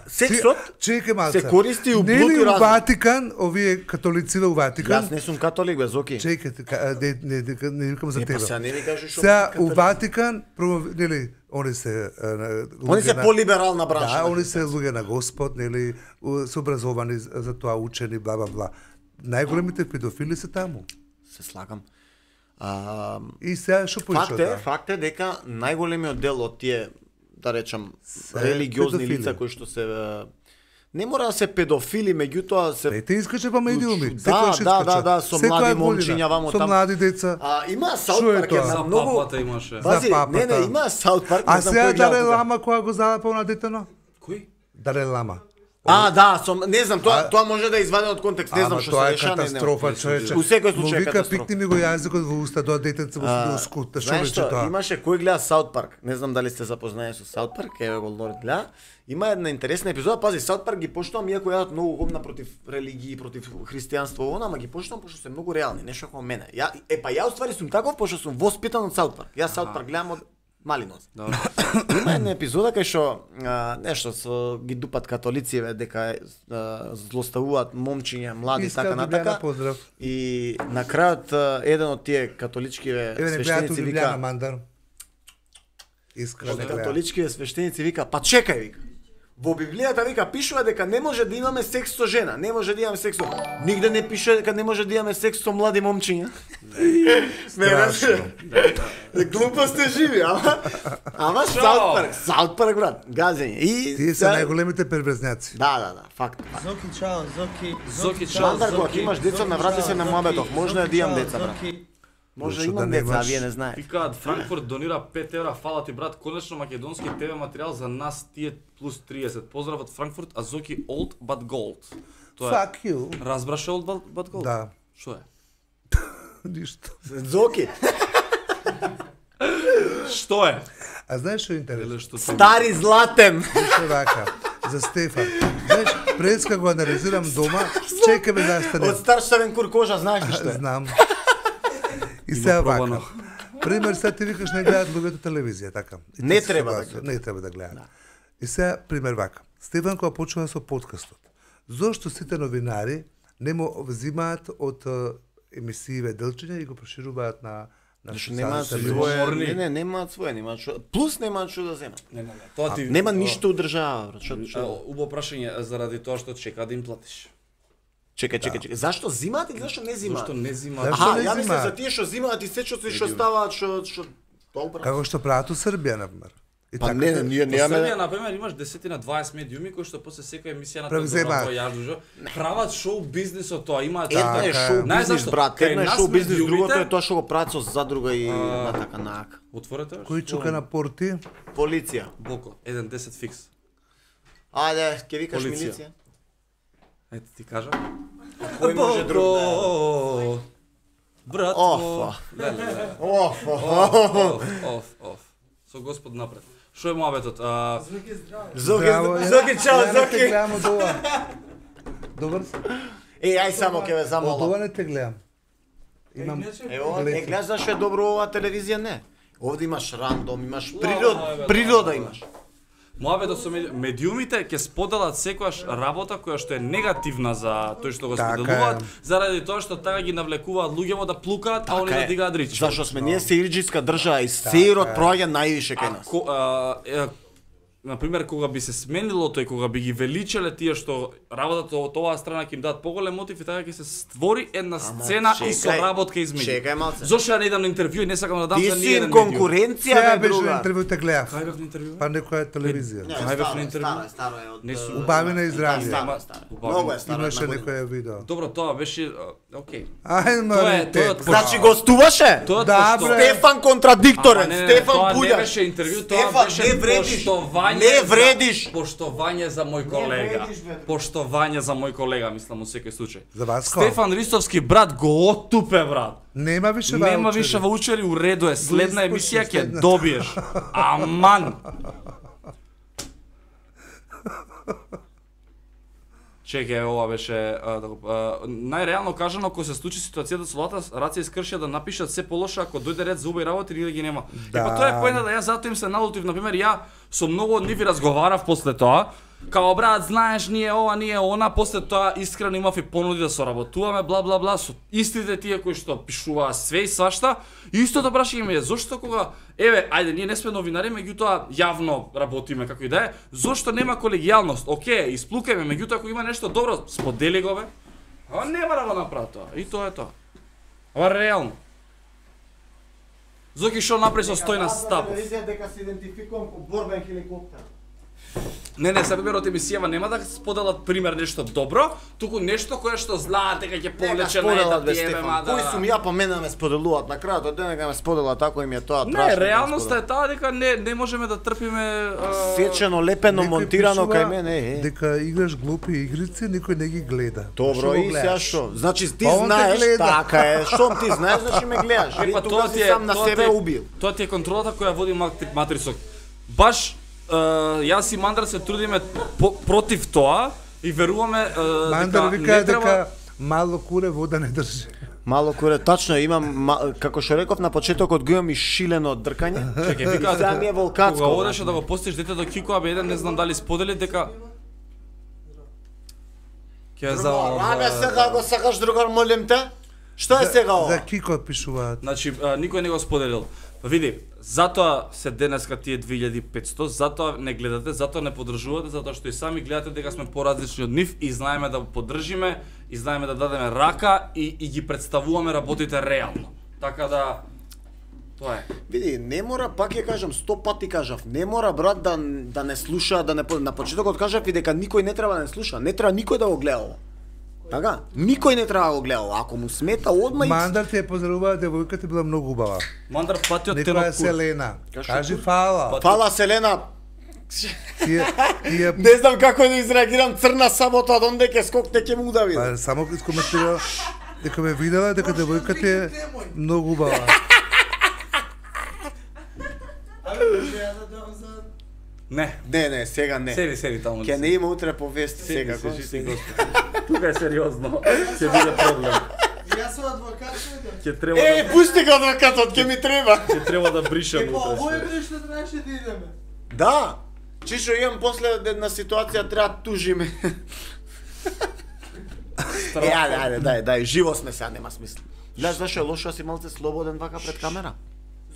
Сексот Чекај малце. се користи у Нели блуд и у разум. Ватикан, овие католиците у Ватикан. Јас не сум католик, бе, Зоки. Чекај, не викам за Па тебе. сега не ми кажеш што. Сега у Ватикан, нели, они се Они се полиберална бранша. Да, они се луѓе на Господ, нели, се образовани за тоа, учени, бла бла бла. Најголемите педофили се таму. Се слагам. И сега што поише Факт е дека најголемиот дел од тие, да речам, религиозни педофили. лица кои што се не мора да се педофили, меѓутоа се Те искаче па медиуми. Да, со млади момчиња вамо со таму. млади деца. Има Саут Шо е Парк тоа? една За многу. папата имаше. За Пази, папата. не, има Саут Парк. А не знам сега кој гледа Даре тука. Лама која го залапа на детено? Кој? Даре Лама. Да, не знам, тоа може да е извадено од контекст, не знам Ама што тоа се е деша, катастрофа, човече. У секој Му случај е вика, катастрофа. пикни ми го јазикот во уста, тоа детенце во скута, што Знаеш рече што, тоа? имаше кој гледа Саут Парк. Не знам дали сте запознаени со Саут Парк, еве го Лорд гледа. Има една интересна епизода, пази, Саут Парк ги поштувам, иако јадат многу гомна против религии, против христијанство, ама ги поштувам пошто се многу реални, нешто како мене. Ја уствари сум таков пошто сум воспитан од Саут Парк. Јас Саут Парк гледам од малинос. Има една епизода кај што нешто со ги дупат католици дека злоставуваат момчиња, млади така натака. Поздрав. И на крајот еден од тие католичкиве Еве не гледат свештеници Лиljana вика, Мандар. Искрено не гледат. католичкиве свештеници вика, па чекај вика. Во Библијата вика пишува дека не може да имаме секс со жена, не може да имаме секс со. Нигде не пише дека не може да имаме секс со млади момчиња. Страшно. Глупост е живи, ама Саут Парк брат, газење. И Тие се најголемите перверзњаци. Да, факт. Зоки, чао, Зоки, чао. Мандар, кога имаш деца, наврати се на муабетов. Можно е да имам деца, брат. Може да Зашто да имам немаш? деца, а вие не знаете. Викаат Франкфурт донира 5 евра, фала ти брат, конечно македонски ТВ материјал за нас тие плюс 30. Поздрав од Франкфурт, а Зоки old but gold. Тоа е. Fuck you. Разбраш old but gold? Да. Што е? Ништо. Зоки, Што е? А знаеш што е интересно? Еле што ти... стари златен. Што вака? За Стефан. Знаеш, преска го анализирам дома, чекаме да стане. Од стар штавен кур кожа, знаеш ли што е? Знам. И сега пробано. вака. Пример, сега ти викаш не гледат луѓето телевизија, така. И Не ти си треба да согласен, гледат. Не треба да гледат. И сега, пример вака. Стефан кога почува со подкастот, зошто сите новинари не му взимаат од емисииве делчиња и го прошируваат на Зашто немаат социјалните своје, морни. немаат своје, немаат што. Плюс немаат што да земат. Не. Тоа ти... Нема ништо одржава, брат. Што? Убаво прашање заради тоа што чека да им платиш. Чекај. Зашто зимаат или зашто не зимаат? Зашто не зима? Зашто Аха, не ја мислам зимаат? за тие што зимаат и се што ставаат, што добро. Како што прават у Србија, например. И Па така, не, ние Во Србија, немаме. например, имаш 10-20 медиуми кои што после секоја емисија на Превземаат. јаждужо прават шоу бизнис од тоа, имаат Едно е Така е. шоу Знаеш бизнис, зашто? брат. Кај Едно е нас шоу бизнис, медиумите- другото е тоа што го прават со задруга и на така наак. Отворете? Кој чука на порти? Полиција. Боко, 1-10 фикс. Ајде, ќе викаш Полиција. милиција. Ете ти кажа. Кој може друг да... Боко, братко. Офа. Леле. Оф. Со Господ напред. Што е муабетот? Зоки, чао, Ја не те Зоки. гледам од ова. Добар си? Ај само ќе ве Од замолам. ова не те гледам. Имам... Ево, не гледаш зашто е добро ова телевизија, не. Овде имаш рандом, имаш бе, природа имаш. Муабетот со медиумите ќе споделат секојаш работа која што е негативна за тој што го Така споделуваат, е. заради тоа што така ги навлекуваат луѓето да плукаат, а они да дигаат рички. Зашто сме ние сеирџиска држава и сеирот проаѓа највише кај нас. Например, кога би се сменило тој, кога би ги величеле тие што работата од оваа страна ќе им дадат поголем мотив и така ќе се створи една сцена и со чекај, работка измеѓу. чекај малце. Зошто ја не идам на интервју и не сакам да дам Ти за си ниеден ин медиум? конкуренција, Сега бе, беше на друга. интервју те гледав. Кај бев на интервју? Па некоја телевизија. Ај бев на интервју. Старо е од... Не сум. Убави на изрази. Старо. Многу е старо. Имаше една година. некоја видео. Добро, тоа беше окей. Ај, Тоа е марите. од Значи гостуваше? Тоа Да, пошто- бре. Стефан контрадикторен, Ама не, Стефан тоа не Пуљаш. беше интервју, тоа Стефан, беше не вредиш. поштовање. Не вредиш. Поштовање за мој колега. вредиш, бе, друг. Поштовање за мој колега, мислам, во секој случај. За вас ко? Стефан Ристовски брат го оттупе брат. Нема више Нема ваучери. више ваучери, у реду е. Следна испуши, емисија ќе следна. добиеш. Аман. Чекај, ова беше најреално кажано, кога се случи ситуацијата со Лата, Раци искршија да напишат се полошо ако дојде ред за убави работи, или ги нема. Да. Па тоа е поента да ја затоа им се налутив, например, ја со многу од нив разговарав после тоа. Као брат, знаеш, ние ова, ние она, после тоа искрено имав и понуди да соработуваме, бла бла бла, со истите тие кои што пишуваа све и свашта. И истото прашање ми е зошто кога еве, ајде, ние не сме новинари, меѓутоа јавно работиме како и да е, зошто нема колегијалност? Океј, исплукајме, меѓутоа ако има нешто добро, сподели го бе. А нема да го направи тоа. И тоа е тоа. Ова реално. Зоки што направи со Стојна Стапов. Дека се идентификувам ко борбен хеликоптер. Не, се пример од емисијава нема да споделат пример нешто добро, туку нешто кое што знаат дека ќе повлече на ета тиеме, мада. Кој сум ја, па мене ме споделуваат на крајот од денега ме сподела тако им е тоа Не, трашно. реалноста е таа дека не можеме да трпиме сечено, лепено, Некој монтирано пишува кај мене, дека играш глупи игрици, никој не ги гледа. Добро, Што го и гледаш? сега што? Значи ти Па он те знаеш, гледа. така е, штом ти знаеш, значи ме гледаш. Е, И па тогаш си сам на себе убил. Тоа ти е контролата која води Матрисок. Баш јас и Мандар се трудиме против тоа и веруваме Мандар дека вика не треба дека мало куре вода не држи. Мало куре, тачно имам, како што реков на почетокот, го имам и шилено дркање. Чекај, вика, Сега ми е волкатско. кога одеше да го постиш дете до Кико, еден не знам дали сподели дека ќе Ага, сега го сакаш, другар, молим те? Што е сега ова? За Кико пишуваат. Значи, никој не го споделил. Па види, затоа се денеска тие 2500, затоа не гледате, затоа не поддржувате, затоа што и сами гледате дека сме поразлични од нив и знаеме да поддржиме, и знаеме да дадеме рака и ги представуваме работите реално. Така да тоа е. Види, не мора, пак ја кажам, 100 пати кажав, не мора брат да не слуша, да не на почетокот кажав и дека никој не треба да не слуша, не треба никој да го гледа ова. Така? Никој не треба да го гледа ова. Ако му смета одма и Мандар ти е поздравува, девојката била многу убава. Мандар патиот те Некоја на е Селена. Кажи Кажи кур. фала. Фала Селена. Тие Не знам како да изреагирам, црна сабота од онде ке скокне ке му удави. па само искоментира дека ме видела дека девојката е многу убава. Абе, може ја да дам за... Не. Не, сега не. Седи таму. Ке не има утре повести сега. Седи, тука е сериозно. Ќе биде проблем. Јас сум адвокат, шо Ќе треба Е, пусти го адвокатот, ке ми треба. ќе треба да бришам Па утре. овој е што требаше да идеме. Да. Чишо имам после една ситуација треба тужиме. Ајде, дај, живо сме сега, нема смисла. Знаеш зашо е лошо да си малце слободен вака пред камера?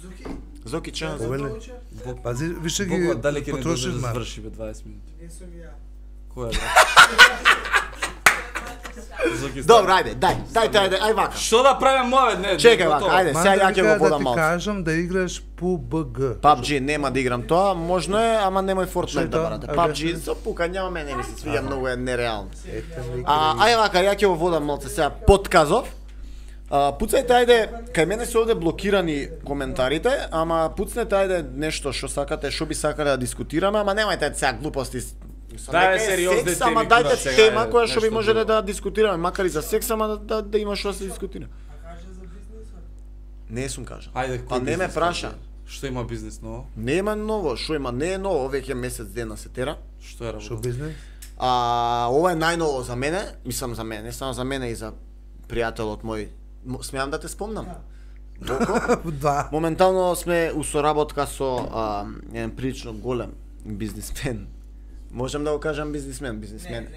Зуки, Зоки чеа. Овеле. Зоки, Пази, више ги Бога, дали ќе не потрошиш да ма. заврши бе 20 минути. не сум ја. Која бе? Зоки Добро, ајде, дај, ај вака. Што да правиме моје? Не, Чекај готово. вака, ајде, сега ја ќе го да водам ти малце. кажам да играш PUBG. PUBG нема да играм тоа, можно е, ама немој Што Fortnite е да тоа? барате. А, PUBG кажи. со пука, няма мене ми се свиѓа, многу е нереално. Ете, Ај вака, ја ќе го водам малце сега подказов. Пуцајте ајде, кај мене се овде блокирани коментарите, ама пуцнете ајде нешто што сакате, што би сакале да дискутираме, ама немајте сега глупости. Дај сериозни секс, теми, ама кура, дајте сега, тема ајде, која што би нешто можеле друго. да дискутираме, макар и за секс, ама да има што да се дискутира. А каже за бизнисот? Не сум кажал. Ајде, Па кој не ме бизнес праша. кажи? Што има бизнес ново? Нема ново, што има, не е ново, веќе месец дена се тера. Што е Шо работа? бизнес? Ова е најново за мене, мислам за мене, не само за мене и за пријателот мој. Смеам да те спомнам? Боко? Да. Моментално сме у соработка со еден прилично голем бизнисмен. Можам да го кажам бизнисмен. Не.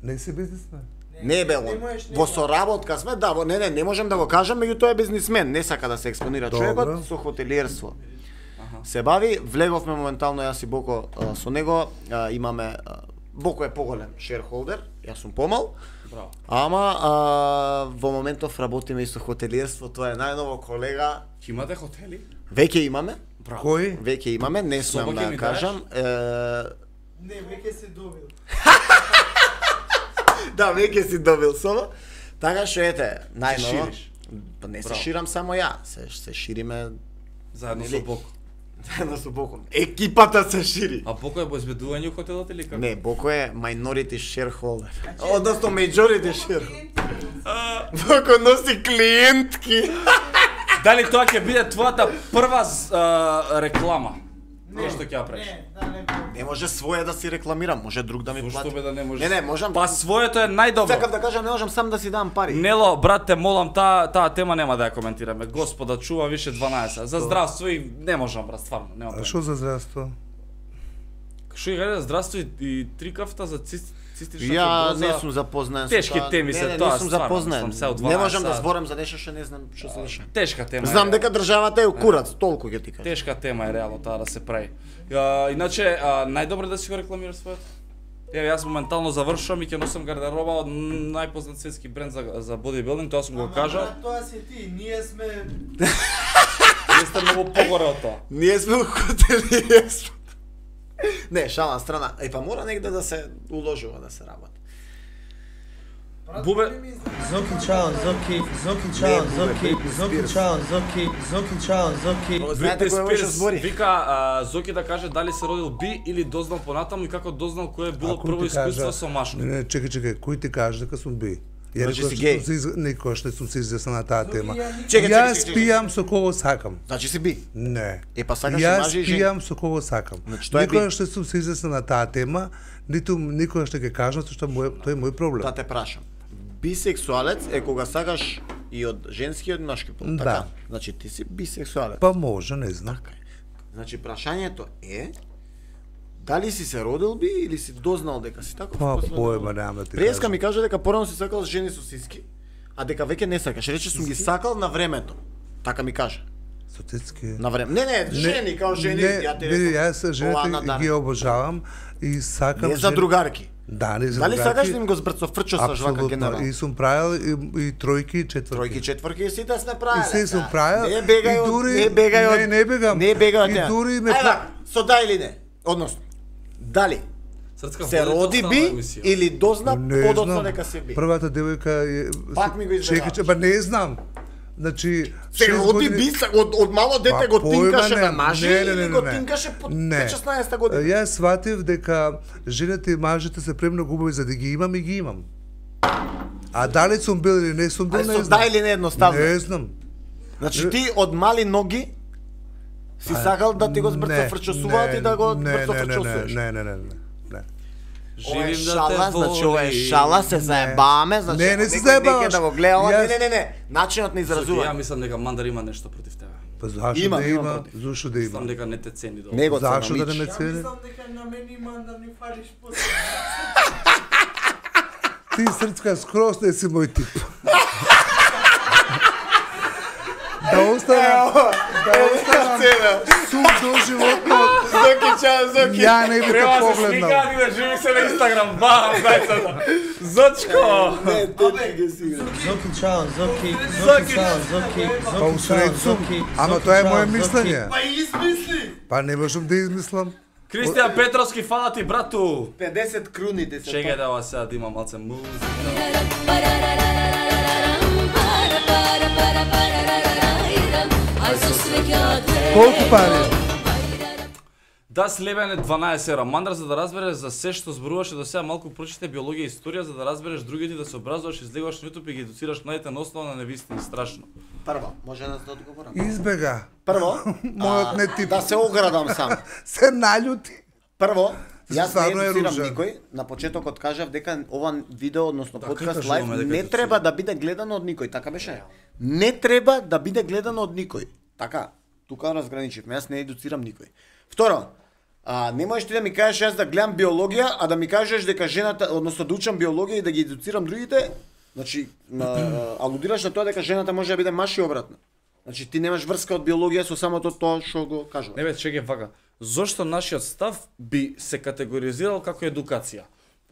Не си бизнесмен. Не бе Не он. можеш, не Во можеш. соработка сме, да, не можам да го кажам, меѓутоа е бизнисмен, не сака да се експонира Добро. човекот со хотелиерство. Се бави, влеговме моментално јас и Боко со него, имаме Боко е поголем шерхолдер, јас сум помал. Браво. Ама во моментов работиме и со хотелиерство, тоа е најново колега. Ќе имате хотели? Веќе имаме, Браво. Кој? веќе имаме, не Соба смеам ќе да ми ја кажам. Не, веќе се добил. Да, веќе си добил соба. Така што ете, најново. шириш. Па не се Браво. ширам само ја, се шириме Заедно Нели? со Боко. заедно со Боко. Екипата се шири. А Боко е обезбедување у хотелот или како? Не, Боко е minority shareholder. Односно majority shareholder. Боко носи клиентки. Дали тоа ќе биде твојата прва реклама? Кој што ќе ја правиш? Не може своје да си рекламирам, може друг да ми Зошто плати. бе да не можеш? Не, можам. Па своето е најдобро. Сакам да кажам, не можам сам да си дам пари. Нело, брат, те молам, таа тема нема да ја коментираме. Господа, чува више 12. За здравство и не можам, брат, стварно, нема А проблем. што за здравство? Што ја здравство и 3 кафта за цистична Ја фиброза. не сум запознаен со Тешки таа. теми се, Не, тоа не сум стварно, запознаен. мислам, се од Не можам 12 да зборам за нешто што не знам што се деша. Тешка тема. Знам е. дека државата е у курац, толку ќе ти кажам. Тешка тема е реално таа да се прави. Иначе, најдобро да си го рекламираш своето. Еве, јас моментално завршувам и ќе носам гардероба од најпознат светски бренд за бодибилдинг, тоа сум го кажал. Тоа си ти, ние сме... Вие сте многу погоре од тоа. Ние сме у хотелије. Не, шала страна. Па мора негде да се уложува да се работи. Бубе, Зоки чао, Зоки чао, Зоки чао, Зоки чао, Зоки. Знаете кој беше Спирс збори? вика Зоки да каже дали се родил би или дознал понатаму и како дознал кое е било Ако прво ти искуство кажа- со машко. Не, чекај, кој ти кажа дека сум би? Ја Значи никош си не геј. сум се никош не сум се изјаснил на таа тема. Чекај, Јас чекај. пијам со кого сакам. Значи си би. Не. Е, па сакаш и Јас мажи и жени. пијам со кого сакам. Значи, тоа е би. Никогаш не сум се изјаснил на таа тема, ниту никогаш не ќе кажам што тој е мој проблем. Да те прашам. Бисексуалец е кога сакаш и од женски и од машки пол, Да. така? Значи ти си бисексуалец. Па може, не знам. Така е. Значи прашањето е дали си се родил би или си дознал дека си таков? Па после поема да- немам да ти Преска кажам. ми кажа дека порано си сакал жени со сиски, а дека веќе не сакаш. Рече сум ги сакал на времето. Така ми кажа. Со цицки. На време. Не, жени, као жени, ја ти не, реков. јас жените ги обожавам и сакам Не за другарки. Да, не за Дали другарки. сакаш да им го збрцо фрчосаш вака генерал? И сум правил и тројки и четврки. Тројки, четврки, сите сме правиле. И се сум правил. Не бегај и од, дури, не бегај од. Не бегам. Не бегај од И неа. дури ме Ајде, со да или не? Односно, дали Срцка се води роди доста би на емисија. или дозна Не подоцна знам. дека се би? Првата девојка е Пак ми го избегаваш. Чекај, па не знам. Значи Се 6 роди години- би, од мало дете Па, го појма тинкаше на немам. мажи Не, или го тинкаше по Не. 16 година? Јас сватив дека жените и мажите се премногу убави за да ги имам и ги имам. А дали сум бил или не сум бил, Ај не со знам. да или не едноставно. Не знам. Значи ти од мали ноги си сакал да ти го збрцо фрчосуваат и да го збрцо фрчосуваш. Не. Ова е Живим да шала, те значи ова е воли. шала, се заебаваме, значи Не ако се некој заебаваш. неќе да го гледа, ова, Јас- не, начинот на Ја изразување. мислам дека Мандар има нешто против тебе. Па зашо Имам, да имам има? против. Зашо да Мислам има? дека не те цени добро. Него Зашо да не ме Ја цени? мислам дека на мене има да ми фалиш после. Ти срцка скроз не си мој тип. Да останам сум до животно, Зоки, чао, Зоки. ја не би те Треба се погледнал. сликаат и да живи се на Инстаграм. Бам, зајцата. Зочко! Не, те ги си игра. Зоки чао, Зоки чао, Зоки, Па усред сум, ама тоа е моје мислење. Па измисли! Па не можам да измислам. Кристијан Петровски, фала ти, брату! 50 круни те се. Чекај да ова сега да има малце музика. Колку пари? Да слебене 12 евра. Мандра, за да разбереш за се што зборуваше до сега, малку прочите биологија и историја, за да разбереш другите, да се образуваш, излегуваш на YouTube и ги едуцираш младите на основа на невистини. Страшно. Прво, може да се одговорам. Избега. Прво, Мојот не тип. да се оградам сам. Се наљути. Прво, јас Стварно не е едуцирам ружен. никој. На почетокот кажав дека ова видео, односно Да, подкаст како лайв, кажуваме дека не едуцира? треба да биде гледано од никој, така беше? Не треба да биде гледано од никој. Така, тука разграничивме, јас не едуцирам никој. Второ, не можеш ти да ми кажеш јас да гледам биологија, а да ми кажеш дека жената, односно да учам биологија и да ги едуцирам другите, значи, алудираш на тоа дека жената може да биде маш и обратно. Значи ти немаш врска од биологија со самото тоа што го кажува. Не бе, чекај вака. Зошто нашиот став би се категоризирал како едукација?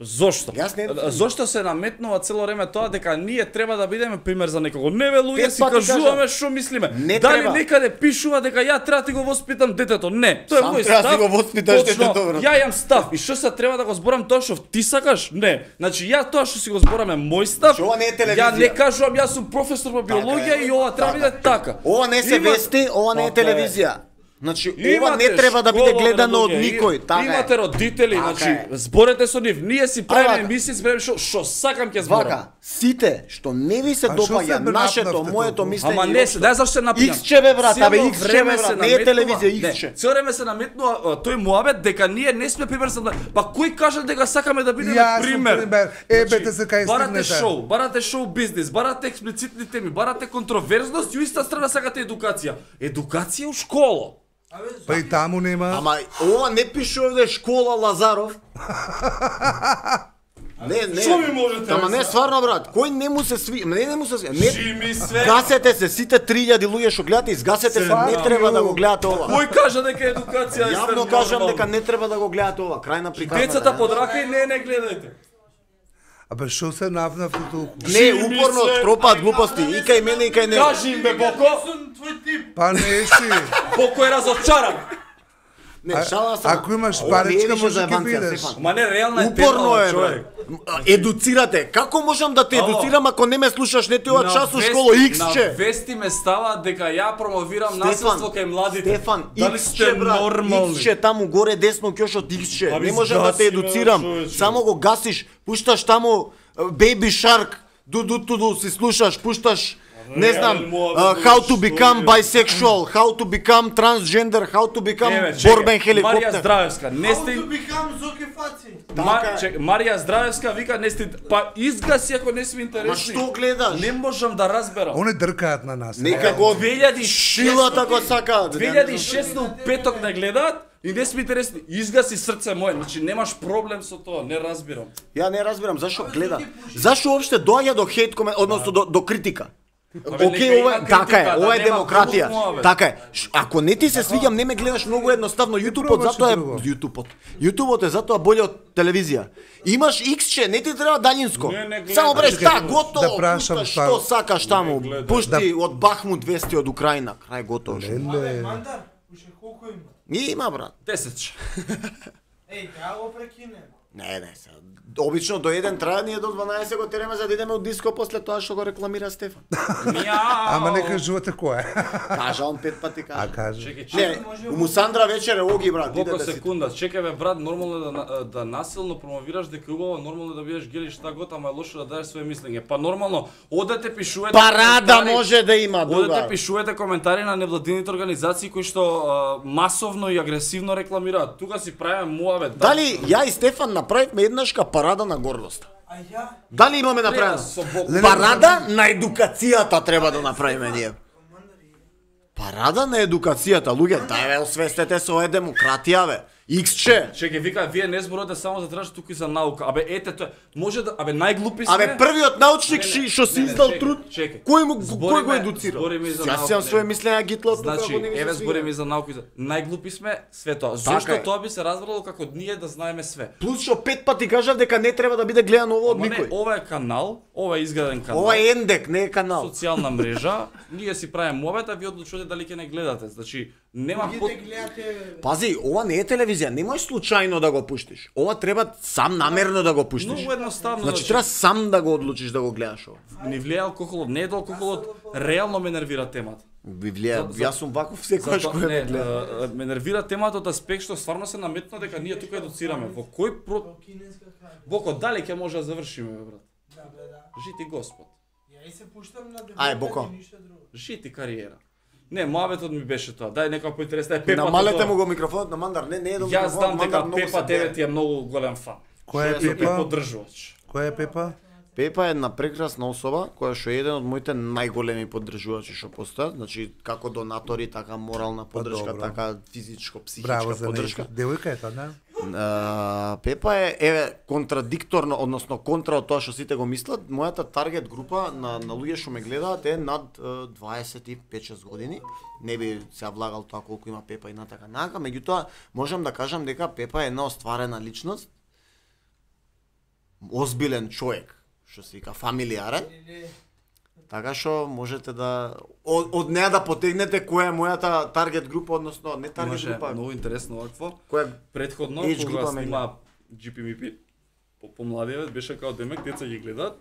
Зошто? Јас не едуцирам. Зошто се наметнува цело време тоа дека ние треба да бидеме пример за некого? Не бе, луѓе Пет си пати кажуваме кажам. што мислиме. Не Дали треба. некаде пишува дека ја треба да ти го воспитам детето? Не, тоа е Сам мој треба да став. си го воспиташ Точно, детето, брат. Ја имам став и што се треба да го зборам тоа што ти сакаш? Не. Значи ја тоа што си го зборам е мој став. Значи, ова не е телевизија. Ја не кажувам јас сум професор по биологија е. и ова треба да биде така. Ова не се Има- вести, ова не е Така е. телевизија. Значи, ова Имате не треба да биде школа, гледано од луѓе, никој, така Имате е. родители, Така значи е. зборете со нив. Ние си правиме вака. емисии, си правиме што сакам ќе зборам. Вака, сите што не ви се А што допаѓа се нашето, напнавте моето толку? мислење. Ама не, дај зашто се напијам. Иксче бе брат, абе Цело Иксче бе време брат, се не е наметнува- телевизија Не, Иксче. цело време се наметнува тој муабет дека ние не сме пример за па кој кажа дека сакаме да бидеме Јас сум пример? пример. Ебете се кај барате стигнете. барате шоу бизнис, барате експлицитни теми, барате контроверзност и у иста страна сакате едукација. Едукација у школа. Па и таму нема. Ама ова не пише овде школа Лазаров. Не. Што ми можете? Ама не стварно брат, кој не му се сви, не му се сви. Не Жими све. гасете се сите 3000 луѓе што гледате, изгасете се, не треба да го гледате ова. Кој кажа дека едукација е Јавно кажам дека не треба да го гледате ова. Крај на приказната. Децата под рака и не гледајте. Абе што се навнавте толку? Не, упорно тропаат глупости и кај мене и кај него. Кажи им бе Боко, Па не си. Боко е разочаран. Не, шала сам. Ако имаш паричка, може ќе бидеш. Ма не реална е Упорно тема, е, човек. брат. Едуцирате. Како можам да те Ало. едуцирам ако не ме слушаш не ти ова час у вести- школа На Иксче? вести ме става дека ја промовирам насилство кај младите. Стефан, Дали Иксче сте брат, нормални? Иксче таму горе десно кјошот Иксче. Аби Не можам да те згаси ме, едуцирам. човече. Само го гасиш, пушташ таму Baby Shark, туду си слушаш, пушташ не знам, how to become bisexual, how to become transgender, how to become борбен Марија хеликоптер. Здравевска, не сте Бикам зоки фаци. Марија Здравевска вика не сте па изгаси ако не сме Ма интересни. што гледаш? Не можам да разберам. Они дркаат на нас. Нека го 2006 шилата го сакаат. 2006 у петок не гледаат и не сме интересни. Изгаси срце мое, значи немаш проблем со тоа, не разбирам. Ја не разбирам зашо гледа. Зашо уопште доаѓа до хейт комент, односно до критика? нека Океј, има ова критика, така е, да ова е нема демократија. глуп муабет. Така е. Ако не ти се свиѓам, не ме гледаш многу едноставно. Јутубот пробаш затоа е друго. Јутубот е затоа боле од телевизија. Имаш Иксче, не ти треба далинско. Не гледам. Само бреш Чекај, та готово. да прашам пушташ ствар. што сакаш таму. гледам. Пушти од Бахмут вести од Украина. Крај готово. Леле. Мандар, уште колку има? Има брат. 10. Еј, треба го прекинем. Не, се. Обично до 1 трае, ние до 12 го тереме за да идеме од диско после тоа што го рекламира Стефан. Ама не кажувате кој е. Кажа он 5 пати А кажа. кажи. Чекај, Не, у Мусандра вечер е оги брат, Колку идете си. секунда, чекај бе брат, нормално е да насилно промовираш дека е убаво, нормално е да бидеш гели шта год, ама е лошо да дадеш свое мислење. Па нормално, одете пишувате Парада коментари- може да има Одете друга. пишувате коментари на невладините организации кои што масовно и агресивно рекламираат. Тука си правиме муавет. Дали ја и Стефан направивме еднашка парада на гордост? А ја? Дали имаме Треба направено? со Бог. Парада на едукацијата треба да направиме ние. Парада на едукацијата, луѓе, дај бе, освестете се, ова е демократија бе. Иксче. Чекај, вика, вие не зборувате само за тражат тука и за наука. Абе, ете тоа, може да, абе најглупи сме. Абе, првиот научник Не, не, што си не, не, издал чекај, труд, чекај. кој Збориме- го едуцира? збориме и за Јас наука, имам своje не. мислења Гитлер тука, Значи, ако не ми се еве свиѓа. збориме и за наука и за... Најглупи сме све тоа. Така Зошто е. тоа би се разбрало како ние да знаеме све? Плюс што 5 пати кажав дека не треба да биде гледано ово од Ама не, никој. ова е канал, ова е изграден канал. Ова е ендек, не е канал. социјална мрежа, ние си правиме муабет, а ви одлучувате дали ќе не гледате. Значи, нема под... Идете гледате. Пази, ова не е телевизија, не можеш случајно да го пуштиш. Ова треба сам намерно да го пуштиш. Многу едноставно. Значи треба сам да го одлучиш да го гледаш ова. Ни влијае алкохолот, не е до алкохолот, реално ме нервира темата. Ви влијае, За- јас сум ваков секогаш Затоа, кој не, ме гледа. ме нервира темата од аспект што стварно се наметна дека ние тука едуцираме. Во кој Кинеска крај. Боко, дали ќе може да завршиме, бе, брат? Да, бе, да. Жити Господ. Ја и се пуштам на Ај, Боко. и ништо друго. Жити кариера. Не, муабетот ми беше тоа. Дај некоја поинтересна е Пепа. Намалете му го микрофонот на Мандар, не е до Јас знам дека Мандар многу Пепа се гледа. 9 е многу голем фан. Кој е Што е Пепа? поддржувач. Кој е Пепа? Пепа е една прекрасна особа која што е еден од моите најголеми поддржувачи што постојат, значи како донатори, така морална поддршка, добро. така физичко, Браво психичка за поддршка. неја. Девојка е тоа, да? Пепа е еве контрадикторно, односно контра од тоа што сите го мислат. Мојата таргет група на луѓе што ме гледаат е над 25-6 години. Не би се влагал тоа колку има Пепа и на така нака, меѓутоа можам да кажам дека Пепа е една остварена личност, озбилен човек, што се вика фамилиарен. Така што можете да од неа да потегнете која е мојата таргет група, односно не таргет Имаше група, многу интересно овакво. која Предходно, Age кога група ме снима GPMP, помладиот беше као демек, деца ги гледаат,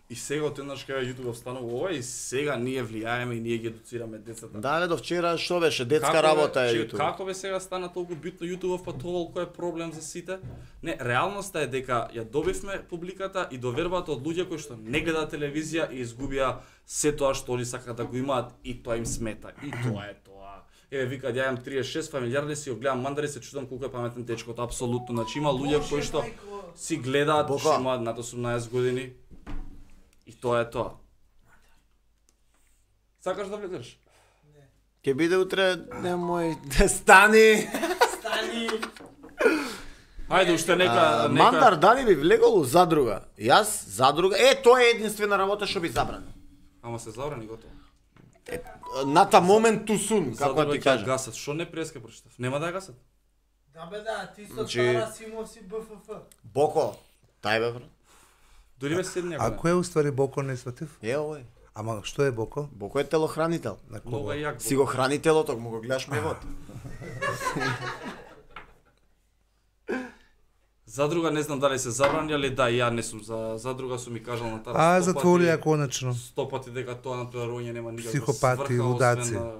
И сега отеднаш кај YouTube станува ова и сега ние влијаеме и ние ги едуцираме децата. Да, до вчера што беше детска работа е YouTube. Како бе сега стана толку битно YouTube, па толку е проблем за сите? Не, реалноста е дека ја добивме публиката и довербата од луѓе кои што не гледаат телевизија и изгубија се тоа што они сакаат да го имаат и тоа им смета. И тоа е тоа. Еве викаат ја имам 36 фамилјарни, си го гледам мандари, се чудам колку е паметен дечкот, апсолутно. Значи има луѓе кои што си гледаат, што имаат над 18 години. И тоа е тоа. Сакаш да влезеш? Не. Ке биде утре, немој, стани! Стани! Ајде, уште нека... Мандар, дали би влегол у задруга? Јас, задруга... тоа е единствена работа што би забранил. Ама се забрани готово. Ната момент ту сун, како ти кажа. Гасат, што не преска прочитав? Нема да ја гасат? Да бе да, ти со стара си имав си БФФ. Боко, тај бе брат. Дури ме седне А кој е уствари Боко не сватив? Овој. Ама што е Боко? Боко е телохранител. На Много кого? е јак. Си го храни телото, му го гледаш мевот. Задруга не знам дали се забрани, али да, ја не сум за задруга, сум ми кажал на таа. Затвори ја конечно. 100 пати дека тоа натпреварување нема никаква Психопати, сврха, лудаци. освен на,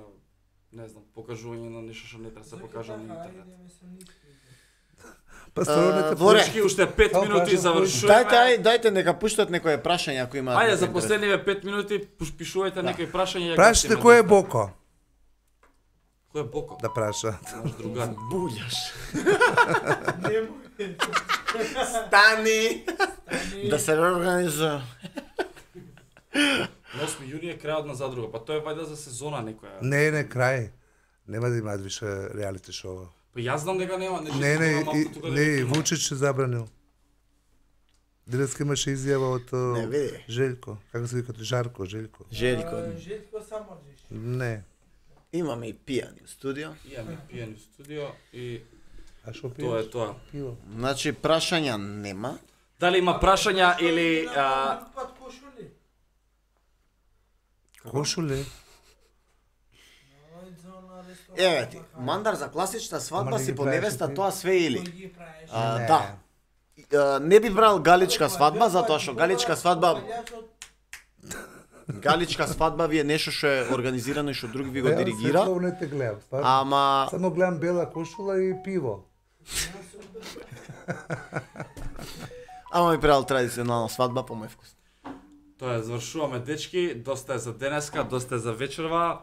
не знам, покажување на нешто што не треба да се покажа на интернет. Па стварно Воре. Дечки, уште 5 минути завршуваме. Дајте нека пуштат некое прашање ако има. Ајде за последниве 5 минути пишувајте некои прашања. Прашате кој е Боко? Кој е Боко? Да праша. Наш другар. Булјаш. Стани. Да се реорганизува. 8 јуни е крајот на задруга, па тоа е вајда за сезона некоја. Не, крај. Нема да имаат више реалити шоу. Па јас знам дека нема нешто. Не, Вучич се забранил. Денеска имаше изјава од Желјко. Како се викате? Жарко, Желјко. Желјко Самарџиш. Не. Имаме и пијани у студио. Имаме пијани у студио и А што пиеш? тоа е тоа. Пиво. Значи прашања нема. Дали има прашања или Пат кошули. Кошуле? Еве ти, мандар за класична свадба Ама не си ги по правиш невеста ти? тоа све или. Кој ги правиш? Не. Да. Не би брал галичка свадба затоа што галичка свадба галичка свадба ви е нешто што е организирано и што друг ви го диригира. Ја не те гледам, стварно. Ама Само гледам бела кошула и пиво. ама ми правил традиционална свадба по мој вкус. тоа е, завршуваме дечки, доста е за денеска, доста е за вечерва.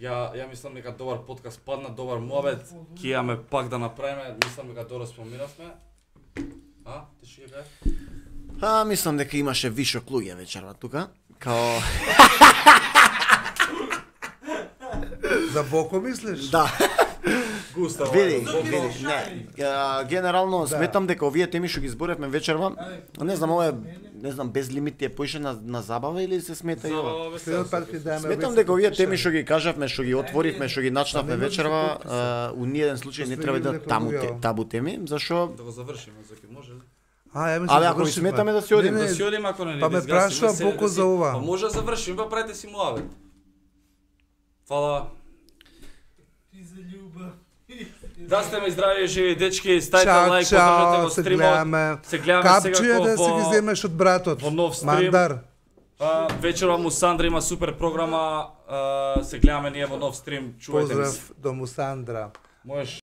Ја мислам дека добар подкаст падна, добар муабет, ќе имаме пак да направиме, мислам дека добро споминавме. А, ти што ќе кажеш? Мислам дека имаше вишок луѓе вечерва тука. Као За Боко мислиш? да. Густаво. Види, не. Генерално сметам дека овие теми што ги зборевме вечерва, не знам, ова е, не знам, без лимити е поише на забава или се смета и ова? Следот пат ќе дајме. Сметам дека овие теми што ги кажавме, што ги отворивме, што ги начнавме вечерва, у ниеден случај не треба да табу теми, зашо Да го завршиме, заки може ли? Але ако ви сметаме да си одиме, Да си одиме ако не Па ме прашува Боко за ова. Па може да завршиме, па правите си муабет. Фала. Ти за љубов. Да сте ме здрави, живи дечки, ставите лайк, поддржате го стримот. Се гледаме Капчија сега да си ги земеш од братот. во нов стрим. Мандар. Вечерва му Сандра има супер програма, се гледаме ние во нов стрим, чувајте ми се. Поздрав до Мусандра. Можеш